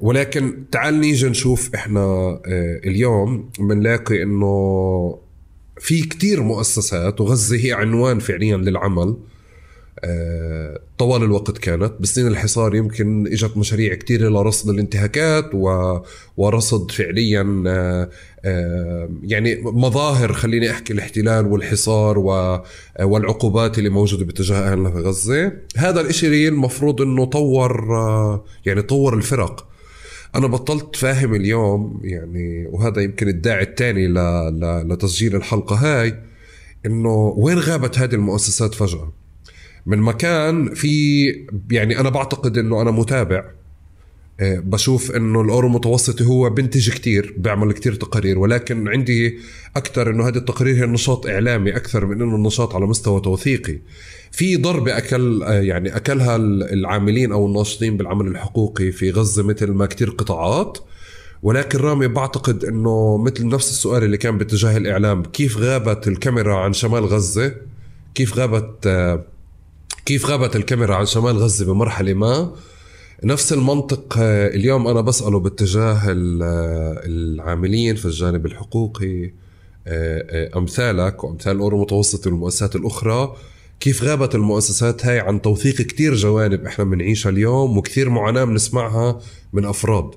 ولكن تعال نيجي نشوف احنا اليوم بنلاقي انه في كتير مؤسسات، وغزة هي عنوان فعليا للعمل طوال الوقت. كانت بسنين الحصار يمكن اجت مشاريع كتير لرصد الانتهاكات ورصد فعليا يعني مظاهر، خليني احكي، الاحتلال والحصار والعقوبات اللي موجودة باتجاه اهلنا في غزة. هذا الاشي المفروض انه طور الفرق. انا بطلت فاهم اليوم يعني، وهذا يمكن الداعي الثاني لتسجيل الحلقة هاي، انه وين غابت هذه المؤسسات فجأة من مكان في. يعني أنا بعتقد أنه أنا متابع، بشوف أنه الأورو متوسطي هو بنتج كتير، بعمل كتير تقارير، ولكن عندي أكتر أنه هذه التقارير هي نشاط إعلامي أكثر من أنه النشاط على مستوى توثيقي. في ضربة أكلها العاملين أو الناشطين بالعمل الحقوقي في غزة مثل ما كتير قطاعات. ولكن رامي بعتقد أنه مثل نفس السؤال اللي كان باتجاه الإعلام، كيف غابت الكاميرا عن شمال غزة، كيف غابت الكاميرا عن شمال غزة بمرحلة ما. نفس المنطق اليوم أنا بسأله باتجاه العاملين في الجانب الحقوقي أمثالك وأمثال الأورو متوسطي والمؤسسات الأخرى، كيف غابت المؤسسات هاي عن توثيق كتير جوانب إحنا بنعيشها اليوم وكتير معاناة بنسمعها من أفراد.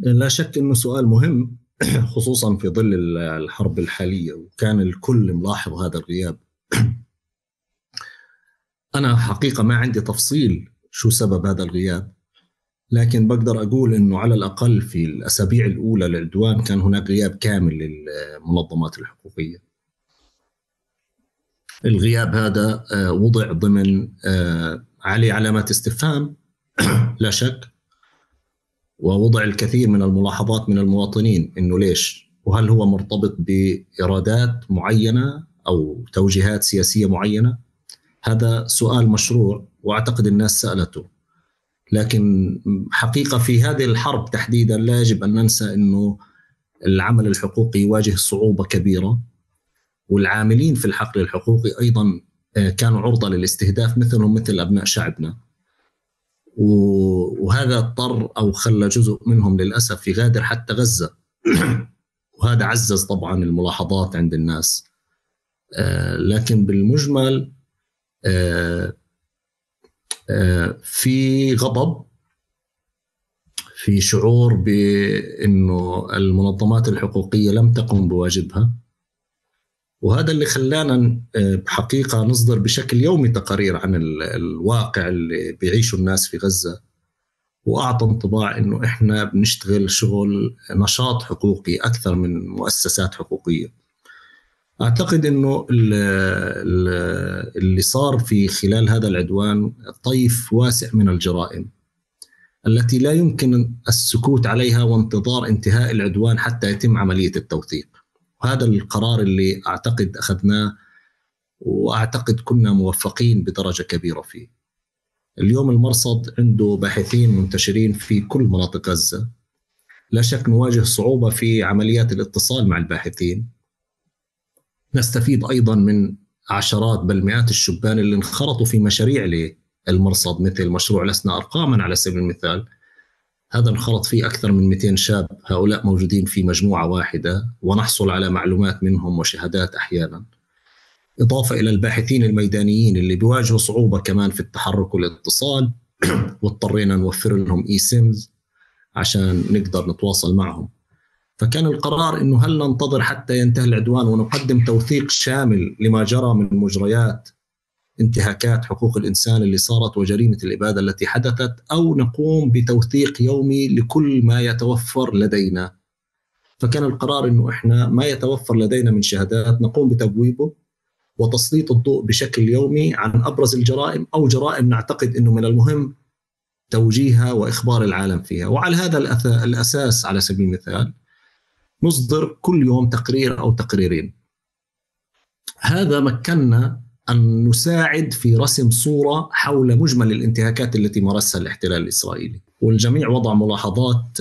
لا شك أنه سؤال مهم، خصوصا في ظل الحرب الحالية، وكان الكل ملاحظ هذا الغياب. أنا حقيقة ما عندي تفصيل شو سبب هذا الغياب، لكن بقدر أقول أنه على الأقل في الأسابيع الأولى للعدوان كان هناك غياب كامل للمنظمات الحقوقية. الغياب هذا وضع ضمن عليه علامات استفهام لا شك، ووضع الكثير من الملاحظات من المواطنين أنه ليش، وهل هو مرتبط بإرادات معينة أو توجيهات سياسية معينة. هذا سؤال مشروع وأعتقد الناس سألته، لكن حقيقة في هذه الحرب تحديدا لا يجب أن ننسى أنه العمل الحقوقي يواجه صعوبة كبيرة، والعاملين في الحقل الحقوقي أيضا كانوا عرضة للاستهداف مثلهم مثل أبناء شعبنا، وهذا اضطر أو خلى جزء منهم للأسف يغادر حتى غزة. وهذا عزز طبعا الملاحظات عند الناس، لكن بالمجمل في غضب، في شعور بأنه المنظمات الحقوقية لم تقم بواجبها، وهذا اللي خلانا بحقيقة نصدر بشكل يومي تقارير عن الواقع اللي بيعيشه الناس في غزة، وأعطى انطباع أنه إحنا بنشتغل شغل نشاط حقوقي أكثر من مؤسسات حقوقية. أعتقد أنه اللي صار في خلال هذا العدوان طيف واسع من الجرائم التي لا يمكن السكوت عليها وانتظار انتهاء العدوان حتى يتم عملية التوثيق. وهذا القرار اللي أعتقد أخذناه، وأعتقد كنا موفقين بدرجة كبيرة فيه. اليوم المرصد عنده باحثين منتشرين في كل مناطق غزة، لا شك نواجه صعوبة في عمليات الاتصال مع الباحثين. نستفيد أيضا من عشرات بل مئات الشبان اللي انخرطوا في مشاريع للمرصد، مثل مشروع لسنا أرقاما على سبيل المثال. هذا انخرط فيه أكثر من 200 شاب، هؤلاء موجودين في مجموعة واحدة ونحصل على معلومات منهم وشهادات أحيانا، إضافة إلى الباحثين الميدانيين اللي بيواجهوا صعوبة كمان في التحرك والاتصال، واضطرينا نوفر لهم سيمز عشان نقدر نتواصل معهم. فكان القرار إنه هل ننتظر حتى ينتهي العدوان ونقدم توثيق شامل لما جرى من مجريات انتهاكات حقوق الإنسان اللي صارت وجريمة الإبادة التي حدثت، أو نقوم بتوثيق يومي لكل ما يتوفر لدينا. فكان القرار إنه إحنا ما يتوفر لدينا من شهادات نقوم بتبويبه وتسليط الضوء بشكل يومي عن أبرز الجرائم أو جرائم نعتقد إنه من المهم توجيهها وإخبار العالم فيها. وعلى هذا الأساس على سبيل المثال نصدر كل يوم تقرير أو تقريرين. هذا مكننا أن نساعد في رسم صورة حول مجمل الانتهاكات التي مارسها الاحتلال الإسرائيلي، والجميع وضع ملاحظات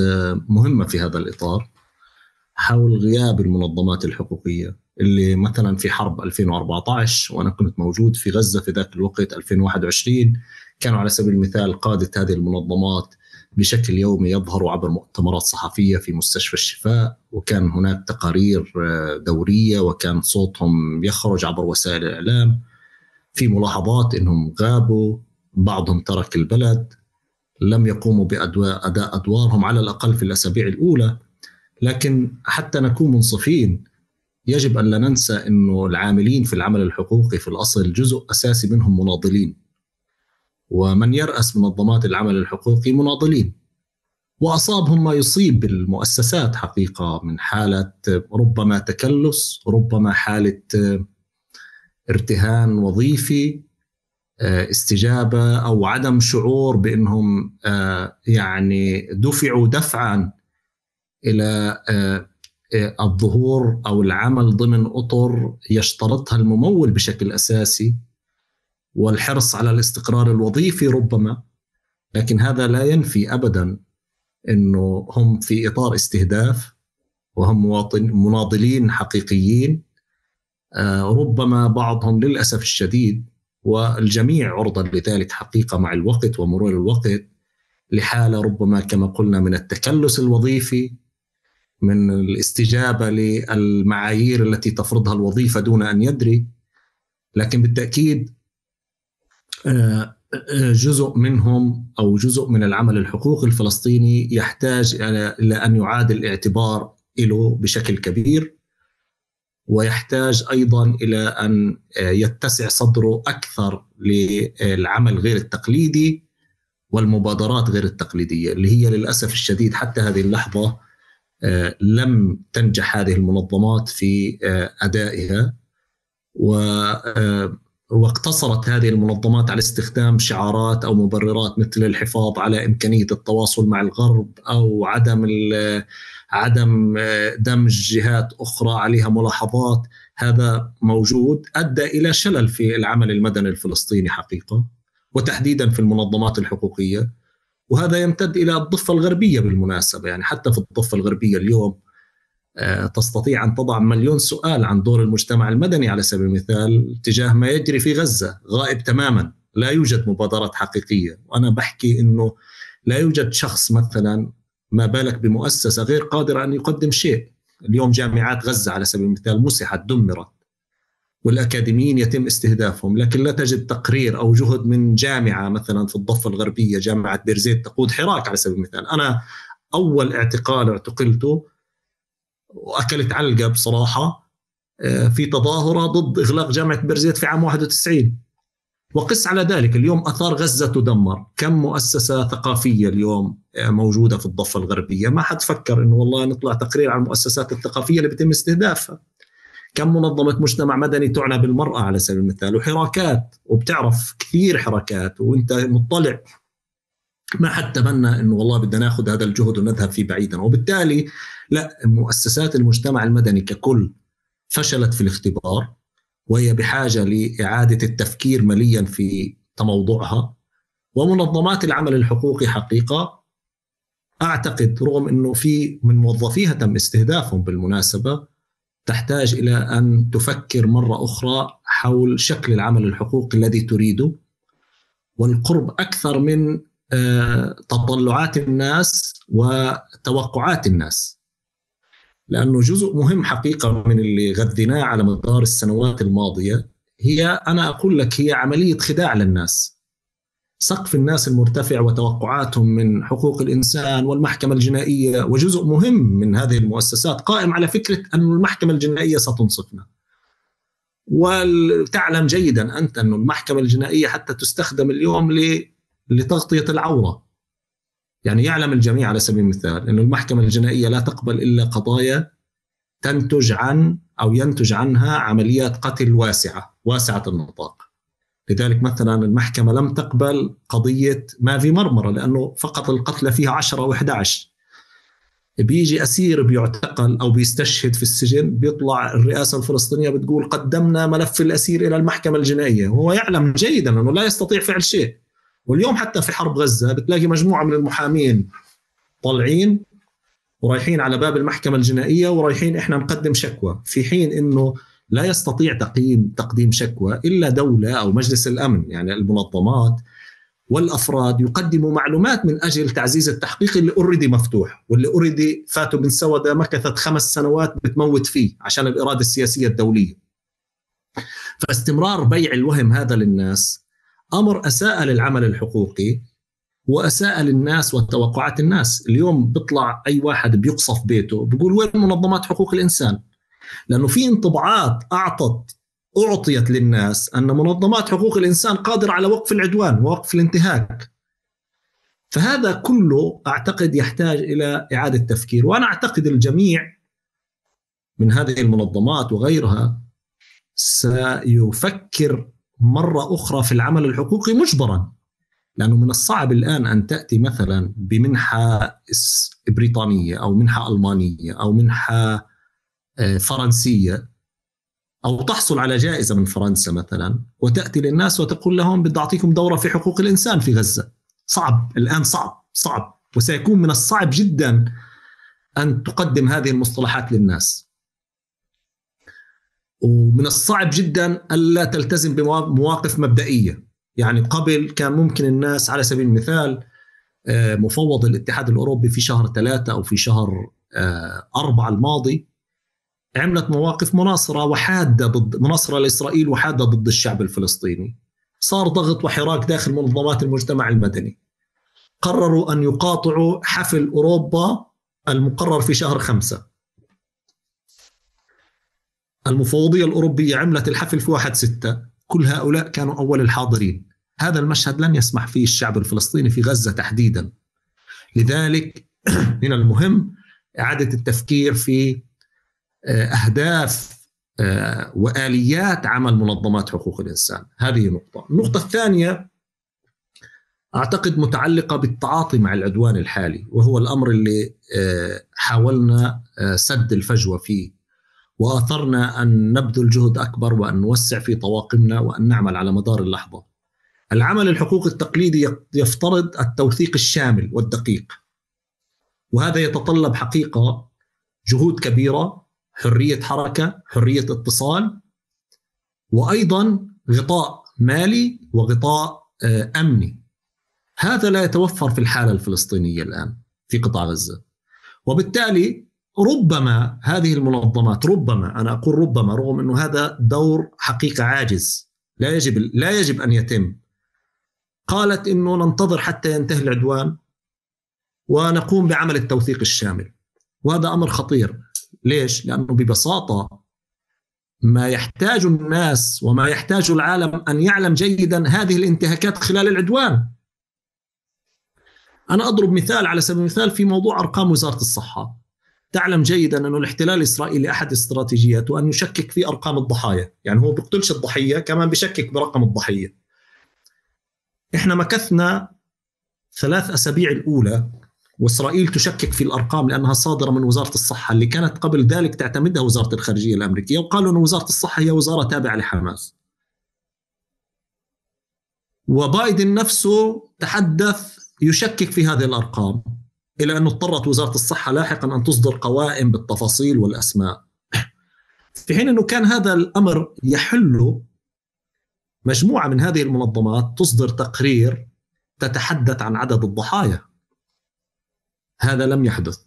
مهمة في هذا الإطار حول غياب المنظمات الحقوقية اللي مثلا في حرب 2014 وأنا كنت موجود في غزة في ذاك الوقت 2021 كانوا على سبيل المثال قادة هذه المنظمات بشكل يومي يظهروا عبر مؤتمرات صحفية في مستشفى الشفاء، وكان هناك تقارير دورية وكان صوتهم يخرج عبر وسائل الإعلام. في ملاحظات إنهم غابوا، بعضهم ترك البلد، لم يقوموا بأداء أدوارهم على الأقل في الأسابيع الأولى. لكن حتى نكون منصفين يجب أن لا ننسى أنه العاملين في العمل الحقوقي في الأصل جزء أساسي منهم مناضلين، ومن يرأس منظمات العمل الحقوقي مناضلين، وأصابهم ما يصيب بالمؤسسات حقيقة من حالة ربما تكلس، ربما حالة ارتهان وظيفي، استجابة أو عدم شعور بأنهم يعني دفعوا دفعا إلى الظهور أو العمل ضمن أطر يشترطها الممول بشكل أساسي، والحرص على الاستقرار الوظيفي ربما. لكن هذا لا ينفي أبدا أنه هم في إطار استهداف وهم مناضلين حقيقيين، ربما بعضهم للأسف الشديد والجميع عرضة لذلك حقيقة مع الوقت ومرور الوقت لحالة ربما كما قلنا من التكلس الوظيفي، من الاستجابة للمعايير التي تفرضها الوظيفة دون أن يدري. لكن بالتأكيد جزء منهم أو جزء من العمل الحقوقي الفلسطيني يحتاج إلى أن يعاد الاعتبار له بشكل كبير، ويحتاج أيضا إلى أن يتسع صدره أكثر للعمل غير التقليدي والمبادرات غير التقليدية اللي هي للأسف الشديد حتى هذه اللحظة لم تنجح هذه المنظمات في أدائها، واقتصرت هذه المنظمات على استخدام شعارات أو مبررات مثل الحفاظ على إمكانية التواصل مع الغرب أو عدم دمج جهات أخرى عليها ملاحظات. هذا موجود أدى إلى شلل في العمل المدني الفلسطيني حقيقة، وتحديدا في المنظمات الحقوقية. وهذا يمتد إلى الضفة الغربية بالمناسبة. يعني حتى في الضفة الغربية اليوم تستطيع أن تضع مليون سؤال عن دور المجتمع المدني على سبيل المثال تجاه ما يجري في غزة. غائب تماما، لا يوجد مبادرات حقيقية. وأنا بحكي أنه لا يوجد شخص مثلا، ما بالك بمؤسسة غير قادرة أن يقدم شيء. اليوم جامعات غزة على سبيل المثال مسحت، دمرت، والأكاديميين يتم استهدافهم، لكن لا تجد تقرير أو جهد من جامعة مثلا في الضفة الغربية، جامعة بيرزيت تقود حراك على سبيل المثال. أنا أول اعتقال اعتقلته وأكلت علقة بصراحة في تظاهرة ضد إغلاق جامعة بيرزيت في عام 91. وقس على ذلك اليوم أثار غزة تدمر. كم مؤسسة ثقافية اليوم موجودة في الضفة الغربية؟ ما حد فكر إنه والله نطلع تقرير عن المؤسسات الثقافية اللي بيتم استهدافها. كم منظمة مجتمع مدني تعنى بالمرأة على سبيل المثال، وحراكات، وبتعرف كثير حركات وانت مطلع. ما حد تمنى انه والله بدنا ناخذ هذا الجهد ونذهب فيه بعيدا. وبالتالي لا، مؤسسات المجتمع المدني ككل فشلت في الاختبار، وهي بحاجة لإعادة التفكير مليا في تموضعها. ومنظمات العمل الحقوقي حقيقة أعتقد رغم أنه في من موظفيها تم استهدافهم بالمناسبة، تحتاج إلى أن تفكر مرة أخرى حول شكل العمل الحقوقي الذي تريده، والقرب أكثر من تطلعات الناس وتوقعات الناس. لأنه جزء مهم حقيقة من اللي غذيناه على مدار السنوات الماضية هي، أنا أقول لك، هي عملية خداع للناس. سقف الناس المرتفع وتوقعاتهم من حقوق الإنسان والمحكمة الجنائية، وجزء مهم من هذه المؤسسات قائم على فكرة أن المحكمة الجنائية ستنصفنا. وتعلم جيدا أنت أن المحكمة الجنائية حتى تستخدم اليوم لتغطية العورة. يعني يعلم الجميع على سبيل المثال أن المحكمة الجنائية لا تقبل إلا قضايا تنتج عن أو ينتج عنها عمليات قتل واسعة النطاق. لذلك مثلا المحكمة لم تقبل قضية مافي مرمرة لأنه فقط القتلى فيها 10 و11. بيجي أسير بيعتقل أو بيستشهد في السجن، بيطلع الرئاسة الفلسطينية بتقول قدمنا ملف الأسير إلى المحكمة الجنائية، وهو يعلم جيدا أنه لا يستطيع فعل شيء. واليوم حتى في حرب غزة بتلاقي مجموعة من المحامين طالعين ورايحين على باب المحكمة الجنائية ورايحين إحنا نقدم شكوى، في حين أنه لا يستطيع تقديم شكوى إلا دولة أو مجلس الأمن. يعني المنظمات والأفراد يقدموا معلومات من أجل تعزيز التحقيق اللي أوريدي مفتوح، واللي أوريدي فاتوا بن سودة مكثت 5 سنوات بتموت فيه عشان الإرادة السياسية الدولية. فاستمرار بيع الوهم هذا للناس أمر أساء للعمل الحقوقي وأساء للناس وتوقعات الناس. اليوم بيطلع أي واحد بيقصف بيته بيقول وين منظمات حقوق الإنسان؟ لأنه في انطباعات أعطيت للناس أن منظمات حقوق الإنسان قادرة على وقف العدوان ووقف الانتهاك. فهذا كله أعتقد يحتاج إلى إعادة تفكير. وأنا أعتقد الجميع من هذه المنظمات وغيرها سيفكر مرة أخرى في العمل الحقوقي مجبرا، لأنه من الصعب الآن أن تأتي مثلا بمنحة بريطانية أو منحة ألمانية أو منحة فرنسية أو تحصل على جائزة من فرنسا مثلا وتأتي للناس وتقول لهم بدي أعطيكم دورة في حقوق الإنسان في غزة. صعب الآن، صعب، وسيكون من الصعب جدا أن تقدم هذه المصطلحات للناس، ومن الصعب جدا ألا تلتزم بمواقف مبدئية. يعني قبل كان ممكن الناس على سبيل المثال مفوض الاتحاد الأوروبي في شهر 3 أو في شهر 4 الماضي عملت مواقف مناصرة وحادة ضد مناصرة لإسرائيل وحادة ضد الشعب الفلسطيني. صار ضغط وحراك داخل منظمات المجتمع المدني، قرروا أن يقاطعوا حفل أوروبا المقرر في شهر 5. المفوضية الأوروبية عملت الحفل في 1/6. كل هؤلاء كانوا أول الحاضرين. هذا المشهد لن يسمح فيه الشعب الفلسطيني في غزة تحديدا. لذلك من المهم إعادة التفكير في أهداف وآليات عمل منظمات حقوق الإنسان. هذه نقطة. النقطة الثانية أعتقد متعلقة بالتعاطي مع العدوان الحالي، وهو الأمر اللي حاولنا سد الفجوة فيه، وآثرنا أن نبذل جهد أكبر وأن نوسع في طواقمنا وأن نعمل على مدار اللحظة. العمل الحقوقي التقليدي يفترض التوثيق الشامل والدقيق، وهذا يتطلب حقيقة جهود كبيرة، حرية حركة، حرية اتصال، وأيضا غطاء مالي وغطاء أمني. هذا لا يتوفر في الحالة الفلسطينية الآن في قطاع غزة. وبالتالي ربما هذه المنظمات، ربما أنا أقول ربما، رغم أنه هذا دور حقيقة عاجز لا يجب أن يتم، قالت أنه ننتظر حتى ينتهي العدوان ونقوم بعمل التوثيق الشامل. وهذا أمر خطير. ليش؟ لأنه ببساطة ما يحتاج الناس وما يحتاج العالم أن يعلم جيدا هذه الانتهاكات خلال العدوان. أنا أضرب مثال على سبيل المثال في موضوع أرقام وزارة الصحة. تعلم جيدا أن الاحتلال الإسرائيلي أحد استراتيجياته أن يشكك في أرقام الضحايا، يعني هو بيقتلش الضحية، كمان بيشكك برقم الضحية. إحنا مكثنا 3 أسابيع الأولى وإسرائيل تشكك في الأرقام لأنها صادرة من وزارة الصحة اللي كانت قبل ذلك تعتمدها وزارة الخارجية الأمريكية، وقالوا أن وزارة الصحة هي وزارة تابعة لحماس. وبايدن نفسه تحدث يشكك في هذه الأرقام، إلى أن اضطرت وزارة الصحة لاحقا أن تصدر قوائم بالتفاصيل والأسماء، في حين أنه كان هذا الأمر يحل مجموعة من هذه المنظمات تصدر تقرير تتحدث عن عدد الضحايا. هذا لم يحدث.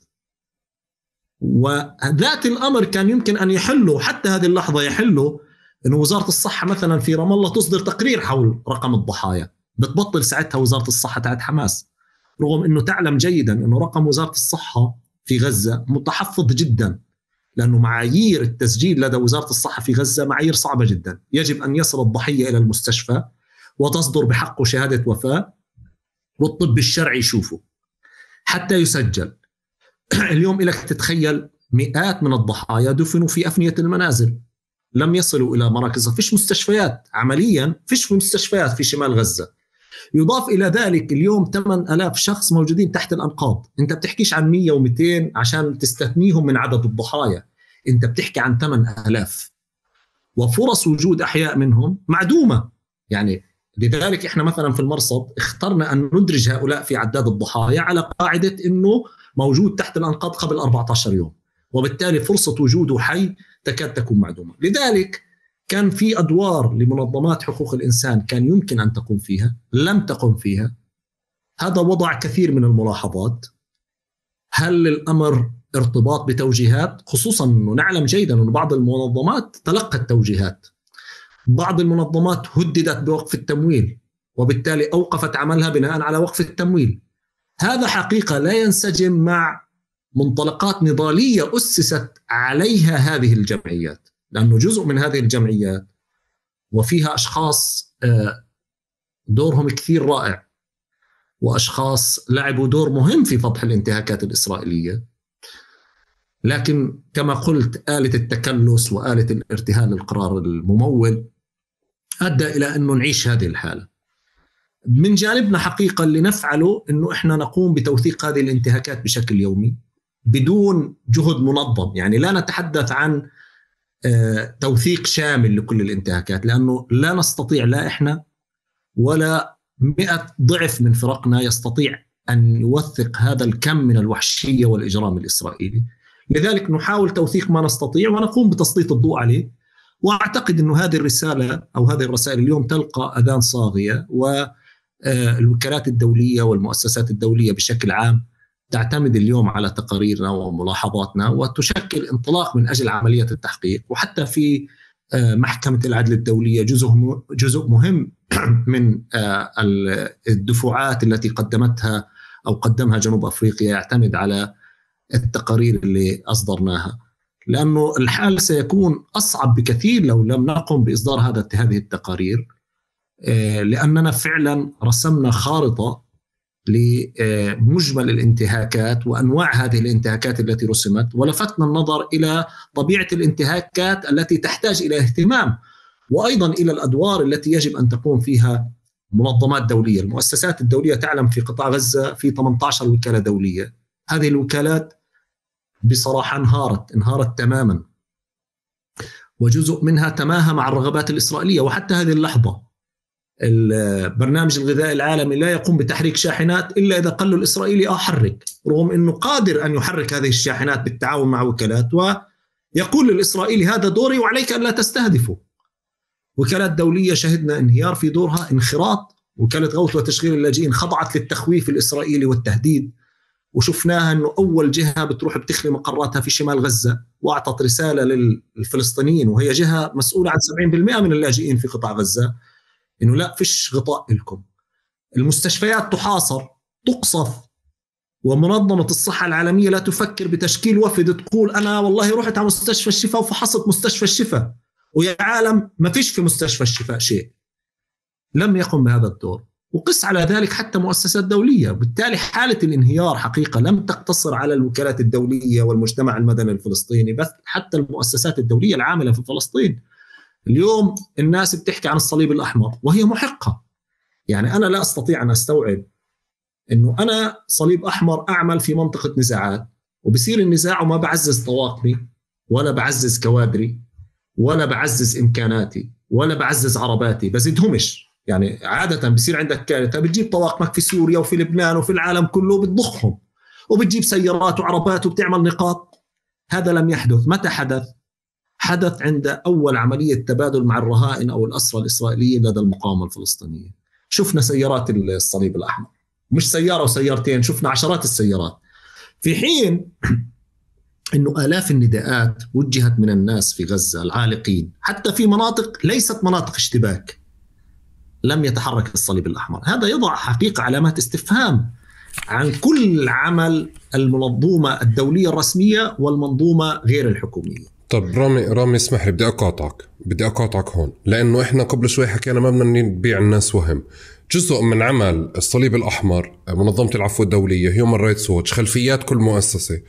وذات الأمر كان يمكن أن يحله حتى هذه اللحظة، يحله أن وزارة الصحة مثلا في رام الله تصدر تقرير حول رقم الضحايا، بتبطل ساعتها وزارة الصحة تاعت حماس، رغم أنه تعلم جيدا أنه رقم وزارة الصحة في غزة متحفظ جدا، لأنه معايير التسجيل لدى وزارة الصحة في غزة معايير صعبة جدا. يجب أن يصل الضحية إلى المستشفى وتصدر بحقه شهادة وفاة والطب الشرعي يشوفه حتى يسجل. اليوم إليك تتخيل مئات من الضحايا دفنوا في أفنية المنازل، لم يصلوا إلى مراكز، فيش مستشفيات، عمليا فيش مستشفيات في شمال غزة. يضاف إلى ذلك اليوم 8000 شخص موجودين تحت الأنقاض. أنت بتحكيش عن 100 و200 عشان تستثنيهم من عدد الضحايا، أنت بتحكي عن 8000، وفرص وجود أحياء منهم معدومة. يعني لذلك إحنا مثلا في المرصد اخترنا أن ندرج هؤلاء في عداد الضحايا على قاعدة أنه موجود تحت الأنقاض قبل 14 يوم، وبالتالي فرصة وجوده حي تكاد تكون معدومة. لذلك كان في أدوار لمنظمات حقوق الإنسان كان يمكن أن تقوم فيها، لم تقم فيها. هذا وضع كثير من الملاحظات. هل الأمر ارتباط بتوجيهات؟ خصوصا أنه نعلم جيدا أن بعض المنظمات تلقت توجيهات، بعض المنظمات هددت بوقف التمويل وبالتالي أوقفت عملها بناء على وقف التمويل. هذا حقيقة لا ينسجم مع منطلقات نضالية أسست عليها هذه الجمعيات، لأنه جزء من هذه الجمعيات وفيها أشخاص دورهم كثير رائع، وأشخاص لعبوا دور مهم في فضح الانتهاكات الإسرائيلية، لكن كما قلت آلة التكلس وآلة الارتهان القرار الممول أدى إلى أنه نعيش هذه الحالة. من جانبنا حقيقة اللي نفعله أنه إحنا نقوم بتوثيق هذه الانتهاكات بشكل يومي بدون جهد منظم. يعني لا نتحدث عن توثيق شامل لكل الانتهاكات، لأنه لا نستطيع، لا إحنا ولا 100 ضعف من فرقنا يستطيع أن يوثق هذا الكم من الوحشية والإجرام الإسرائيلي. لذلك نحاول توثيق ما نستطيع ونقوم بتسليط الضوء عليه. وأعتقد أنه هذه الرسالة أو هذه الرسائل اليوم تلقى أذان صاغية، والوكالات الدولية والمؤسسات الدولية بشكل عام تعتمد اليوم على تقاريرنا وملاحظاتنا وتشكل انطلاق من أجل عملية التحقيق. وحتى في محكمة العدل الدولية جزء مهم من الدفعات التي قدمتها أو قدمها جنوب أفريقيا يعتمد على التقارير اللي أصدرناها، لأنه الحال سيكون أصعب بكثير لو لم نقم بإصدار هذه التقارير، لأننا فعلا رسمنا خارطة لمجمل الانتهاكات وأنواع هذه الانتهاكات التي رسمت، ولفتنا النظر إلى طبيعة الانتهاكات التي تحتاج إلى اهتمام، وأيضا إلى الأدوار التي يجب أن تقوم فيها منظمات دولية. المؤسسات الدولية تعلم في قطاع غزة في 18 وكالة دولية، هذه الوكالات بصراحة انهارت تماما. وجزء منها تماهى مع الرغبات الإسرائيلية. وحتى هذه اللحظة البرنامج الغذائي العالمي لا يقوم بتحريك شاحنات إلا إذا قال له الإسرائيلي حرك، رغم أنه قادر أن يحرك هذه الشاحنات بالتعاون مع وكالات، ويقول للإسرائيلي هذا دوري وعليك أن لا تستهدفه. وكالات دولية شهدنا انهيار في دورها، انخراط. وكالة غوث وتشغيل اللاجئين خضعت للتخويف الإسرائيلي والتهديد، وشفناها أنه أول جهة بتروح بتخلي مقراتها في شمال غزة، وأعطت رسالة للفلسطينيين وهي جهة مسؤولة عن 70% من اللاجئين في قطاع غزة، إنه لا فيش غطاء لكم. المستشفيات تحاصر، تقصف، ومنظمة الصحة العالمية لا تفكر بتشكيل وفد تقول أنا والله رحت على مستشفى الشفاء وفحصت مستشفى الشفاء، ويا عالم ما فيش في مستشفى الشفاء شيء. لم يقم بهذا الدور. وقس على ذلك حتى مؤسسات دولية. بالتالي حالة الانهيار حقيقة لم تقتصر على الوكالات الدولية والمجتمع المدني الفلسطيني بس، حتى المؤسسات الدولية العاملة في فلسطين. اليوم الناس بتحكي عن الصليب الأحمر وهي محقة. يعني أنا لا أستطيع أن أستوعب أنه أنا صليب أحمر أعمل في منطقة نزاعات، وبصير النزاع وما بعزز طواقمي ولا بعزز كوادري ولا بعزز إمكاناتي ولا بعزز عرباتي، بزيدهمش. يعني عادة بصير عندك كارثة بتجيب طواقمك في سوريا وفي لبنان وفي العالم كله بتضخهم، وبتجيب سيارات وعربات وبتعمل نقاط. هذا لم يحدث. متى حدث؟ حدث عند أول عملية تبادل مع الرهائن أو الأسرى الإسرائيليين لدى المقاومة الفلسطينية. شفنا سيارات الصليب الأحمر، مش سيارة وسيارتين، شفنا عشرات السيارات، في حين أنه آلاف النداءات وجهت من الناس في غزة العالقين حتى في مناطق ليست مناطق اشتباك. لم يتحرك الصليب الأحمر. هذا يضع حقيقة علامات استفهام عن كل عمل المنظومة الدولية الرسمية والمنظومة غير الحكومية. طب رامي اسمح لي، بدي أقاطعك هون، لأنه إحنا قبل شوي حكينا ما بدنا نبيع الناس وهم. جزء من عمل الصليب الأحمر، منظمة العفو الدولية، هيومن رايتس ووتش، خلفيات كل مؤسسة،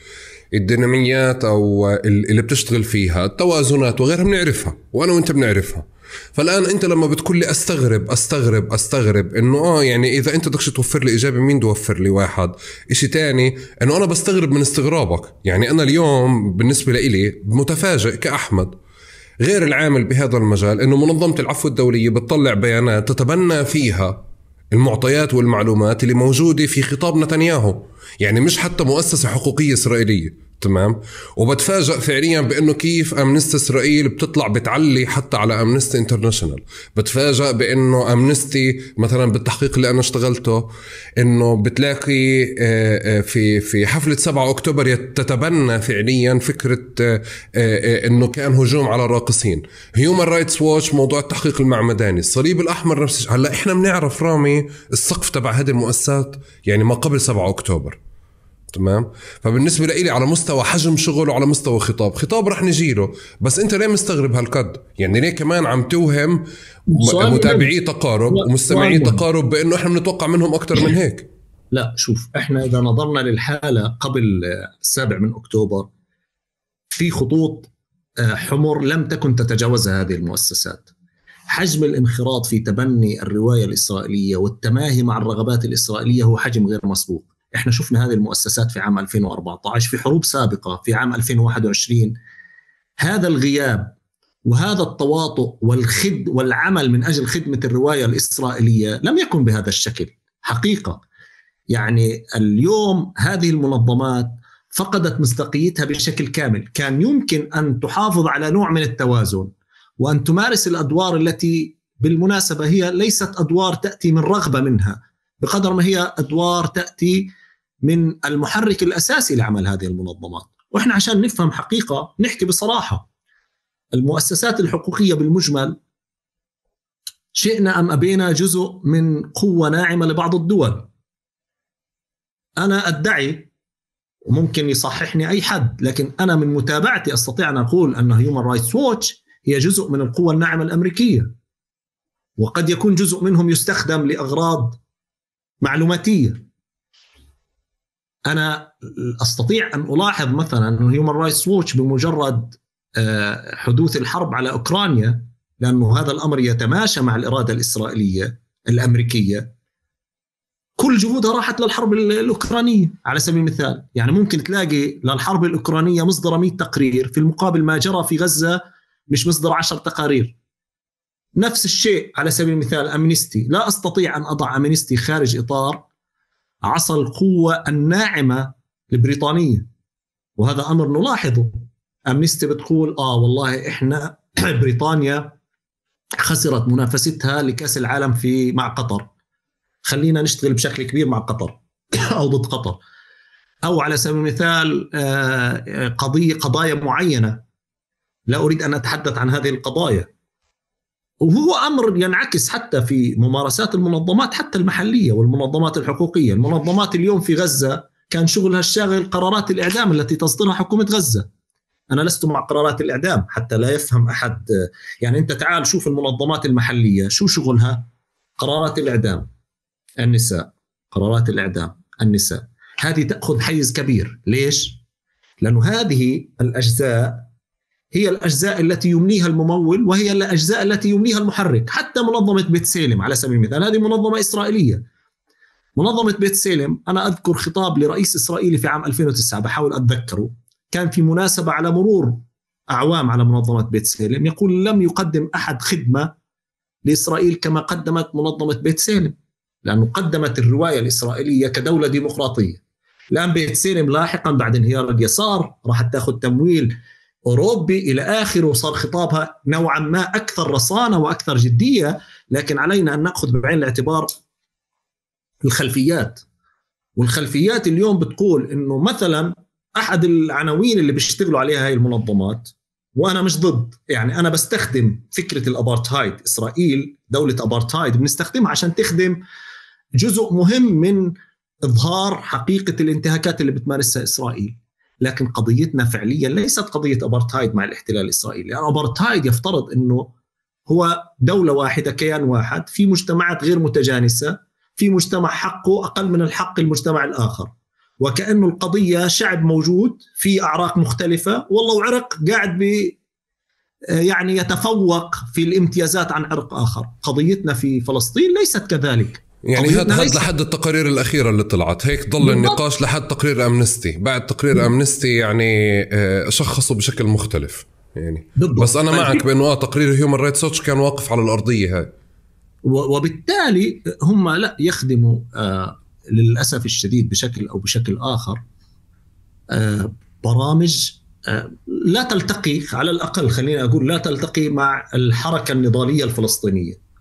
الديناميات أو اللي بتشتغل فيها، التوازنات وغيرها بنعرفها، وأنا وإنت بنعرفها. فالآن أنت لما بتقول لي أستغرب إنه يعني إذا أنت بدكش توفر لي إجابة مين توفر لي واحد إشي تاني، إنه أنا بستغرب من استغرابك. يعني أنا اليوم بالنسبة لي متفاجئ كأحمد غير العامل بهذا المجال إنه منظمة العفو الدولية بتطلع بيانات تتبنى فيها المعطيات والمعلومات اللي موجودة في خطاب نتنياهو، يعني مش حتى مؤسسة حقوقية إسرائيلية. تمام. وبتفاجأ فعليا بأنه كيف أمنستي إسرائيل بتطلع بتعلي حتى على أمنستي انترناشنال. بتفاجأ بأنه أمنستي مثلا بالتحقيق اللي أنا اشتغلته إنه بتلاقي في حفلة 7 أكتوبر تتبنى فعليا فكرة إنه كان هجوم على الراقصين. هيومن رايتس ووتش موضوع التحقيق المعمداني، الصليب الأحمر نفس الشيء. هلا إحنا بنعرف رامي السقف تبع هذه المؤسسات يعني ما قبل 7 أكتوبر. تمام. فبالنسبة لي على مستوى حجم شغل وعلى مستوى خطاب رح نجيله، بس انت ليه مستغرب هالقد؟ يعني ليه كمان عم توهم متابعي تقارب ومستمعي تقارب بانه احنا بنتوقع منهم اكتر من هيك؟ لا شوف، احنا اذا نظرنا للحالة قبل 7 أكتوبر في خطوط حمر لم تكن تتجاوزها هذه المؤسسات. حجم الانخراط في تبني الرواية الإسرائيلية والتماهي مع الرغبات الإسرائيلية هو حجم غير مسبوق. احنا شفنا هذه المؤسسات في عام 2014 في حروب سابقة في عام 2021. هذا الغياب وهذا التواطؤ والعمل من أجل خدمة الرواية الإسرائيلية لم يكن بهذا الشكل حقيقة. يعني اليوم هذه المنظمات فقدت مصداقيتها بشكل كامل. كان يمكن أن تحافظ على نوع من التوازن وأن تمارس الأدوار التي بالمناسبة هي ليست أدوار تأتي من رغبة منها بقدر ما هي أدوار تأتي من المحرك الأساسي لعمل هذه المنظمات. وإحنا عشان نفهم حقيقة نحكي بصراحة، المؤسسات الحقوقية بالمجمل شئنا أم أبينا جزء من قوة ناعمة لبعض الدول. أنا أدعي وممكن يصححني أي حد، لكن أنا من متابعتي أستطيع أن أقول أن هيومن رايتس ووتش هي جزء من القوة الناعمة الأمريكية، وقد يكون جزء منهم يستخدم لأغراض معلوماتية. أنا أستطيع أن ألاحظ مثلا أن هيومن رايتس ووتش بمجرد حدوث الحرب على أوكرانيا، لأنه هذا الأمر يتماشى مع الإرادة الإسرائيلية الأمريكية، كل جهودها راحت للحرب الأوكرانية على سبيل المثال. يعني ممكن تلاقي للحرب الأوكرانية مصدر 100 تقرير، في المقابل ما جرى في غزة مش مصدر 10 تقارير. نفس الشيء على سبيل المثال أمنستي، لا أستطيع أن أضع أمنستي خارج إطار عصا القوة الناعمة البريطانية، وهذا أمر نلاحظه. أمنستي بتقول والله إحنا بريطانيا خسرت منافستها لكأس العالم مع قطر، خلينا نشتغل بشكل كبير مع قطر أو ضد قطر. أو على سبيل المثال قضايا معينة، لا أريد أن أتحدث عن هذه القضايا. وهو أمر ينعكس حتى في ممارسات المنظمات حتى المحلية والمنظمات الحقوقية. المنظمات اليوم في غزة كان شغلها الشاغل قرارات الإعدام التي تصدرها حكومة غزة. أنا لست مع قرارات الإعدام حتى لا يفهم أحد، يعني أنت تعال شوف المنظمات المحلية شو شغلها، قرارات الإعدام النساء، قرارات الإعدام النساء، هذه تأخذ حيز كبير. ليش؟ لأنه هذه الأجزاء هي الأجزاء التي يمليها الممول، وهي الأجزاء التي يمليها المحرك. حتى منظمة بيت سالم على سبيل المثال، هذه منظمة إسرائيلية. منظمة بيت سالم، أنا أذكر خطاب لرئيس إسرائيلي في عام 2009 بحاول أتذكره، كان في مناسبة على مرور أعوام على منظمة بيت سالم، يقول لم يقدم أحد خدمة لإسرائيل كما قدمت منظمة بيت سالم، لأنه قدمت الرواية الإسرائيلية كدولة ديمقراطية. الآن بيت سالم لاحقا بعد انهيار اليسار راح تأخذ تمويل أوروبي إلى آخره، وصار خطابها نوعا ما أكثر رصانة وأكثر جدية. لكن علينا أن نأخذ بعين الاعتبار الخلفيات، والخلفيات اليوم بتقول إنه مثلا أحد العناوين اللي بيشتغلوا عليها هاي المنظمات، وأنا مش ضد، يعني أنا بستخدم فكرة الأبارتهايد، إسرائيل دولة أبارتهايد بنستخدمها عشان تخدم جزء مهم من إظهار حقيقة الانتهاكات اللي بتمارسها إسرائيل. لكن قضيتنا فعليا ليست قضية أبارتهايد مع الاحتلال الإسرائيلي. يعني أبارتهايد يفترض أنه هو دولة واحدة، كيان واحد، في مجتمعات غير متجانسة، في مجتمع حقه أقل من الحق المجتمع الآخر، وكأنه القضية شعب موجود في أعراق مختلفة، والله وعرق قاعد يعني يتفوق في الامتيازات عن عرق آخر. قضيتنا في فلسطين ليست كذلك. يعني هذا لحد التقارير الأخيرة اللي طلعت هيك ضل النقاش لحد تقرير أمنستي. بعد تقرير أمنستي يعني شخصوا بشكل مختلف يعني. بس أنا معك بأنه تقرير هيومن رايتس ووتش كان واقف على الأرضية هاي، وبالتالي هم لا يخدموا للأسف الشديد بشكل أو بشكل آخر برامج لا تلتقي، على الأقل خلينا أقول لا تلتقي مع الحركة النضالية الفلسطينية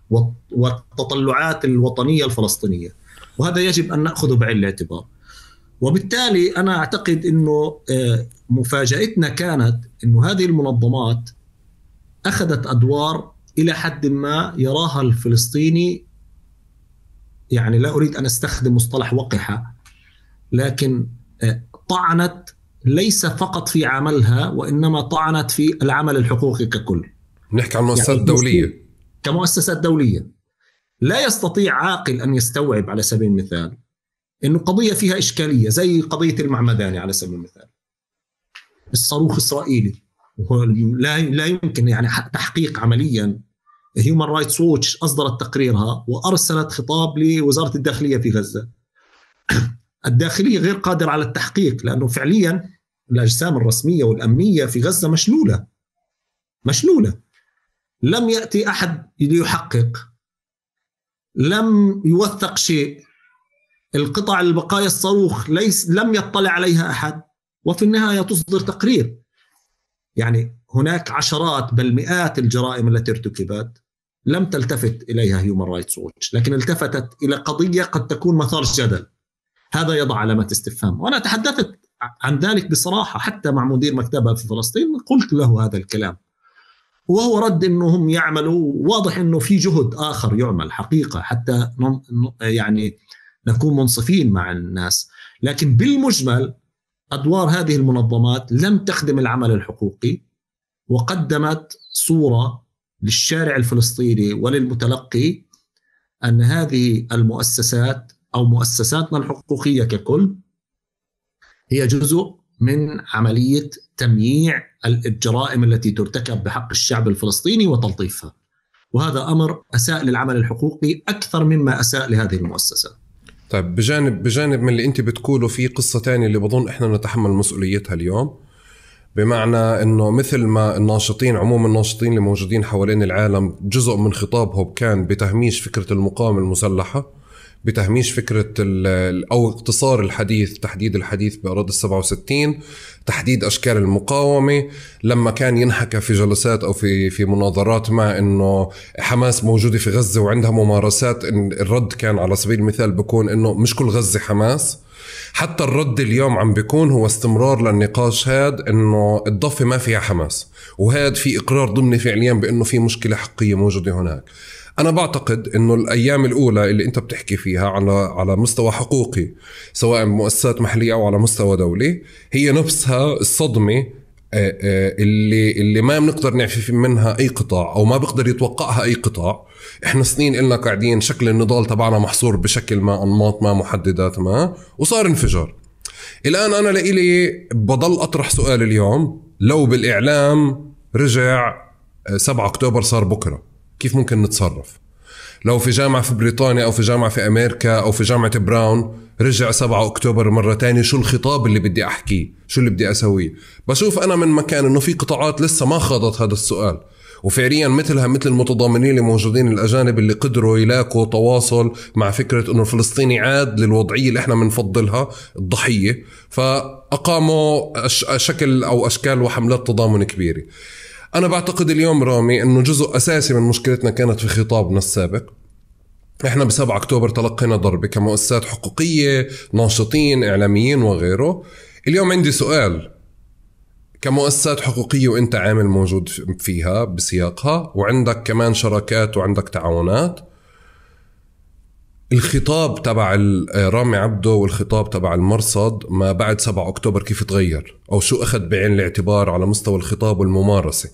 والتطلعات الوطنية الفلسطينية، وهذا يجب أن نأخذه بعين الاعتبار. وبالتالي أنا أعتقد أنه مفاجأتنا كانت أنه هذه المنظمات أخذت أدوار إلى حد ما يراها الفلسطيني، يعني لا أريد أن أستخدم مصطلح وقحة، لكن طعنت ليس فقط في عملها، وإنما طعنت في العمل الحقوقي ككل. نحكي عن مؤسسات دولية، كمؤسسات دولية. لا يستطيع عاقل أن يستوعب على سبيل المثال إنه قضية فيها إشكالية زي قضية المعمداني على سبيل المثال، الصاروخ إسرائيلي، لا يمكن يعني تحقيق عمليا. هيومن رايتس ووتش أصدرت تقريرها وأرسلت خطاب لوزارة الداخلية في غزة. الداخلية غير قادرة على التحقيق، لأنه فعليا الأجسام الرسمية والأمنية في غزة مشلولة. لم يأتي أحد ليحقق، لم يوثق شيء، القطع البقايا الصاروخ لم يطلع عليها أحد، وفي النهاية تصدر تقرير. يعني هناك عشرات بل مئات الجرائم التي ارتكبت لم تلتفت إليها هيومن رايتس ووتش، لكن التفتت إلى قضية قد تكون مثار جدل. هذا يضع علامة استفهام، وأنا تحدثت عن ذلك بصراحة حتى مع مدير مكتبها في فلسطين، قلت له هذا الكلام، وهو رد إنهم يعملوا، واضح إنه في جهد آخر يعمل حقيقة حتى يعني نكون منصفين مع الناس. لكن بالمجمل أدوار هذه المنظمات لم تخدم العمل الحقوقي، وقدمت صورة للشارع الفلسطيني وللمتلقي أن هذه المؤسسات أو مؤسساتنا الحقوقية ككل هي جزء من عملية تمييع الجرائم التي ترتكب بحق الشعب الفلسطيني وتلطيفها، وهذا أمر أساء للعمل الحقوقي أكثر مما أساء لهذه المؤسسات. طيب بجانب من اللي أنت بتقوله في قصة تانية اللي بظن إحنا نتحمل مسؤوليتها اليوم، بمعنى أنه مثل ما الناشطين عموم الناشطين اللي موجودين حوالين العالم جزء من خطابهم كان بتهميش فكرة المقاومة المسلحة، بتهميش فكرة أو اقتصار الحديث، تحديد الحديث بأراضي 67، تحديد أشكال المقاومة. لما كان ينحكى في جلسات أو في مناظرات مع أنه حماس موجودة في غزة وعندها ممارسات، إن الرد كان على سبيل المثال بيكون أنه مش كل غزة حماس. حتى الرد اليوم عم بيكون هو استمرار للنقاش هاد أنه الضفة ما فيها حماس، وهاد في إقرار ضمني فعليا بأنه في مشكلة حقيقية موجودة هناك. أنا بعتقد أنه الأيام الأولى اللي أنت بتحكي فيها على مستوى حقوقي سواء مؤسسات محلية أو على مستوى دولي، هي نفسها الصدمة اللي ما بنقدر نعفي منها أي قطاع أو ما بقدر يتوقعها أي قطاع. إحنا سنين إلنا قاعدين شكل النضال تبعنا محصور بشكل ما، أنماط ما، محددات ما، وصار انفجار. الآن أنا لإلي بضل أطرح سؤال اليوم، لو بالإعلام رجع 7 أكتوبر صار بكرة، كيف ممكن نتصرف؟ لو في جامعة في بريطانيا أو في جامعة في أمريكا أو في جامعة براون رجع 7 أكتوبر مرة تانية، شو الخطاب اللي بدي أحكيه؟ شو اللي بدي أسويه؟ بشوف أنا من مكان أنه في قطاعات لسه ما خاضت هذا السؤال، وفعليا مثل المتضامنين اللي موجودين الأجانب اللي قدروا يلاقوا تواصل مع فكرة أنه الفلسطيني عاد للوضعية اللي احنا منفضلها، الضحية، فأقاموا شكل أو أشكال وحملات تضامن كبيرة. أنا بعتقد اليوم رامي أنه جزء أساسي من مشكلتنا كانت في خطابنا السابق. إحنا ب7 أكتوبر تلقينا ضربة كمؤسسات حقوقية، ناشطين، إعلاميين وغيره. اليوم عندي سؤال، كمؤسسات حقوقية وإنت عامل موجود فيها بسياقها وعندك كمان شراكات وعندك تعاونات، الخطاب تبع رامي عبده والخطاب تبع المرصد ما بعد 7 أكتوبر كيف تغير، أو شو أخذ بعين الاعتبار على مستوى الخطاب والممارسة،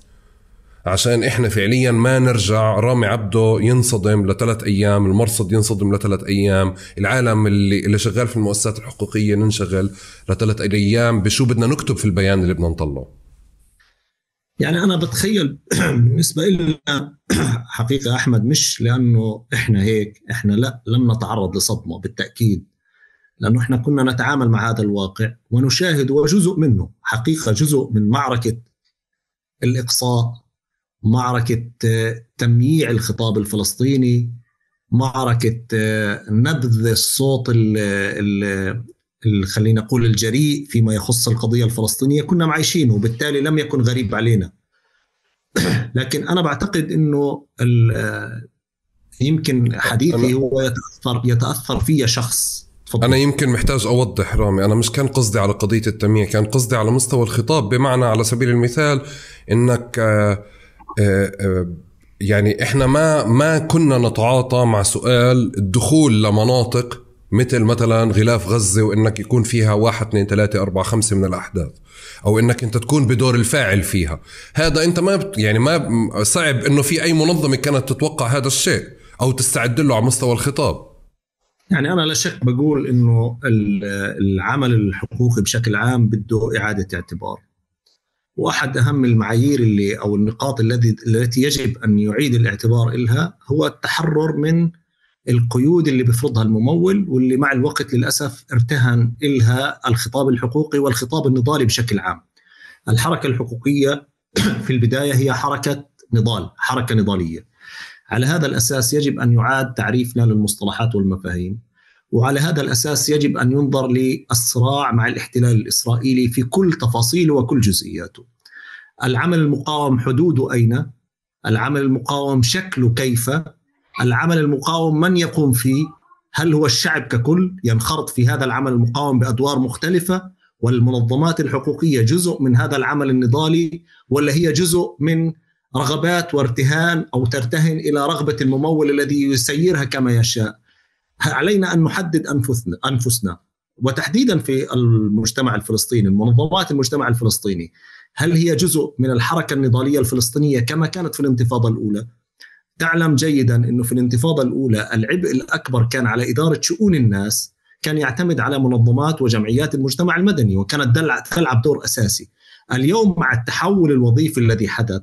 عشان إحنا فعليا ما نرجع رامي عبده ينصدم ل3 أيام، المرصد ينصدم ل3 أيام، العالم اللي شغال في المؤسسات الحقوقية ننشغل ل3 أيام بشو بدنا نكتب في البيان اللي بدنا نطلعه. يعني أنا بتخيل بالنسبة لنا حقيقة أحمد، مش لأنه إحنا هيك، إحنا لا، لم نتعرض لصدمة بالتأكيد، لأنه إحنا كنا نتعامل مع هذا الواقع ونشاهد، وجزء منه حقيقة جزء من معركة الإقصاء، معركة تمييع الخطاب الفلسطيني، معركة نبذ الصوت خلينا نقول الجريء فيما يخص القضية الفلسطينية، كنا معيشينه وبالتالي لم يكن غريب علينا. لكن أنا بعتقد أنه يمكن حديثي هو يتأثر فيه شخص. فضل. أنا يمكن محتاج أوضح رامي، أنا مش كان قصدي على قضية التمييع، كان قصدي على مستوى الخطاب، بمعنى على سبيل المثال إنك يعني إحنا ما كنا نتعاطى مع سؤال الدخول لمناطق مثلا غلاف غزة وإنك يكون فيها 1 2 3 4 5 من الأحداث، أو إنك أنت تكون بدور الفاعل فيها. هذا أنت ما صعب إنه في أي منظمة كانت تتوقع هذا الشيء أو تستعد له على مستوى الخطاب. يعني أنا لا شك بقول إنه العمل الحقوقي بشكل عام بده إعادة اعتبار، وأحد أهم المعايير أو النقاط التي يجب أن يعيد الاعتبار إلها هو التحرر من القيود اللي بيفرضها الممول، واللي مع الوقت للأسف ارتهن إلها الخطاب الحقوقي والخطاب النضالي بشكل عام. الحركة الحقوقية في البداية هي حركة نضال، حركة نضالية. على هذا الأساس يجب أن يعاد تعريفنا للمصطلحات والمفاهيم، وعلى هذا الأساس يجب أن ينظر للصراع مع الاحتلال الإسرائيلي في كل تفاصيله وكل جزئياته. العمل المقاوم حدوده أين؟ العمل المقاوم شكله كيف؟ العمل المقاوم من يقوم فيه؟ هل هو الشعب ككل ينخرط في هذا العمل المقاوم بأدوار مختلفة؟ والمنظمات الحقوقية جزء من هذا العمل النضالي، ولا هي جزء من رغبات وارتهان أو ترتهن إلى رغبة الممول الذي يسيرها كما يشاء؟ علينا أن نحدد أنفسنا، وتحديدا في المجتمع الفلسطيني، المنظمات المجتمع الفلسطيني، هل هي جزء من الحركة النضالية الفلسطينية كما كانت في الانتفاضة الأولى؟ تعلم جيدا أنه في الانتفاضة الأولى العبء الأكبر كان على إدارة شؤون الناس، كان يعتمد على منظمات وجمعيات المجتمع المدني، وكانت تلعب دور أساسي. اليوم مع التحول الوظيفي الذي حدث،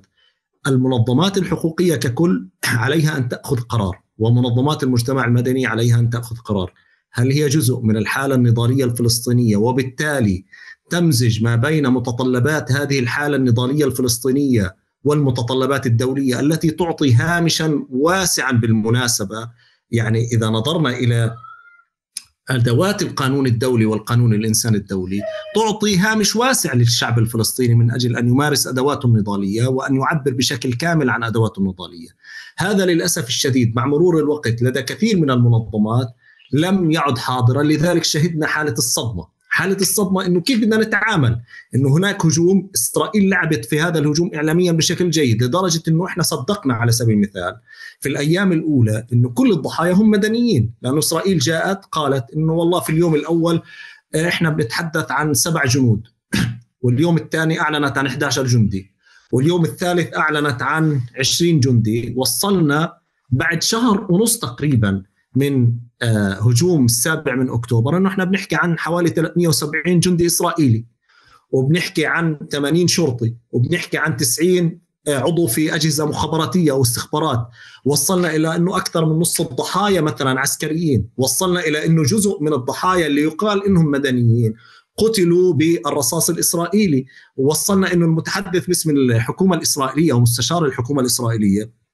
المنظمات الحقوقية ككل عليها أن تأخذ قرار، ومنظمات المجتمع المدني عليها أن تأخذ قرار. هل هي جزء من الحالة النضالية الفلسطينية وبالتالي تمزج ما بين متطلبات هذه الحالة النضالية الفلسطينية والمتطلبات الدولية التي تعطي هامشا واسعا بالمناسبة. يعني إذا نظرنا إلى أدوات القانون الدولي والقانون الإنساني الدولي تعطي هامش واسع للشعب الفلسطيني من أجل أن يمارس أدواته النضالية وأن يعبر بشكل كامل عن أدواته النضالية. هذا للأسف الشديد مع مرور الوقت لدى كثير من المنظمات لم يعد حاضرا. لذلك شهدنا حالة الصدمة إنه كيف بدنا نتعامل، إنه هناك هجوم، إسرائيل لعبت في هذا الهجوم إعلاميا بشكل جيد لدرجة إنه إحنا صدقنا على سبيل المثال في الأيام الأولى إنه كل الضحايا هم مدنيين، لأنه إسرائيل جاءت قالت إنه والله في اليوم الأول إحنا بنتحدث عن 7 جنود، واليوم الثاني أعلنت عن 11 جندي، واليوم الثالث أعلنت عن 20 جندي. وصلنا بعد شهر ونص تقريبا من هجوم 7 أكتوبر أنه إحنا بنحكي عن حوالي 370 جندي إسرائيلي، وبنحكي عن 80 شرطي، وبنحكي عن 90 عضو في أجهزة مخابراتية أو استخبارات. وصلنا إلى أنه أكثر من نصف الضحايا مثلا عسكريين. وصلنا إلى أنه جزء من الضحايا اللي يقال إنهم مدنيين قتلوا بالرصاص الإسرائيلي. ووصلنا أنه المتحدث باسم الحكومة الإسرائيلية ومستشار الحكومة الإسرائيلية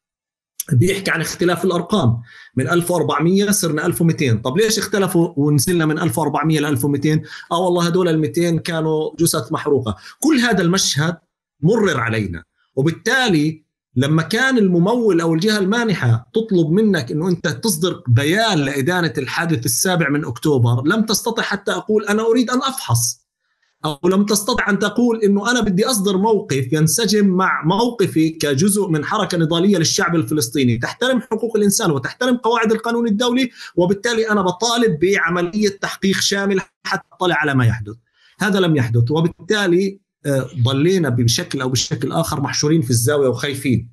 بيحكي عن اختلاف الأرقام، من 1400 صرنا 1200. طب ليش اختلفوا ونزلنا من 1400 ل 1200؟ والله هدول 200 كانوا جثث محروقة. كل هذا المشهد مرر علينا، وبالتالي لما كان الممول أو الجهة المانحة تطلب منك أنه أنت تصدر بيان لإدانة الحادث 7 أكتوبر لم تستطع حتى أقول أنا أريد أن أفحص، أو لم تستطع أن تقول إنه أنا بدي أصدر موقف ينسجم مع موقفي كجزء من حركة نضالية للشعب الفلسطيني تحترم حقوق الإنسان وتحترم قواعد القانون الدولي، وبالتالي أنا بطالب بعملية تحقيق شامل حتى أطلع على ما يحدث. هذا لم يحدث، وبالتالي ضلينا بشكل أو بشكل آخر محشورين في الزاوية وخايفين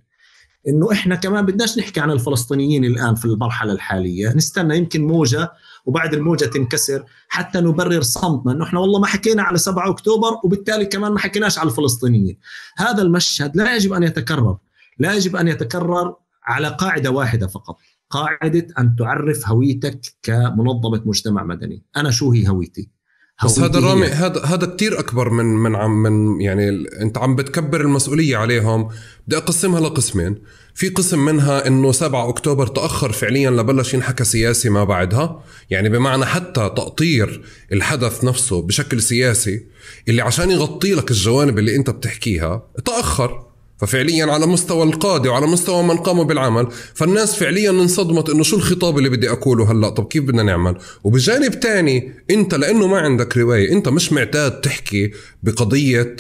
إنه إحنا كمان بدناش نحكي عن الفلسطينيين الآن في المرحلة الحالية، نستنى يمكن موجة وبعد الموجة تنكسر حتى نبرر صمتنا إنه إحنا والله ما حكينا على 7 أكتوبر وبالتالي كمان ما حكيناش على الفلسطينيين. هذا المشهد لا يجب أن يتكرر، لا يجب أن يتكرر على قاعدة واحدة فقط، قاعدة أن تعرف هويتك كمنظمة مجتمع مدني. أنا شو هي هويتي؟ بس هذا رامي، هذا كتير أكبر من يعني أنت عم بتكبر المسؤولية عليهم. بدي أقسمها لقسمين. في قسم منها إنه 7 أكتوبر تأخر فعليا لبلش ينحكى سياسي ما بعدها، يعني بمعنى حتى تأطير الحدث نفسه بشكل سياسي اللي عشان يغطي لك الجوانب اللي أنت بتحكيها تأخر. ففعليا على مستوى القادة وعلى مستوى من قاموا بالعمل، فالناس فعليا انصدمت انه شو الخطاب اللي بدي اقوله هلا، طب كيف بدنا نعمل؟ وبجانب تاني انت لانه ما عندك رواية، انت مش معتاد تحكي بقضية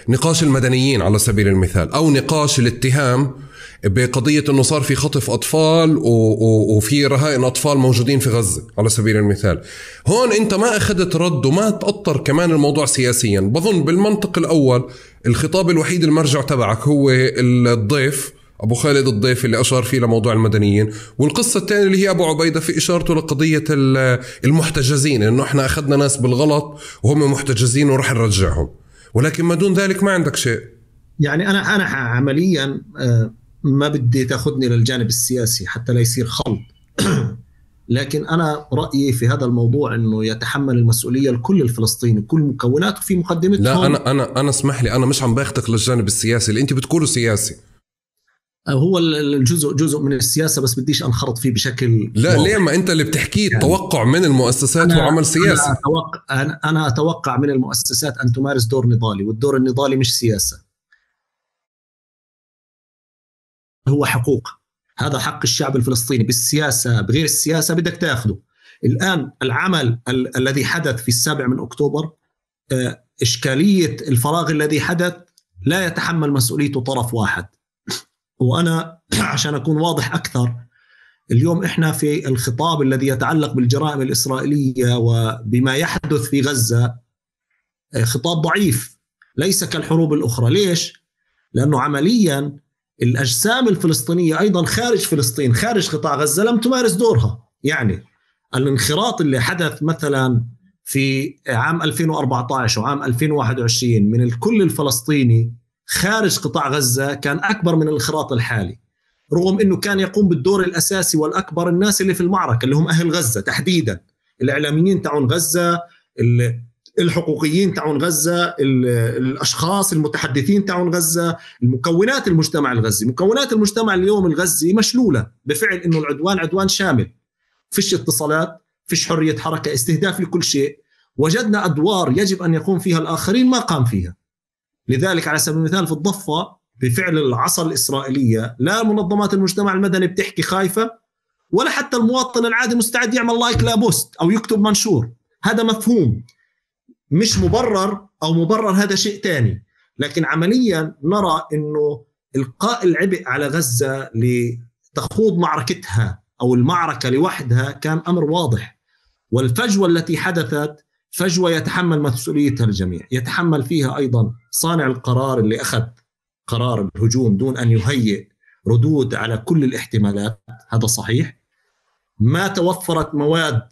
نقاش المدنيين على سبيل المثال، او نقاش الاتهام بقضية انه صار في خطف اطفال وفي رهائن اطفال موجودين في غزة على سبيل المثال. هون انت ما اخذت رد وما تأطر كمان الموضوع سياسيا. بظن بالمنطق الاول الخطاب الوحيد المرجع تبعك هو الضيف ابو خالد الضيف اللي اشار فيه لموضوع المدنيين، والقصة الثانية اللي هي ابو عبيدة في اشارته لقضية المحتجزين، انه احنا اخذنا ناس بالغلط وهم محتجزين ورح نرجعهم، ولكن ما دون ذلك ما عندك شيء. يعني انا عمليا ما بدي تاخذني للجانب السياسي حتى لا يصير خلط لكن أنا رأيي في هذا الموضوع أنه يتحمل المسؤولية الكل الفلسطيني، كل مكوناته في مقدمتهم. لا أنا اسمح لي، أنا مش عم باخدك للجانب السياسي اللي أنت بتقوله سياسي. هو جزء من السياسة، بس بديش أنخرط فيه بشكل لا واضح. ليه ما أنت اللي بتحكيه يعني توقع من المؤسسات وعمل سياسي. أنا أتوقع من المؤسسات أن تمارس دور نضالي، والدور النضالي مش سياسة، هو حقوق. هذا حق الشعب الفلسطيني بالسياسة بغير السياسة بدك تأخذه. الآن العمل الذي حدث في 7 أكتوبر، إشكالية الفراغ الذي حدث لا يتحمل مسؤوليته طرف واحد. وأنا عشان أكون واضح أكثر، اليوم إحنا في الخطاب الذي يتعلق بالجرائم الإسرائيلية وبما يحدث في غزة خطاب ضعيف، ليس كالحروب الأخرى. ليش؟ لأنه عملياً الأجسام الفلسطينية أيضاً خارج فلسطين، خارج قطاع غزة، لم تمارس دورها. يعني الانخراط اللي حدث مثلاً في عام 2014 وعام 2021 من الكل الفلسطيني خارج قطاع غزة كان أكبر من الانخراط الحالي، رغم أنه كان يقوم بالدور الأساسي والأكبر الناس اللي في المعركة اللي هم أهل غزة تحديداً، الإعلاميين تاعون غزة، الحقوقيين تاعون غزة، الأشخاص المتحدثين تاعون غزة، المكونات المجتمع الغزي. مكونات المجتمع اليوم الغزي مشلولة بفعل إنه العدوان عدوان شامل، فيش اتصالات، فيش حرية حركة، استهداف لكل شيء. وجدنا أدوار يجب أن يقوم فيها الآخرين ما قام فيها. لذلك على سبيل المثال في الضفة بفعل العصا الإسرائيلية لا منظمات المجتمع المدني بتحكي خايفة، ولا حتى المواطن العادي مستعد يعمل لايك لبوست أو يكتب منشور. هذا مفهوم مش مبرر أو مبرر، هذا شيء تاني. لكن عمليا نرى أنه إلقاء العبء على غزة لتخوض معركتها أو المعركة لوحدها كان أمر واضح. والفجوة التي حدثت فجوة يتحمل مسؤوليتها الجميع، يتحمل فيها أيضا صانع القرار اللي أخذ قرار الهجوم دون أن يهيئ ردود على كل الاحتمالات. هذا صحيح. ما توفرت مواد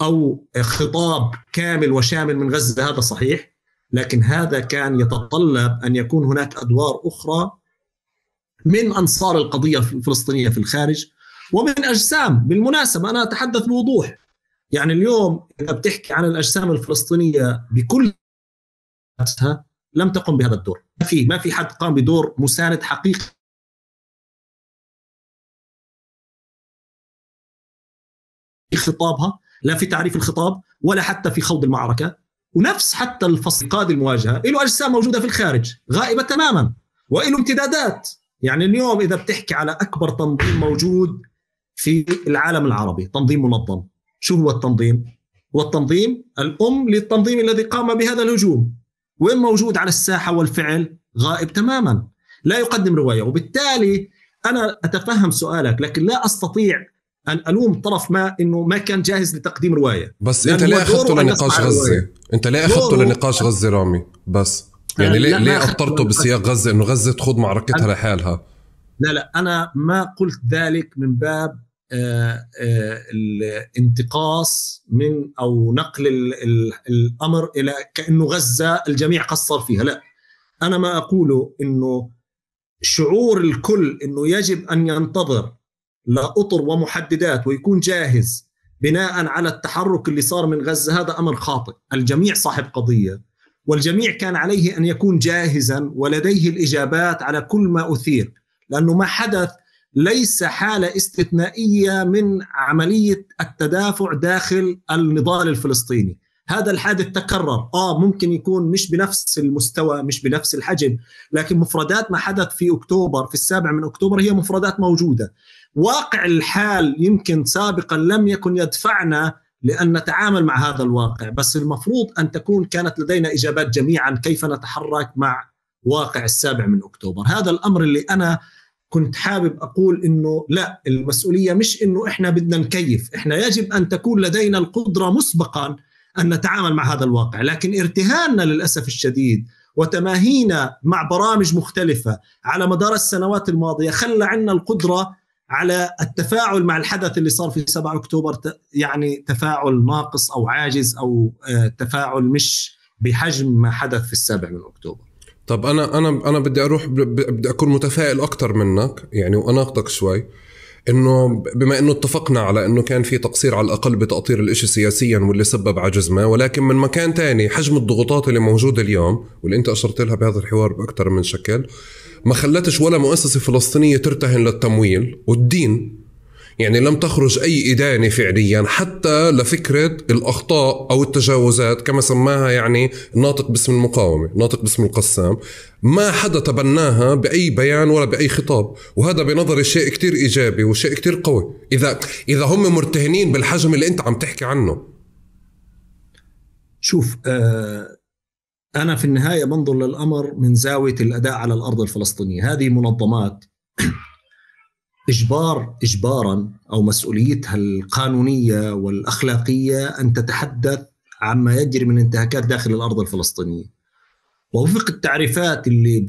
أو خطاب كامل وشامل من غزة، هذا صحيح. لكن هذا كان يتطلب أن يكون هناك أدوار أخرى من أنصار القضية الفلسطينية في الخارج ومن أجسام. بالمناسبة أنا أتحدث بوضوح، يعني اليوم إذا بتحكي عن الأجسام الفلسطينية بكل لم تقم بهذا الدور. ما في حد قام بدور مساند حقيقي في خطابها، لا في تعريف الخطاب ولا حتى في خوض المعركة. ونفس حتى الفصل قاد المواجهة له أجسام موجودة في الخارج غائبة تماما وله امتدادات. يعني اليوم إذا بتحكي على أكبر تنظيم موجود في العالم العربي، تنظيم منظم، شو هو التنظيم؟ هو التنظيم الأم للتنظيم الذي قام بهذا الهجوم. وين موجود على الساحة والفعل؟ غائب تماما، لا يقدم رواية. وبالتالي أنا أتفهم سؤالك، لكن لا أستطيع أن ألوم طرف ما إنه ما كان جاهز لتقديم رواية. بس أنت ليه أخذته لنقاش غزة؟ أنت ليه أخذته لنقاش غزة رامي؟ بس يعني ليه أطرته بسياق غزة إنه غزة تخوض معركتها لحالها؟ لا أنا ما قلت ذلك من باب الانتقاص من أو نقل الأمر إلى كأنه غزة الجميع قصر فيها. لا، أنا ما أقوله إنه شعور الكل إنه يجب أن ينتظر لأطر ومحددات ويكون جاهز بناء على التحرك اللي صار من غزة، هذا أمر خاطئ. الجميع صاحب قضية، والجميع كان عليه أن يكون جاهزا ولديه الإجابات على كل ما أثير، لأنه ما حدث ليس حالة استثنائية من عملية التدافع داخل النضال الفلسطيني. هذا الحادث تكرر، ممكن يكون مش بنفس المستوى، مش بنفس الحجم، لكن مفردات ما حدث في أكتوبر، في 7 من أكتوبر، هي مفردات موجودة. واقع الحال يمكن سابقا لم يكن يدفعنا لأن نتعامل مع هذا الواقع، بس المفروض أن تكون كانت لدينا إجابات جميعا كيف نتحرك مع واقع 7 من أكتوبر. هذا الأمر اللي أنا كنت حابب أقول إنه لا، المسؤولية مش إنه إحنا بدنا نكيف، إحنا يجب أن تكون لدينا القدرة مسبقا أن نتعامل مع هذا الواقع. لكن ارتهاننا للأسف الشديد وتماهينا مع برامج مختلفة على مدار السنوات الماضية خلى عنا القدرة على التفاعل مع الحدث اللي صار في 7 أكتوبر، يعني تفاعل ناقص أو عاجز أو تفاعل مش بحجم ما حدث في 7 من أكتوبر. طب أنا بدي أكون متفائل أكتر منك يعني، وأناقضك شوي، إنه بما إنه اتفقنا على إنه كان في تقصير على الأقل بتأطير الإشي سياسيا واللي سبب عجز ما، ولكن من مكان تاني حجم الضغوطات اللي موجودة اليوم واللي أنت أشرت لها بهذا الحوار بأكتر من شكل ما خلتش ولا مؤسسة فلسطينية ترتهن للتمويل والدين. يعني لم تخرج أي إدانة فعليا حتى لفكرة الأخطاء أو التجاوزات كما سماها يعني ناطق باسم المقاومة، ناطق باسم القسام، ما حدا تبناها بأي بيان ولا بأي خطاب. وهذا بنظري شيء كتير إيجابي وشيء كتير قوي إذا هم مرتهنين بالحجم اللي أنت عم تحكي عنه. شوف، أنا في النهاية بنظر للأمر من زاوية الأداء على الأرض الفلسطينية. هذه منظمات إجباراً أو مسؤوليتها القانونية والأخلاقية أن تتحدث عما يجري من انتهاكات داخل الأرض الفلسطينية، ووفق التعريفات اللي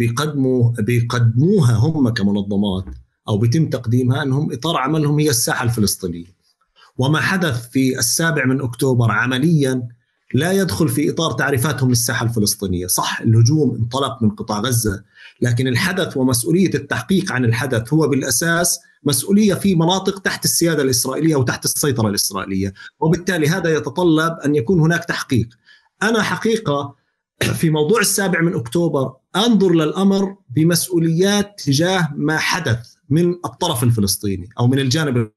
بيقدموها هم كمنظمات أو بيتم تقديمها، أنهم إطار عملهم هي الساحة الفلسطينية. وما حدث في 7 من أكتوبر عملياً لا يدخل في إطار تعريفاتهم للساحة الفلسطينية. صح، الهجوم انطلق من قطاع غزة، لكن الحدث ومسؤولية التحقيق عن الحدث هو بالأساس مسؤولية في مناطق تحت السيادة الإسرائيلية وتحت السيطرة الإسرائيلية، وبالتالي هذا يتطلب أن يكون هناك تحقيق. أنا حقيقة في موضوع 7 أكتوبر أنظر للأمر بمسؤوليات تجاه ما حدث من الطرف الفلسطيني أو من الجانب.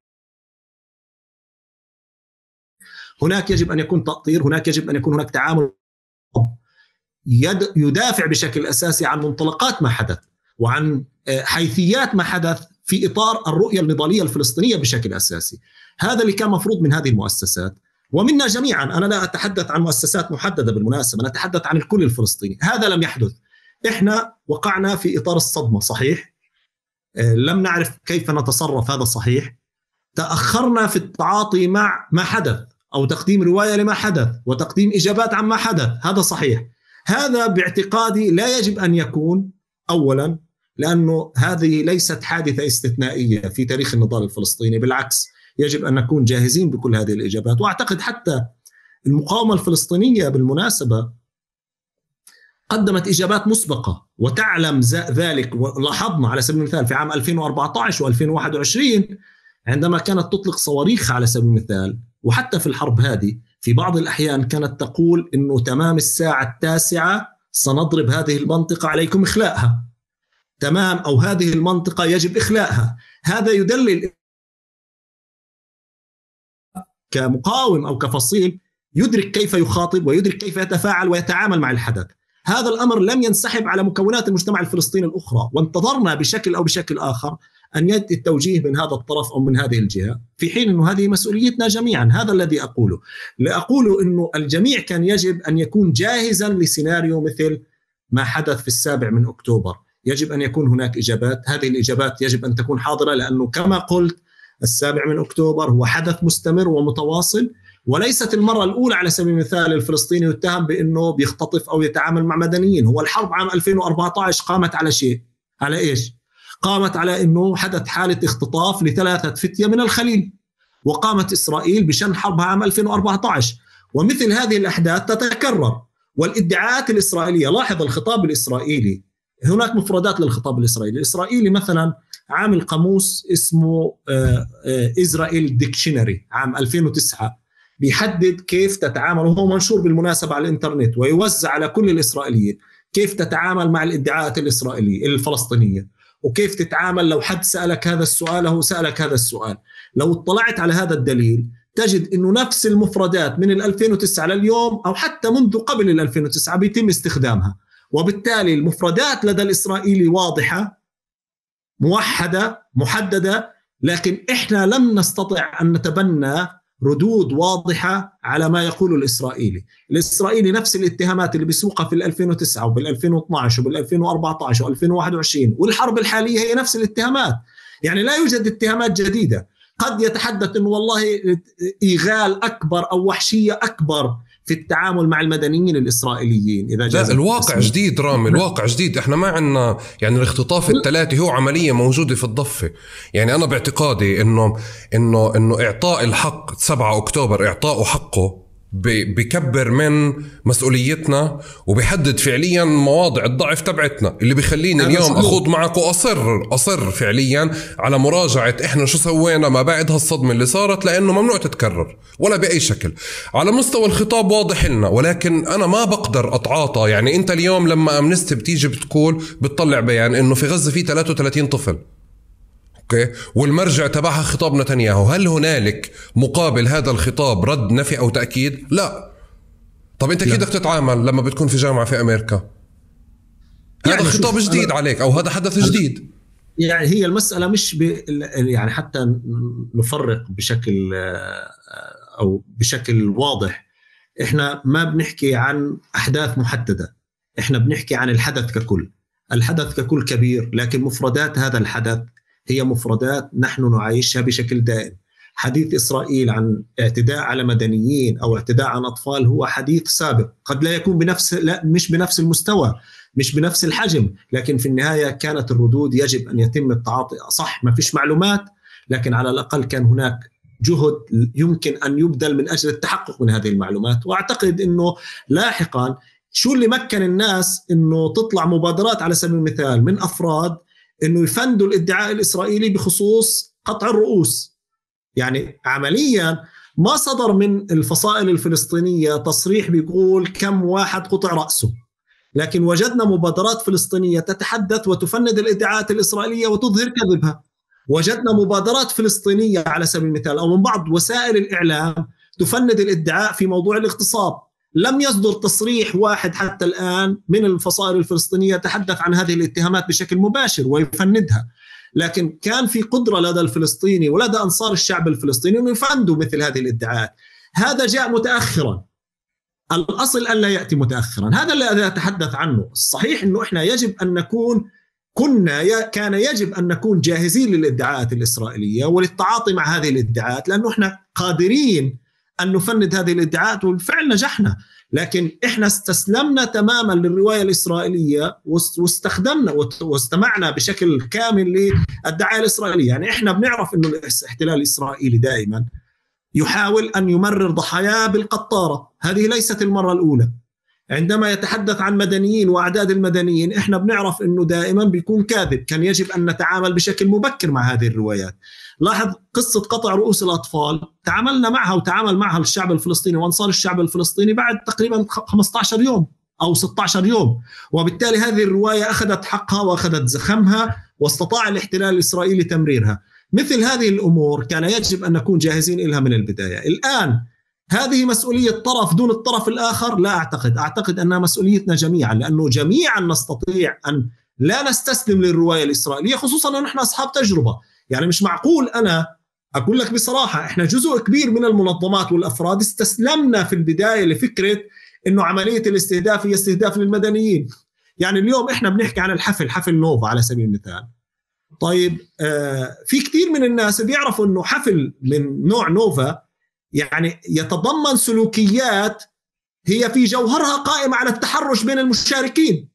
هناك يجب أن يكون تأطير، هناك يجب أن يكون هناك تعامل يدافع بشكل أساسي عن منطلقات ما حدث وعن حيثيات ما حدث في إطار الرؤية النضالية الفلسطينية بشكل أساسي. هذا اللي كان مفروض من هذه المؤسسات ومنا جميعا. أنا لا أتحدث عن مؤسسات محددة بالمناسبة، أنا أتحدث عن الكل الفلسطيني. هذا لم يحدث. إحنا وقعنا في إطار الصدمة، صحيح، لم نعرف كيف نتصرف، هذا صحيح. تأخرنا في التعاطي مع ما حدث أو تقديم رواية لما حدث وتقديم إجابات عن ما حدث، هذا صحيح. هذا باعتقادي لا يجب أن يكون، أولا لأنه هذه ليست حادثة استثنائية في تاريخ النضال الفلسطيني، بالعكس يجب أن نكون جاهزين بكل هذه الإجابات. وأعتقد حتى المقاومة الفلسطينية بالمناسبة قدمت إجابات مسبقة وتعلم ذلك. ولاحظنا على سبيل المثال في عام 2014 و2021 عندما كانت تطلق صواريخ على سبيل المثال، وحتى في الحرب هذه في بعض الأحيان كانت تقول إنه تمام الساعة 9 سنضرب هذه المنطقة، عليكم إخلاءها، تمام، أو هذه المنطقة يجب إخلاءها. هذا يدلل كمقاوم أو كفصيل يدرك كيف يخاطب ويدرك كيف يتفاعل ويتعامل مع الحدث. هذا الأمر لم ينسحب على مكونات المجتمع الفلسطيني الأخرى، وانتظرنا بشكل أو بشكل آخر أن يأتي التوجيه من هذا الطرف أو من هذه الجهة، في حين أنه هذه مسؤوليتنا جميعا. هذا الذي أقوله. لأقول أنه الجميع كان يجب أن يكون جاهزا لسيناريو مثل ما حدث في 7 أكتوبر. يجب أن يكون هناك إجابات، هذه الإجابات يجب أن تكون حاضرة، لأنه كما قلت 7 أكتوبر هو حدث مستمر ومتواصل، وليست المرة الأولى على سبيل المثال الفلسطيني يتهم بأنه بيختطف أو يتعامل مع مدنيين. هو الحرب عام 2014 قامت على شيء، على إيش؟ قامت على أنه حدث حالة اختطاف ل3 فتية من الخليل، وقامت إسرائيل بشن حربها عام 2014. ومثل هذه الأحداث تتكرر، والادعاءات الإسرائيلية، لاحظ الخطاب الإسرائيلي، هناك مفردات للخطاب الإسرائيلي مثلا عامل قاموس اسمه إسرائيل ديكشنري عام 2009 بيحدد كيف تتعامل، وهو منشور بالمناسبة على الإنترنت ويوزع على كل الإسرائيليين، كيف تتعامل مع الادعاءات الإسرائيلية الفلسطينية، وكيف تتعامل لو حد سألك هذا السؤال أو سألك هذا السؤال. لو اطلعت على هذا الدليل تجد أنه نفس المفردات من 2009 لليوم أو حتى منذ قبل 2009 بيتم استخدامها، وبالتالي المفردات لدى الإسرائيلي واضحة موحدة محددة، لكن إحنا لم نستطع أن نتبنى ردود واضحة على ما يقوله الإسرائيلي نفس الاتهامات اللي بيسوقها في 2009 وبال2012 وبال2014 و2021 والحرب الحالية هي نفس الاتهامات. يعني لا يوجد اتهامات جديدة. قد يتحدث إنه والله إيغال أكبر أو وحشية أكبر في التعامل مع المدنيين الإسرائيليين إذا جاء. الواقع جديد رامي، الواقع جديد. احنا ما عندنا يعني الاختطاف الثلاثي هو عملية موجودة في الضفة. يعني أنا باعتقادي إنه إعطاء الحق 7 أكتوبر إعطاءه حقه بيكبر من مسؤوليتنا وبيحدد فعليا مواضع الضعف تبعتنا، اللي بيخليني اليوم أخوض معك وأصر فعليا على مراجعة إحنا شو سوينا ما بعد هالصدمة اللي صارت، لأنه ممنوع تتكرر ولا بأي شكل. على مستوى الخطاب واضح لنا، ولكن أنا ما بقدر أتعاطى. يعني أنت اليوم لما أمنستي بتيجي بتطلع بيان إنه في غزة في 33 طفل، أوكي، والمرجع تبعها خطاب نتنياهو، هل هنالك مقابل هذا الخطاب رد نفي أو تأكيد؟ لا. طب أنت كيف بدك تتعامل لما بتكون في جامعة في أمريكا؟ يعني هذا خطاب جديد عليك أو هذا حدث جديد. يعني هي المسألة مش يعني حتى نفرق بشكل أو بشكل واضح، إحنا ما بنحكي عن أحداث محددة، إحنا بنحكي عن الحدث ككل. الحدث ككل كبير، لكن مفردات هذا الحدث هي مفردات نحن نعيشها بشكل دائم. حديث إسرائيل عن اعتداء على مدنيين أو اعتداء عن أطفال هو حديث سابق، قد لا يكون مش بنفس المستوى، مش بنفس الحجم، لكن في النهاية كانت الردود يجب أن يتم التعاطي. صح ما فيش معلومات، لكن على الأقل كان هناك جهد يمكن أن يبذل من أجل التحقق من هذه المعلومات. وأعتقد أنه لاحقا شو اللي مكن الناس أنه تطلع مبادرات على سبيل المثال من أفراد أنه يفندوا الادعاء الإسرائيلي بخصوص قطع الرؤوس. يعني عمليا ما صدر من الفصائل الفلسطينية تصريح بيقول كم واحد قطع رأسه، لكن وجدنا مبادرات فلسطينية تتحدث وتفند الادعاءات الإسرائيلية وتظهر كذبها. وجدنا مبادرات فلسطينية على سبيل المثال أو من بعض وسائل الإعلام تفند الادعاء في موضوع الاغتصاب. لم يصدر تصريح واحد حتى الآن من الفصائل الفلسطينية تحدث عن هذه الاتهامات بشكل مباشر ويفندها، لكن كان في قدرة لدى الفلسطيني ولدى أنصار الشعب الفلسطيني أن يفندوا مثل هذه الادعاءات. هذا جاء متأخرا، الأصل أن لا يأتي متأخرا. هذا اللي أتحدث عنه. الصحيح أنه إحنا يجب أن نكون كان يجب أن نكون جاهزين للادعاءات الإسرائيلية وللتعاطي مع هذه الادعاءات، لأنه إحنا قادرين أن نفند هذه الادعاءات وبالفعل نجحنا. لكن إحنا استسلمنا تماما للرواية الإسرائيلية واستخدمنا واستمعنا بشكل كامل للدعاية الإسرائيلية. يعني إحنا بنعرف أنه الاحتلال الإسرائيلي دائما يحاول أن يمرر ضحاياه بالقطارة. هذه ليست المرة الأولى. عندما يتحدث عن مدنيين وأعداد المدنيين إحنا بنعرف أنه دائما بيكون كاذب. كان يجب أن نتعامل بشكل مبكر مع هذه الروايات. لاحظ قصة قطع رؤوس الأطفال، تعاملنا معها وتعامل معها الشعب الفلسطيني وأنصار الشعب الفلسطيني بعد تقريبا 15 يوم أو 16 يوم، وبالتالي هذه الرواية أخذت حقها وأخذت زخمها واستطاع الاحتلال الإسرائيلي تمريرها. مثل هذه الأمور كان يجب أن نكون جاهزين لها من البداية. الآن هذه مسؤولية طرف دون الطرف الآخر؟ لا أعتقد أنها مسؤوليتنا جميعا، لأنه جميعا نستطيع أن لا نستسلم للرواية الإسرائيلية، خصوصا أن نحن أصحاب تجربة. يعني مش معقول أنا أقول لك بصراحة إحنا جزء كبير من المنظمات والأفراد استسلمنا في البداية لفكرة أنه عملية الاستهداف هي استهداف للمدنيين. يعني اليوم إحنا بنحكي عن حفل نوفا على سبيل المثال. طيب في كتير من الناس بيعرفوا أنه حفل من نوع نوفا يعني يتضمن سلوكيات هي في جوهرها قائمة على التحرش بين المشاركين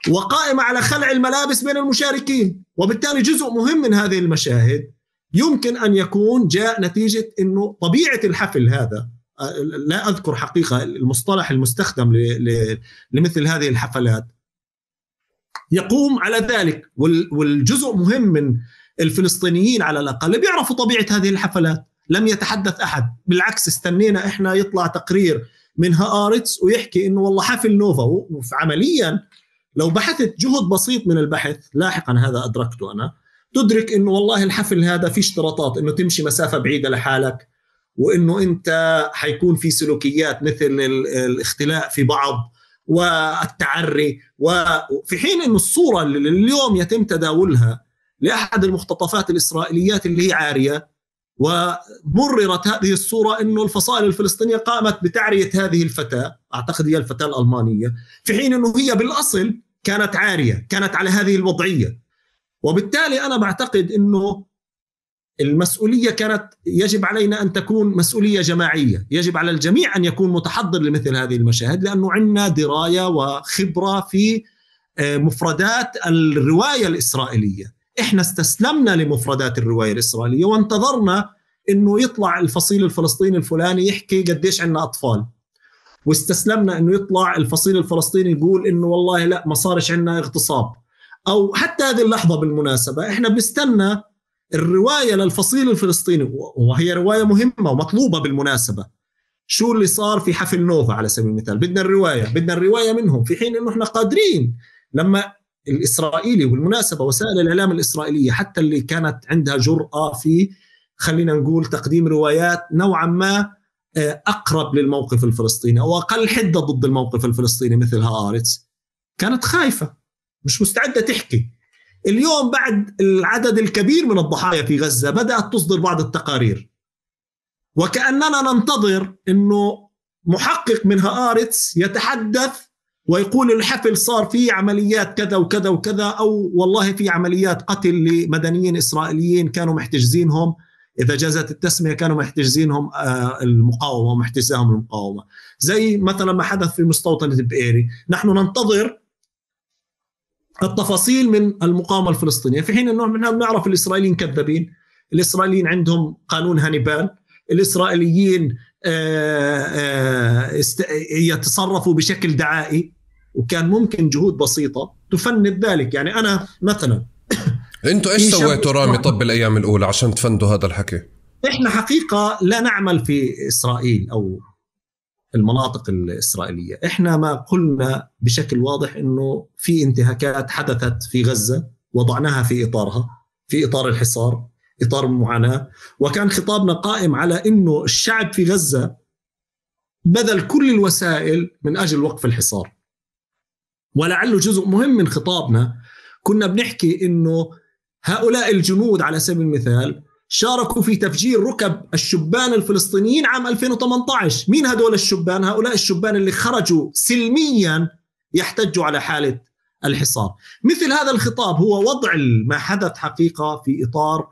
وقائمة على خلع الملابس بين المشاركين، وبالتالي جزء مهم من هذه المشاهد يمكن أن يكون جاء نتيجة أنه طبيعة الحفل هذا، لا أذكر حقيقة المصطلح المستخدم لمثل هذه الحفلات، يقوم على ذلك. والجزء مهم من الفلسطينيين على الأقل بيعرفوا طبيعة هذه الحفلات. لم يتحدث أحد، بالعكس استنينا إحنا يطلع تقرير من هآرتس ويحكي إنه والله حفل نوفا. وعمليا لو بحثت جهد بسيط من البحث لاحقا، هذا أدركته أنا، تدرك إنه والله الحفل هذا فيه اشتراطات، إنه تمشي مسافة بعيدة لحالك، وإنه أنت حيكون في سلوكيات مثل الاختلاء في بعض والتعري. وفي حين إنه الصورة اللي اليوم يتم تداولها لأحد المختطفات الإسرائيليات اللي هي عارية، ومررت هذه الصورة أنه الفصائل الفلسطينية قامت بتعرية هذه الفتاة، أعتقد هي الفتاة الألمانية، في حين أنه هي بالأصل كانت عارية، كانت على هذه الوضعية. وبالتالي أنا بعتقد أنه المسؤولية كانت يجب علينا أن تكون مسؤولية جماعية. يجب على الجميع أن يكون متحضر لمثل هذه المشاهد، لأنه عندنا دراية وخبرة في مفردات الرواية الإسرائيلية. إحنا استسلمنا لمفردات الرواية الإسرائيلية وانتظرنا إنه يطلع الفصيل الفلسطيني الفلاني يحكي قديش عنا أطفال، واستسلمنا إنه يطلع الفصيل الفلسطيني يقول إنه والله لا ما صارش عنا اغتصاب. أو حتى هذه اللحظة بالمناسبة إحنا بنستنى الرواية للفصيل الفلسطيني، وهي رواية مهمة ومطلوبة بالمناسبة. شو اللي صار في حفل نوفا على سبيل المثال؟ بدنا الرواية منهم، في حين إنه إحنا قادرين. لما الإسرائيلي، والمناسبة وسائل الإعلام الإسرائيلية حتى اللي كانت عندها جرأة في خلينا نقول تقديم روايات نوعا ما أقرب للموقف الفلسطيني أو أقل حدة ضد الموقف الفلسطيني مثل هآرتس، كانت خايفة مش مستعدة تحكي. اليوم بعد العدد الكبير من الضحايا في غزة بدأت تصدر بعض التقارير، وكأننا ننتظر أنه محقق من هآرتس يتحدث ويقول الحفل صار فيه عمليات كذا وكذا وكذا، أو والله في عمليات قتل لمدنيين إسرائيليين كانوا محتجزينهم، إذا جازت التسمية كانوا محتجزينهم المقاومة ومحتجزاهم المقاومة، زي مثلا ما حدث في مستوطنة بئيري. نحن ننتظر التفاصيل من المقاومة الفلسطينية، في حين أنه نعرف الإسرائيليين كذابين. الإسرائيليين عندهم قانون هانيبال، الإسرائيليين يتصرفوا بشكل دعائي، وكان ممكن جهود بسيطة تفند ذلك. يعني أنا مثلا انتوا ايش سويتوا رامي طب بالأيام الأولى عشان تفندوا هذا الحكي؟ إحنا حقيقة لا نعمل في إسرائيل أو المناطق الإسرائيلية. إحنا ما قلنا بشكل واضح إنه في انتهاكات حدثت في غزة وضعناها في إطارها، في إطار الحصار، إطار المعاناة، وكان خطابنا قائم على إنه الشعب في غزة بذل كل الوسائل من أجل وقف الحصار. ولعله جزء مهم من خطابنا كنا بنحكي إنه هؤلاء الجنود على سبيل المثال شاركوا في تفجير ركب الشبان الفلسطينيين عام 2018. مين هدول الشبان؟ هؤلاء الشبان اللي خرجوا سلميا يحتجوا على حالة الحصار. مثل هذا الخطاب هو وضع ما حدث حقيقة في إطار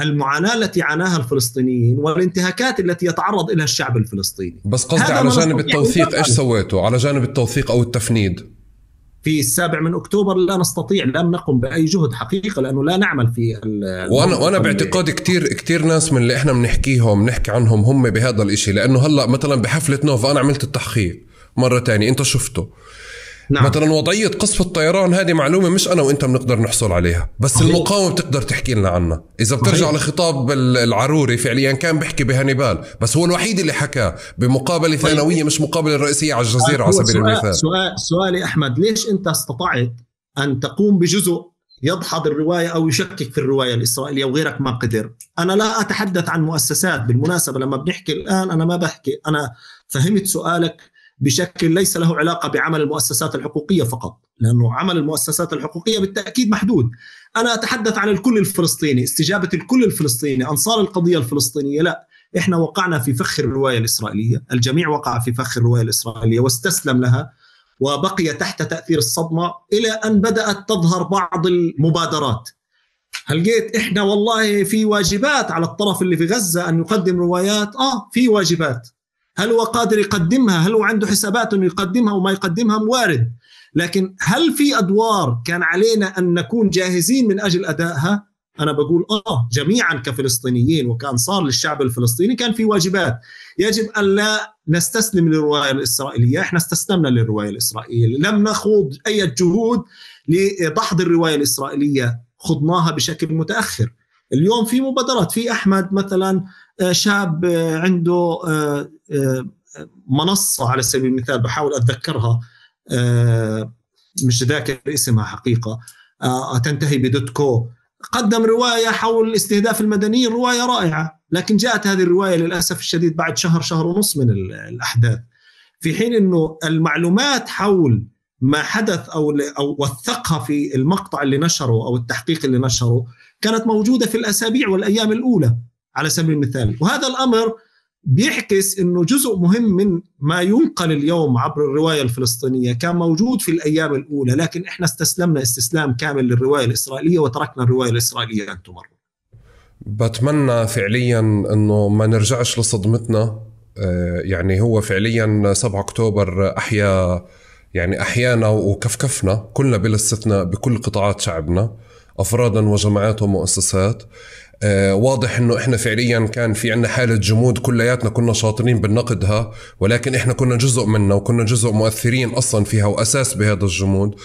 المعاناة التي عاناها الفلسطينيين والانتهاكات التي يتعرض إليها الشعب الفلسطيني. بس قصدي على جانب التوثيق إيش سويتوا؟ على جانب التوثيق أو التفنيد في 7 أكتوبر لا نستطيع، لم نقم بأي جهد حقيقة لأنه لا نعمل في وأنا باعتقادي كتير ناس من اللي إحنا بنحكي عنهم هم بهذا الإشي. لأنه هلأ مثلا بحفلة نوفا أنا عملت التحقيق مرة تانية، أنت شفته. نعم. مثلا وضعية قصف الطيران هذه معلومة مش أنا وإنت بنقدر نحصل عليها، بس المقاومة بتقدر تحكي لنا عنها. إذا بترجع لخطاب العروري فعليا كان بيحكي بهانيبال، بس هو الوحيد اللي حكى بمقابلة ثانوية مش مقابلة رئيسية على الجزيرة على سبيل المثال. سؤالي أحمد، ليش أنت استطعت أن تقوم بجزء يدحض الرواية أو يشكك في الرواية الإسرائيلية وغيرك ما قدر؟ أنا لا أتحدث عن مؤسسات بالمناسبة، لما بنحكي الآن أنا ما بحكي، أنا فهمت سؤالك بشكل ليس له علاقة بعمل المؤسسات الحقوقية فقط، لأنه عمل المؤسسات الحقوقية بالتأكيد محدود. أنا أتحدث عن الكل الفلسطيني، استجابة الكل الفلسطيني، أنصار القضية الفلسطينية. لا، إحنا وقعنا في فخ الرواية الإسرائيلية، الجميع وقع في فخ الرواية الإسرائيلية واستسلم لها وبقي تحت تأثير الصدمة إلى أن بدأت تظهر بعض المبادرات. هل جيت إحنا والله في واجبات على الطرف اللي في غزة أن يقدم روايات؟ في واجبات. هل هو قادر يقدمها؟ هل هو عنده حسابات أنه يقدمها وما يقدمها؟ وارد. لكن هل في أدوار كان علينا أن نكون جاهزين من أجل أدائها؟ أنا بقول جميعا كفلسطينيين وكأنصار للشعب الفلسطيني كان في واجبات. يجب أن لا نستسلم للرواية الإسرائيلية. إحنا استسلمنا للرواية الإسرائيلية، لم نخوض أي جهود لدحض الرواية الإسرائيلية، خضناها بشكل متأخر. اليوم في مبادرات، في أحمد مثلا شاب عنده منصة على سبيل المثال، بحاول أتذكرها مش ذاكر اسمها حقيقة، تنتهي بدوتكو، قدم رواية حول استهداف المدنيين، رواية رائعة، لكن جاءت هذه الرواية للأسف الشديد بعد شهر ونص من الأحداث، في حين أنه المعلومات حول ما حدث أو وثقها في المقطع اللي نشره أو التحقيق اللي نشره كانت موجودة في الأسابيع والأيام الأولى على سبيل المثال. وهذا الأمر بيحكس أنه جزء مهم من ما ينقل اليوم عبر الرواية الفلسطينية كان موجود في الأيام الأولى، لكن إحنا استسلمنا استسلام كامل للرواية الإسرائيلية وتركنا الرواية الإسرائيلية أن تمر. بتمنى فعليا أنه ما نرجعش لصدمتنا. يعني هو فعليا 7 أكتوبر أحيانا وكفكفنا كلنا بلا استثناء بكل قطاعات شعبنا، أفرادا وجماعات ومؤسسات. واضح انه احنا فعليا كان في عنا حالة جمود، كلياتنا كنا شاطرين بالنقدها، ولكن احنا كنا جزء منها وكنا جزء مؤثرين اصلا فيها واساس بهذا الجمود.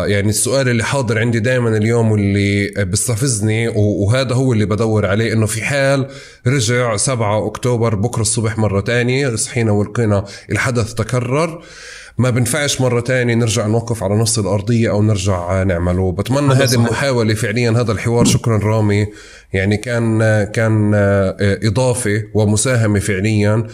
يعني السؤال اللي حاضر عندي دائما اليوم واللي بيستفزني وهذا هو اللي بدور عليه، انه في حال رجع 7 أكتوبر بكرة الصبح مرة تانية، صحينا ولقينا الحدث تكرر، ما بنفعش مرة تانية نرجع نوقف على نص الأرضية أو نرجع نعمله. بتمنى هذه المحاولة فعليا، هذا الحوار شكرا رامي، يعني كان إضافة ومساهمة فعليا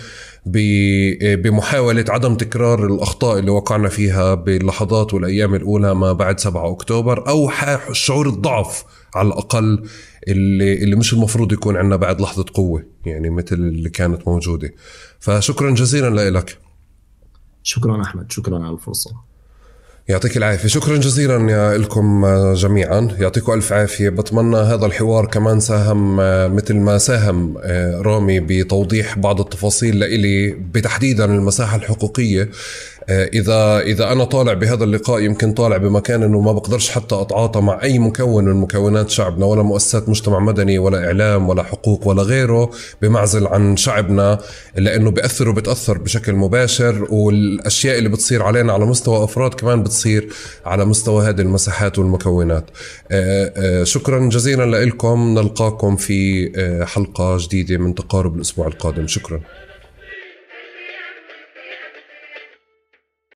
بمحاولة عدم تكرار الأخطاء اللي وقعنا فيها باللحظات والأيام الأولى ما بعد 7 أكتوبر، أو شعور الضعف على الأقل اللي مش المفروض يكون عندنا بعد لحظة قوة يعني مثل اللي كانت موجودة. فشكرا جزيلا لك. شكرا أحمد، شكرا على الفرصة. يعطيك العافية. شكرا جزيلا لكم جميعا، يعطيكم ألف عافية. بتمنى هذا الحوار كمان ساهم مثل ما ساهم رامي بتوضيح بعض التفاصيل لإلي بتحديدا المساحة الحقوقية إذا أنا طالع بهذا اللقاء يمكن طالع بمكان أنه ما بقدرش حتى أتعاطى مع أي مكون من مكونات شعبنا، ولا مؤسسات مجتمع مدني ولا إعلام ولا حقوق ولا غيره، بمعزل عن شعبنا، لأنه بتأثر بشكل مباشر، والأشياء اللي بتصير علينا على مستوى أفراد كمان بتصير على مستوى هذه المساحات والمكونات. شكرا جزيلا لكم، نلقاكم في حلقة جديدة من تقارب الأسبوع القادم. شكرا.